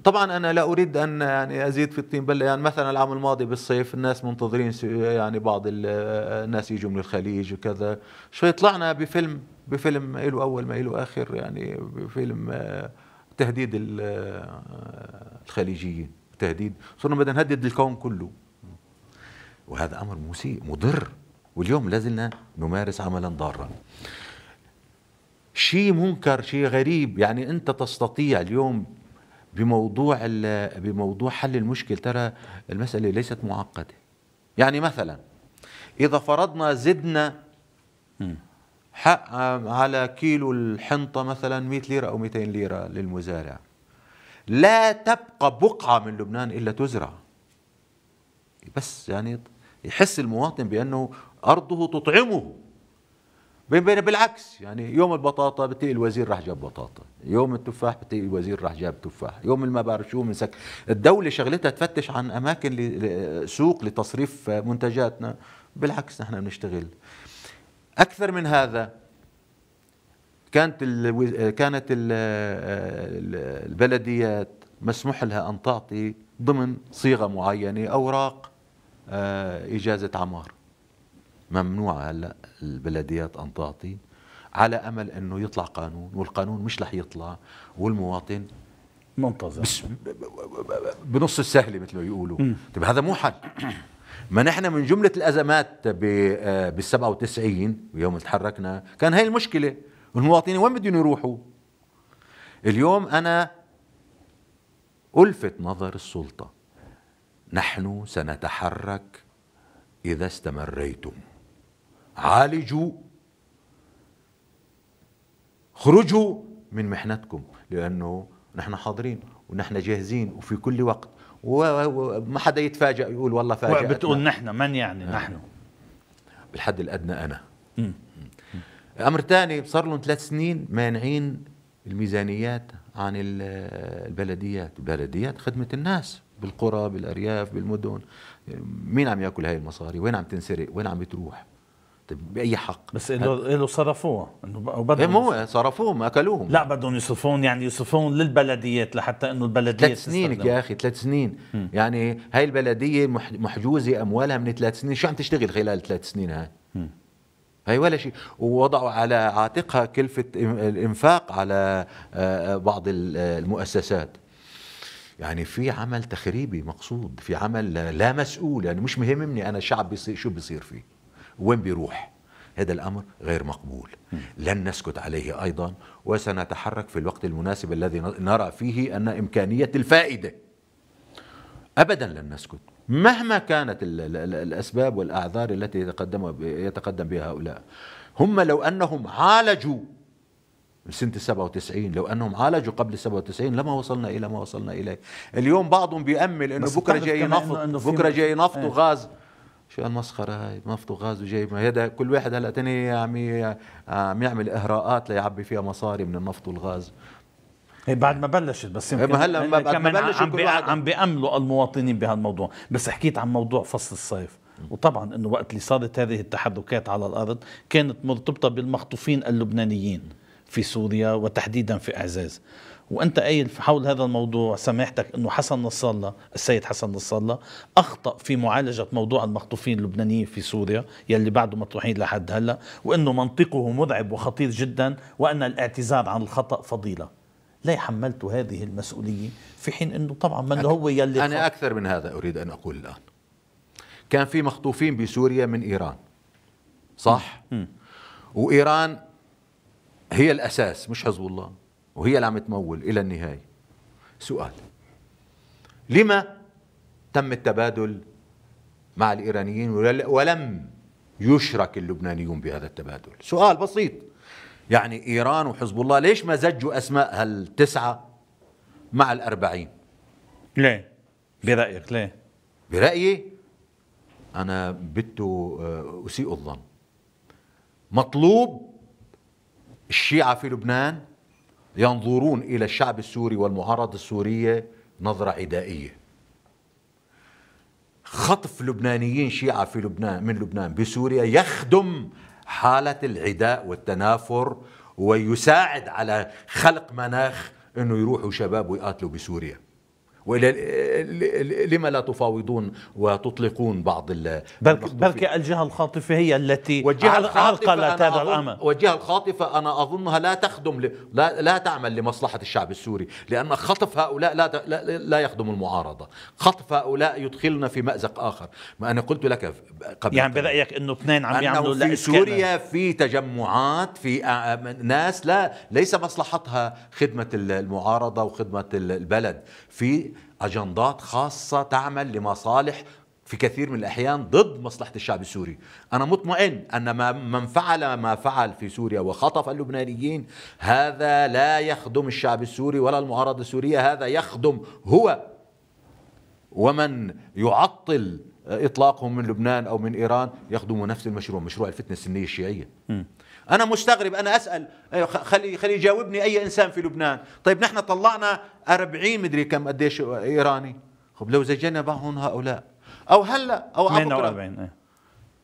طبعا أنا لا أريد أن يعني أزيد في الطين بلة، يعني مثلا العام الماضي بالصيف الناس منتظرين، يعني بعض الناس يجوا من الخليج وكذا، شوي طلعنا بفيلم بفيلم له أول ما له آخر، يعني بفيلم تهديد الخليجيين، تهديد، صرنا بدنا نهدد الكون كله، وهذا أمر مسيء مضر، واليوم لازلنا نمارس عملا ضارا. شيء منكر، شيء غريب، يعني أنت تستطيع اليوم بموضوع بموضوع حل المشكل، ترى المسألة ليست معقدة. يعني مثلا إذا فرضنا زدنا حق على كيلو الحنطة مثلا مئة ليرة أو مئتين ليرة للمزارع، لا تبقى بقعة من لبنان إلا تزرع، بس يعني يحس المواطن بأنه أرضه تطعمه. بالعكس، يعني يوم البطاطا بتلاقي الوزير راح جاب بطاطا، يوم التفاح بتلاقي الوزير راح جاب تفاح، يوم ما بعرف شو من سك. الدولة شغلتها تفتش عن أماكن سوق لتصريف منتجاتنا، بالعكس نحن بنشتغل أكثر من هذا. كانت ال كانت ال البلديات مسموح لها أن تعطي ضمن صيغة معينة أوراق إجازة عمار، ممنوع هلا البلديات ان تعطي، على امل انه يطلع قانون، والقانون مش رح يطلع والمواطن منتظر بنص السهله مثل ما يقولوا. طيب هذا مو حل. ما نحن من جمله الازمات بال سبعة وتسعين ويوم تحركنا كان هاي المشكله، والمواطنين وين بدهم يروحوا؟ اليوم انا الفت نظر السلطه، نحن سنتحرك اذا استمريتم، عالجوا، خرجوا من محنتكم، لأنه نحن حاضرين ونحن جاهزين وفي كل وقت، وما حدا يتفاجأ يقول والله فاجأتنا. بتقول نحن من يعني؟ آه. نحن بالحد الأدنى أنا. م. أمر ثاني، صار لهم ثلاث سنين مانعين الميزانيات عن البلديات، البلديات خدمة الناس بالقرى بالأرياف بالمدن، مين عم يأكل هاي المصاري؟ وين عم تنسرق؟ وين عم بتروح؟ طيب بأي حق؟ بس له صرفوها، انه بدهم مو صرفوهم اكلوهم، لا بدهم يصرفون، يعني يصرفون للبلديات لحتى انه البلديه ثلاث سنين يا اخي، ثلاث سنين م. يعني هاي البلديه محجوزه اموالها من ثلاث سنين، شو عم تشتغل خلال ثلاث سنين هاي؟ م. هاي ولا شيء، ووضعوا على عاتقها كلفه الانفاق على بعض المؤسسات. يعني في عمل تخريبي مقصود، في عمل لا مسؤول، يعني مش مهمني انا الشعب بيصير شو بيصير فيه وين بيروح. هذا الأمر غير مقبول، لن نسكت عليه أيضا، وسنتحرك في الوقت المناسب الذي نرى فيه أن إمكانية الفائدة. أبدا لن نسكت مهما كانت الأسباب والأعذار التي يتقدم يتقدم بها هؤلاء. هم لو أنهم عالجوا سنة السبعة وتسعين، لو أنهم عالجوا قبل السبعة وتسعين لما وصلنا إلى ما وصلنا إليه. اليوم بعضهم بيأمل إنه بكرة جاي نفط، بكرة جاي نفط وغاز. شو المسخرة هاي؟ نفط وغاز وجاي هذا، كل واحد هلا تاني عم عم يعمل إهراءات ليعبي فيها مصاري من النفط والغاز. هي بعد ما بلشت بس يمكن ما هلا ما بعد ما كمان بلشوا عم, كل بي واحد عم بيأملوا المواطنين بهالموضوع. بس حكيت عن موضوع فصل الصيف، وطبعا انه وقت اللي صارت هذه التحركات على الارض كانت مرتبطه بالمخطوفين اللبنانيين في سوريا وتحديدا في اعزاز. وانت قايل حول هذا الموضوع سماحتك انه حسن نصر الله، السيد حسن نصر الله اخطا في معالجه موضوع المخطوفين اللبنانيين في سوريا يلي بعده مطروحين لحد هلا، وانه منطقه مرعب وخطير جدا، وان الاعتذار عن الخطا فضيله. لا حملت هذه المسؤوليه في حين انه طبعا من أك... هو يلي انا اكثر من هذا اريد ان اقول الان. كان في مخطوفين بسوريا من ايران، صح؟ م. وايران هي الاساس مش حزب الله، وهي اللي عم تمول الى النهايه. سؤال: لما تم التبادل مع الايرانيين ولم يشرك اللبنانيون بهذا التبادل؟ سؤال بسيط. يعني ايران وحزب الله ليش ما زجوا اسماء هالتسعه مع الأربعين؟ ليه؟ برايك ليه؟ برايي انا بدت اسيء الظن. مطلوب الشيعة في لبنان ينظرون إلى الشعب السوري والمعارضة السورية نظرة عدائية. خطف لبنانيين شيعة في لبنان من لبنان بسوريا يخدم حالة العداء والتنافر ويساعد على خلق مناخ أنه يروحوا شباب ويقاتلوا بسوريا. لما لا تفاوضون وتطلقون بعض بركي الجهة الخاطفة هي التي عرقلت هذا الأمر. والجهة الخاطفة أنا أظنها لا تخدم ل... لا لا تعمل لمصلحة الشعب السوري، لأن خطف هؤلاء لا لا, لا يخدم المعارضة. خطف هؤلاء يدخلنا في مأزق آخر. ما أنا قلت لك قبل، يعني برأيك إنه اثنين عم يعملوا في سوريا في تجمعات، في ناس لا ليس مصلحتها خدمة المعارضة وخدمة البلد، في أجندات خاصة تعمل لمصالح في كثير من الأحيان ضد مصلحة الشعب السوري. أنا مطمئن أن ما من فعل ما فعل في سوريا وخطف اللبنانيين هذا لا يخدم الشعب السوري ولا المعارضة السورية، هذا يخدم هو ومن يعطل إطلاقهم من لبنان أو من إيران يخدموا نفس المشروع، مشروع الفتنة السنية الشيعية. م. أنا مستغرب، أنا أسأل خلي خلي يجاوبني أي إنسان في لبنان. طيب نحن طلعنا أربعين مدري كم قديش إيراني، خب لو زجنا معهم هؤلاء أو هلا أو بكرة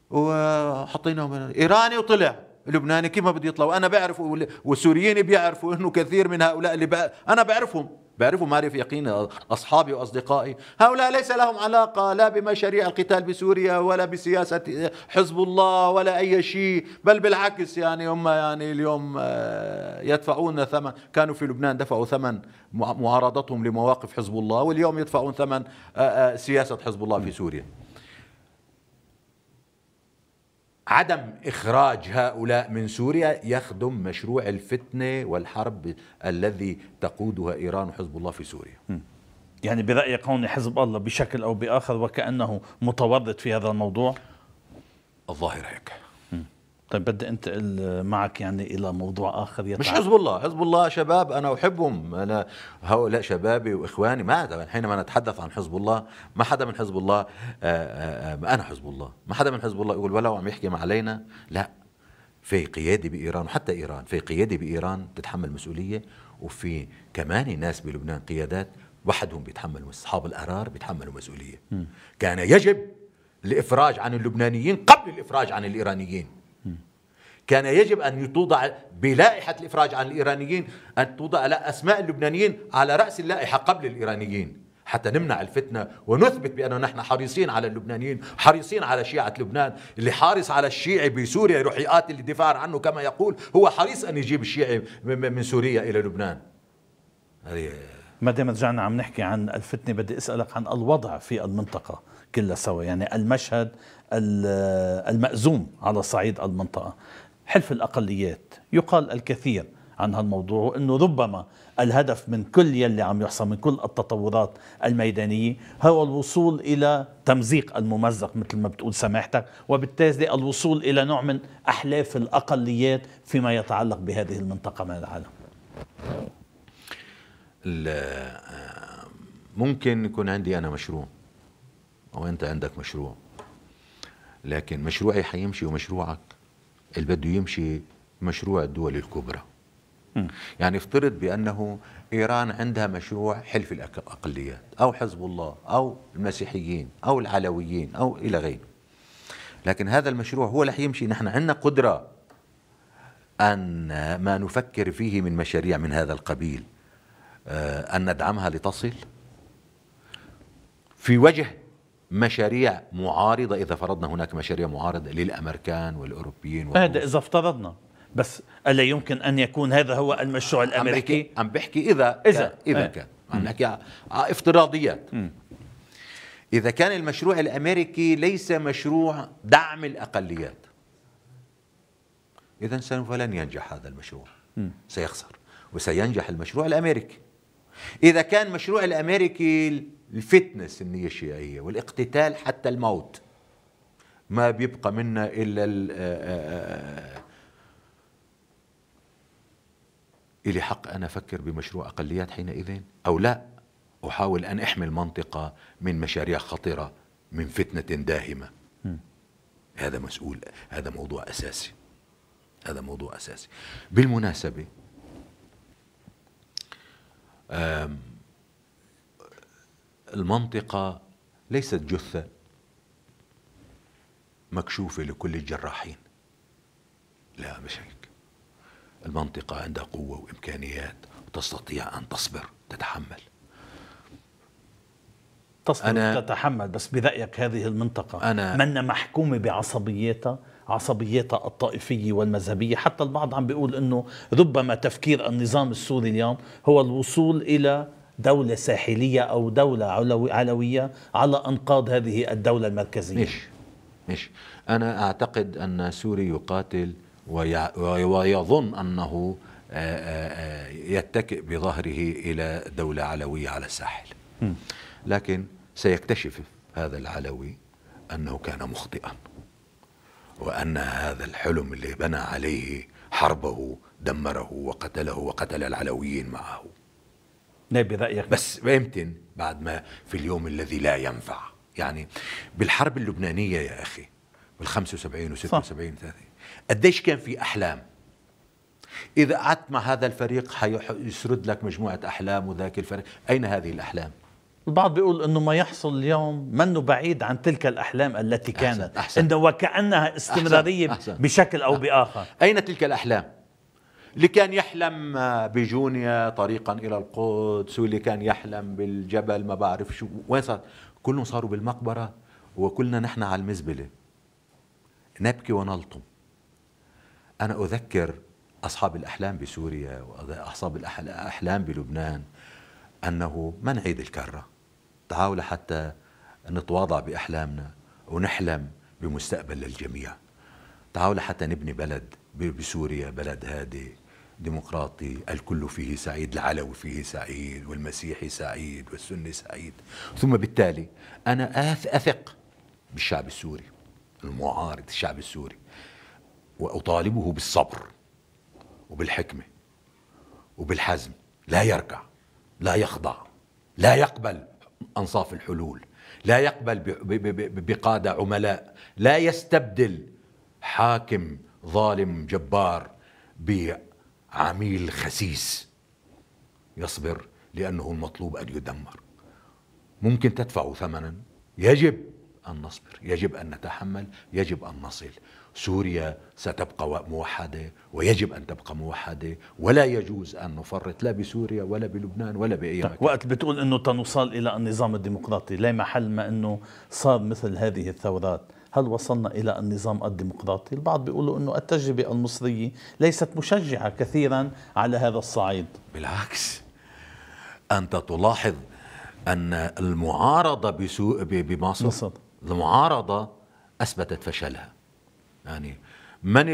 وحطيناهم إيراني وطلع لبناني، كيف ما بده يطلع؟ وأنا بعرف والسوريين بيعرفوا إنه كثير من هؤلاء اللي بع... أنا بعرفهم بعرفوا معرفة يقين، أصحابي وأصدقائي، هؤلاء ليس لهم علاقة لا بمشاريع القتال بسوريا ولا بسياسة حزب الله ولا أي شيء، بل بالعكس يعني هم يعني اليوم يدفعون ثمن، كانوا في لبنان دفعوا ثمن معارضتهم لمواقف حزب الله، واليوم يدفعون ثمن سياسة حزب الله في سوريا. عدم إخراج هؤلاء من سوريا يخدم مشروع الفتنة والحرب الذي تقودها إيران وحزب الله في سوريا. يعني برأيك هون حزب الله بشكل أو بآخر وكأنه متورط في هذا الموضوع؟ الظاهر هيك. طيب بدي انتقل معك يعني إلى موضوع آخر يتعب. مش حزب الله، حزب الله شباب أنا أحبهم، أنا هؤلاء شبابي وإخواني. ما حينما نتحدث عن حزب الله ما حدا من حزب الله آآ آآ أنا حزب الله، ما حدا من حزب الله يقول ولو عم يحكي علينا، لا. في قيادة بإيران وحتى إيران، في قيادة بإيران تتحمل مسؤولية، وفي كمان ناس بلبنان قيادات وحدهم بيتحملوا، أصحاب القرار بيتحملوا مسؤولية. م. كان يجب الإفراج عن اللبنانيين قبل الإفراج عن الإيرانيين. كان يجب أن توضع بلائحة الإفراج عن الإيرانيين أن توضع أسماء اللبنانيين على رأس اللائحة قبل الإيرانيين، حتى نمنع الفتنة ونثبت بأنه نحن حريصين على اللبنانيين، حريصين على شيعة لبنان. اللي حارس على الشيعي بسوريا يروح يقاتل الدفاع عنه كما يقول، هو حريص أن يجيب الشيعي من سوريا إلى لبنان. ما دام رجعنا عم نحكي عن الفتنة بدي أسألك عن الوضع في المنطقة كلها سوا، يعني المشهد المأزوم على صعيد المنطقة. حلف الأقليات يقال الكثير عن هالموضوع، وأنه ربما الهدف من كل يلي عم يحصل من كل التطورات الميدانية هو الوصول إلى تمزيق الممزق مثل ما بتقول سماحتك، وبالتالي الوصول إلى نوع من أحلاف الأقليات فيما يتعلق بهذه المنطقة من العالم. ممكن يكون عندي أنا مشروع أو أنت عندك مشروع، لكن مشروعي حيمشي ومشروعك اللي بده يمشي مشروع الدول الكبرى. يعني افترض بأنه إيران عندها مشروع حلف الأقليات أو حزب الله أو المسيحيين أو العلويين أو إلى غيره، لكن هذا المشروع هو رح يمشي. نحن عندنا قدرة أن ما نفكر فيه من مشاريع من هذا القبيل أن ندعمها لتصل في وجه مشاريع معارضة، إذا فرضنا هناك مشاريع معارضة للأمريكان والأوروبيين. هذا إذا افترضنا، بس ألا يمكن أن يكون هذا هو المشروع الأمريكي؟ عم بحكي إذا إذا كان إذا كان عم نحكي افتراضيات. م. إذا كان المشروع الأمريكي ليس مشروع دعم الأقليات، إذن سوف لن ينجح هذا المشروع، م. سيخسر، وسينجح المشروع الأمريكي. إذا كان مشروع الأمريكي الفتنس النية الشيعية والاقتتال حتى الموت، ما بيبقى منا إلا إلي حق أنا أفكر بمشروع أقليات حينئذ أو لا أحاول أن أحمي المنطقة من مشاريع خطرة من فتنة داهمة. م. هذا مسؤول، هذا موضوع أساسي، هذا موضوع أساسي. بالمناسبة المنطقة ليست جثة مكشوفة لكل الجراحين، لا مش هيك. المنطقة عندها قوة وإمكانيات وتستطيع أن تصبر، تتحمل. تصبر أنا تتحمل، بس برأيك هذه المنطقة أنا من محكومة بعصبيتها، عصبيتها الطائفية والمذهبية؟ حتى البعض عم بيقول أنه ربما تفكير النظام السوري اليوم هو الوصول إلى دولة ساحلية أو دولة علوية على أنقاض هذه الدولة المركزية. مش مش أنا أعتقد أن سوري يقاتل ويظن أنه يتكئ بظهره إلى دولة علوية على الساحل، لكن سيكتشف هذا العلوي أنه كان مخطئا، وأن هذا الحلم اللي بنى عليه حربه دمره وقتله وقتل العلويين معه. لا برأيك؟ بس يمكن بعد ما في اليوم الذي لا ينفع، يعني بالحرب اللبنانية يا أخي بالخمسة وسبعين وستة وسبعين ثلاثين قديش كان في أحلام. إذا قعدت مع هذا الفريق حيسرد لك مجموعة أحلام وذاك الفريق، أين هذه الأحلام؟ البعض بيقول أنه ما يحصل اليوم منه بعيد عن تلك الأحلام التي كانت، أحسن أحسن. إنه وكأنها استمرارية أحسن أحسن. بشكل أو بآخر. أين تلك الأحلام؟ اللي كان يحلم بجونيا طريقا إلى القدس، واللي كان يحلم بالجبل ما بعرف شو، وين صار؟ كلهم صاروا بالمقبرة وكلنا نحن على المزبلة نبكي ونلطم. أنا أذكر أصحاب الأحلام بسوريا وأصحاب الأحلام بلبنان أنه ما نعيد الكرة، تعالوا حتى نتواضع بأحلامنا ونحلم بمستقبل للجميع. تعالوا حتى نبني بلد بسوريا، بلد هادي ديمقراطي الكل فيه سعيد، العلوي فيه سعيد والمسيحي سعيد والسني سعيد. ثم بالتالي أنا أثق بالشعب السوري المعارض، الشعب السوري، وأطالبه بالصبر وبالحكمة وبالحزم، لا يركع، لا يخضع، لا يقبل أنصاف الحلول، لا يقبل بقادة عملاء، لا يستبدل حاكم ظالم جبار بعميل خسيس. يصبر لأنه المطلوب أن يدمر. ممكن تدفع ثمنا، يجب أن نصبر، يجب أن نتحمل، يجب أن نصل. سوريا ستبقى موحدة ويجب أن تبقى موحدة، ولا يجوز أن نفرط لا بسوريا ولا بلبنان ولا بأي مكان. وقت بتقول أنه تنوصل إلى النظام الديمقراطي، لا محل ما أنه صار مثل هذه الثورات، هل وصلنا إلى النظام الديمقراطي؟ البعض بيقولوا أنه التجربة المصرية ليست مشجعة كثيرا على هذا الصعيد. بالعكس، أنت تلاحظ أن المعارضة بمصر مصر. المعارضة أثبتت فشلها. يعني من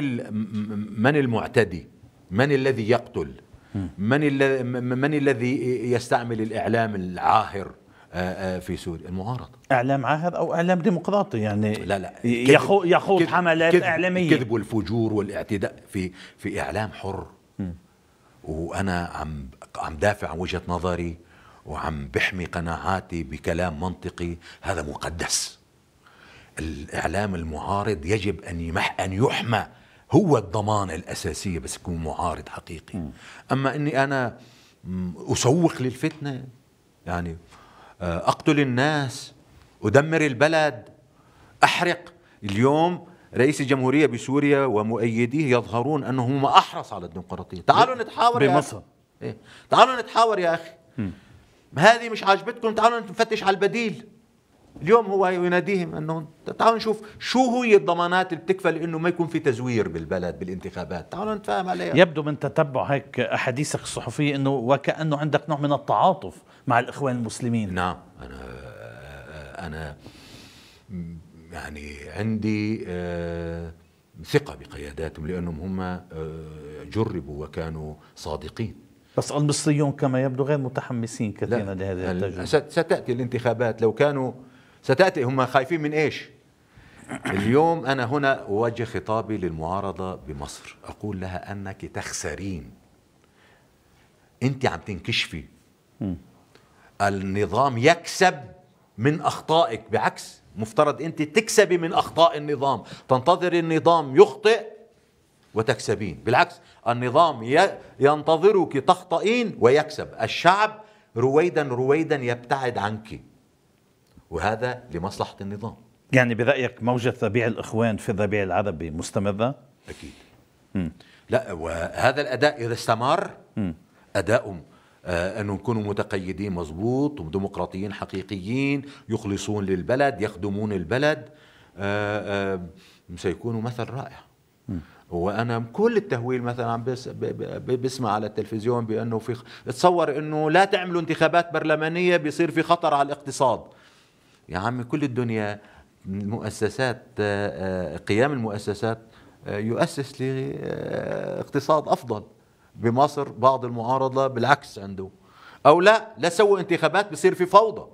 من المعتدي؟ من الذي يقتل؟ من الذي من الذي يستعمل الإعلام العاهر في سوريا؟ المعارضة. إعلام عاهر أو إعلام ديمقراطي، يعني لا لا يخوض حملات كذب إعلامية. الكذب والفجور والاعتداء في في إعلام حر. م. وأنا عم عم دافع عن وجهة نظري وعم بحمي قناعاتي بكلام منطقي، هذا مقدس. الإعلام المعارض يجب أن يمح أن يحمى هو الضمانة الأساسية بس يكون معارض حقيقي. م. أما أني أنا أسوق للفتنة، يعني أقتل الناس، أدمر البلد، أحرق. اليوم رئيس الجمهورية بسوريا ومؤيديه يظهرون أنهم أحرص على الديمقراطية. تعالوا نتحاور يا بمصر. إيه؟ تعالوا نتحاور يا أخي. م. هذه مش عاجبتكم، تعالوا نفتش على البديل. اليوم هو يناديهم أنه تعالوا نشوف شو هي الضمانات اللي بتكفل أنه ما يكون في تزوير بالبلد بالانتخابات، تعالوا نتفاهم عليها. يبدو من تتبع هيك أحاديثك الصحفية أنه وكأنه عندك نوع من التعاطف مع الإخوان المسلمين. نعم، أنا أنا يعني عندي ثقة بقياداتهم لأنهم هم جربوا وكانوا صادقين. بس المصريون كما يبدو غير متحمسين كثيرا لهذه التجربة. ستأتي الانتخابات، لو كانوا ستأتي، هم خايفين من إيش؟ اليوم أنا هنا أوجه خطابي للمعارضة بمصر، أقول لها أنك تخسرين، أنت عم تنكشفي. م. النظام يكسب من أخطائك، بعكس مفترض أنت تكسبي من أخطاء النظام، تنتظر النظام يخطئ وتكسبين. بالعكس النظام ينتظرك تخطئين ويكسب. الشعب رويدا رويدا يبتعد عنك، وهذا لمصلحة النظام. يعني برأيك موجة ربيع الإخوان في الربيع العربي مستمرة؟ أكيد. م. لا، وهذا الأداء إذا استمر م. أداؤهم آه أنهم يكونوا متقيدين مضبوط وديمقراطيين حقيقيين، يخلصون للبلد، يخدمون البلد، آه آه سيكونوا مثل رائع. م. وانا كل التهويل مثلا عم بس بسمع على التلفزيون بانه في، تصور انه لا تعملوا انتخابات برلمانيه بيصير في خطر على الاقتصاد. يا عمي كل الدنيا المؤسسات، قيام المؤسسات يؤسس لاقتصاد افضل. بمصر بعض المعارضه بالعكس عنده، او لا لا سووا انتخابات بيصير في فوضى.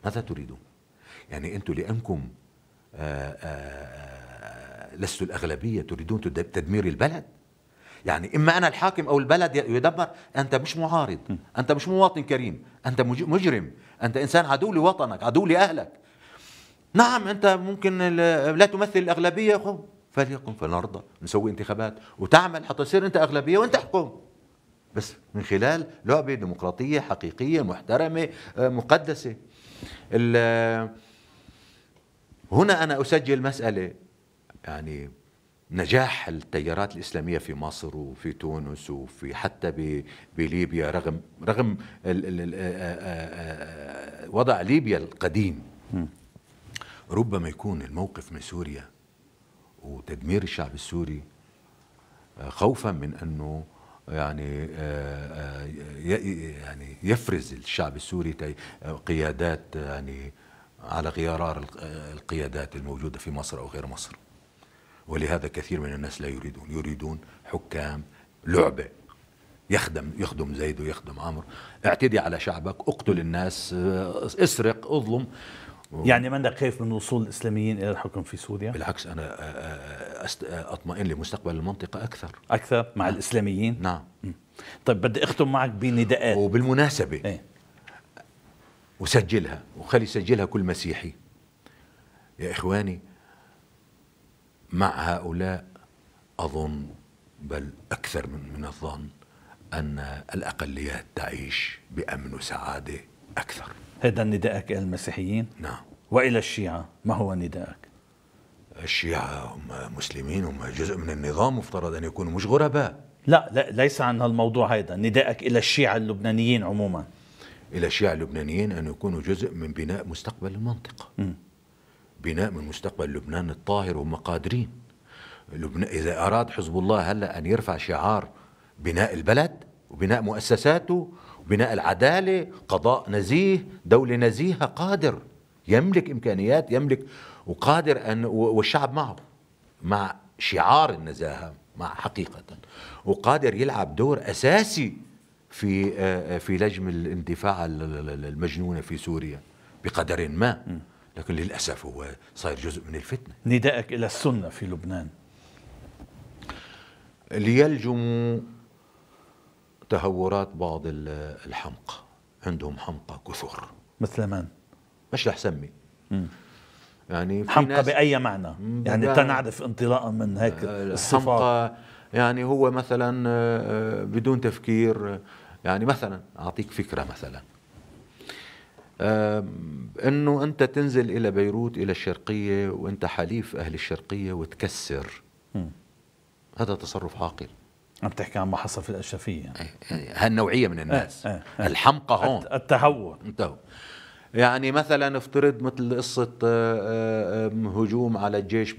ماذا تريدون؟ يعني انتم لانكم آآ آآ لستوا الأغلبية تريدون تدمير البلد؟ يعني إما أنا الحاكم أو البلد يدمر. أنت مش معارض، أنت مش مواطن كريم، أنت مجرم، أنت إنسان عدو لوطنك، عدو لأهلك. نعم أنت ممكن لا تمثل الأغلبية، فليكن فلنرضى نسوي انتخابات وتعمل حتى تصير أنت أغلبية وأنت تحكم، بس من خلال لعبة ديمقراطية حقيقية محترمة مقدسة. هنا أنا أسجل مسألة، يعني نجاح التيارات الإسلامية في مصر وفي تونس وفي حتى بليبيا، رغم رغم وضع ليبيا القديم، ربما يكون الموقف من سوريا وتدمير الشعب السوري خوفا من أنه يعني يعني يفرز الشعب السوري قيادات يعني على غرار القيادات الموجودة في مصر أو غير مصر. ولهذا كثير من الناس لا يريدون يريدون حكام لعبة، يخدم يخدم زيد ويخدم عمرو، اعتدي على شعبك، اقتل الناس، اسرق، اظلم. يعني منك خايف من وصول الإسلاميين إلى الحكم في سوريا؟ بالعكس أنا أطمئن لمستقبل المنطقة أكثر أكثر مع نعم. الإسلاميين؟ نعم. طيب بدي أختم معك بنداءات. وبالمناسبة ايه؟ وسجلها وخلي يسجلها كل مسيحي. يا إخواني، مع هؤلاء أظن بل أكثر من, من الظن أن الأقليات تعيش بأمن وسعادة أكثر. هذا نداءك إلى المسيحيين؟ نعم. وإلى الشيعة ما هو نداءك؟ الشيعة هم مسلمين، هم جزء من النظام، مفترض أن يكونوا مش غرباء. لا لا ليس عن هالموضوع هذا، نداءك إلى الشيعة اللبنانيين عموما. إلى الشيعة اللبنانيين أن يكونوا جزء من بناء مستقبل المنطقة، م. بناء من مستقبل لبنان الطاهر، وهم قادرين. لبنان إذا أراد حزب الله هلأ أن يرفع شعار بناء البلد وبناء مؤسساته وبناء العدالة، قضاء نزيه، دولة نزيهة، قادر، يملك إمكانيات، يملك وقادر أن، والشعب معه مع شعار النزاهة مع حقيقة، وقادر يلعب دور أساسي في في لجم الاندفاع المجنونة في سوريا بقدر ما، لكن للأسف هو صار جزء من الفتنة. نداءك إلى السنة في لبنان؟ ليلجموا تهورات بعض الحمقى، عندهم حمقى كثر. مثل من؟ مش رح سمي. يعني حمقى بأي معنى؟ يعني تنعرف انطلاقا من هيك الصفات. حمقى يعني هو مثلا بدون تفكير. يعني مثلا أعطيك فكرة، مثلا أنه أنت تنزل إلى بيروت إلى الشرقية وأنت حليف أهل الشرقية وتكسر، م. هذا تصرف عاقل. عم تحكي عن ما حصل في الأشرفية. هالنوعية من الناس. اه اه اه الحمقى هون التهور. انتهوا. يعني مثلا افترض مثل قصة هجوم على الجيش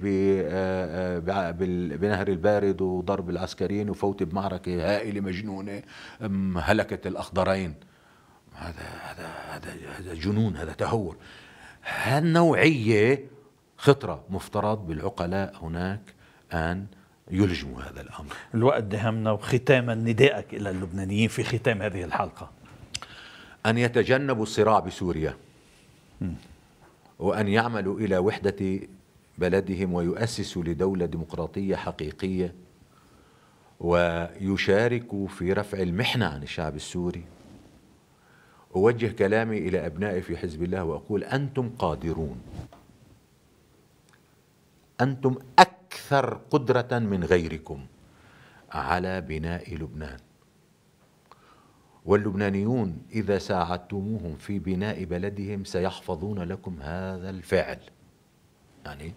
بنهر البارد وضرب العسكريين وفوت بمعركة هائلة مجنونة هلكت الأخضرين. هذا هذا هذا هذا جنون، هذا تهور. هالنوعية خطرة، مفترض بالعقلاء هناك أن يلجموا هذا الأمر. الوقت دهمنا، وختاما ندائك إلى اللبنانيين في ختام هذه الحلقة أن يتجنبوا الصراع بسوريا، م. وأن يعملوا إلى وحدة بلدهم ويؤسسوا لدولة ديمقراطية حقيقية، ويشاركوا في رفع المحنة عن الشعب السوري. أوجه كلامي إلى أبنائي في حزب الله وأقول أنتم قادرون، أنتم أكثر قدرة من غيركم على بناء لبنان، واللبنانيون إذا ساعدتموهم في بناء بلدهم سيحفظون لكم هذا الفعل. يعني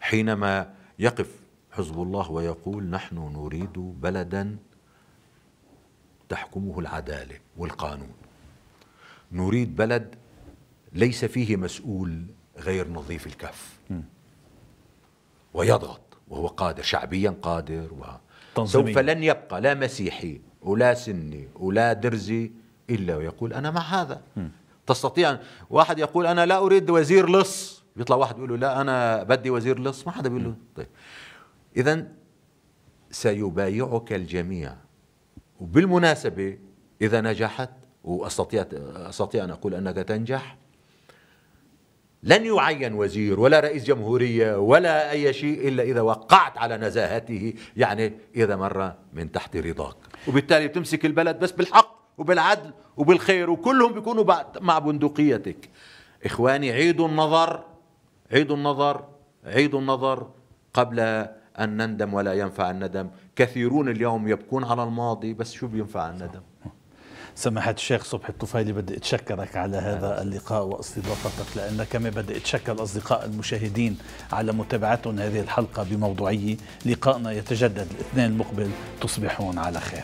حينما يقف حزب الله ويقول نحن نريد بلدا تحكمه العدالة والقانون، نريد بلد ليس فيه مسؤول غير نظيف الكف ويضغط وهو قادر، شعبيا قادر، وسوف لن يبقى لا مسيحي ولا سني ولا درزي إلا ويقول أنا مع هذا. م. تستطيع واحد يقول أنا لا أريد وزير لص، يطلع واحد يقول له لا أنا بدي وزير لص، ما حدا بيقول له. طيب إذن سيبايعك الجميع. وبالمناسبة إذا نجحت، وأستطيع أستطيع أن أقول أنك تنجح، لن يعين وزير ولا رئيس جمهورية ولا أي شيء إلا إذا وقعت على نزاهته، يعني إذا مر من تحت رضاك، وبالتالي تمسك البلد بس بالحق وبالعدل وبالخير، وكلهم بيكونوا مع بندقيتك. إخواني، عيدوا النظر، عيدوا النظر، عيدوا النظر قبل أن نندم ولا ينفع الندم. كثيرون اليوم يبكون على الماضي، بس شو بينفع الندم؟ سماحة الشيخ صبحي الطفيلي، بدي أتشكرك على هذا اللقاء واستضافتك، لأن كمان بدي أتشكر الأصدقاء المشاهدين على متابعتهم هذه الحلقة بموضوعية. لقاءنا يتجدد الاثنين المقبل، تصبحون على خير.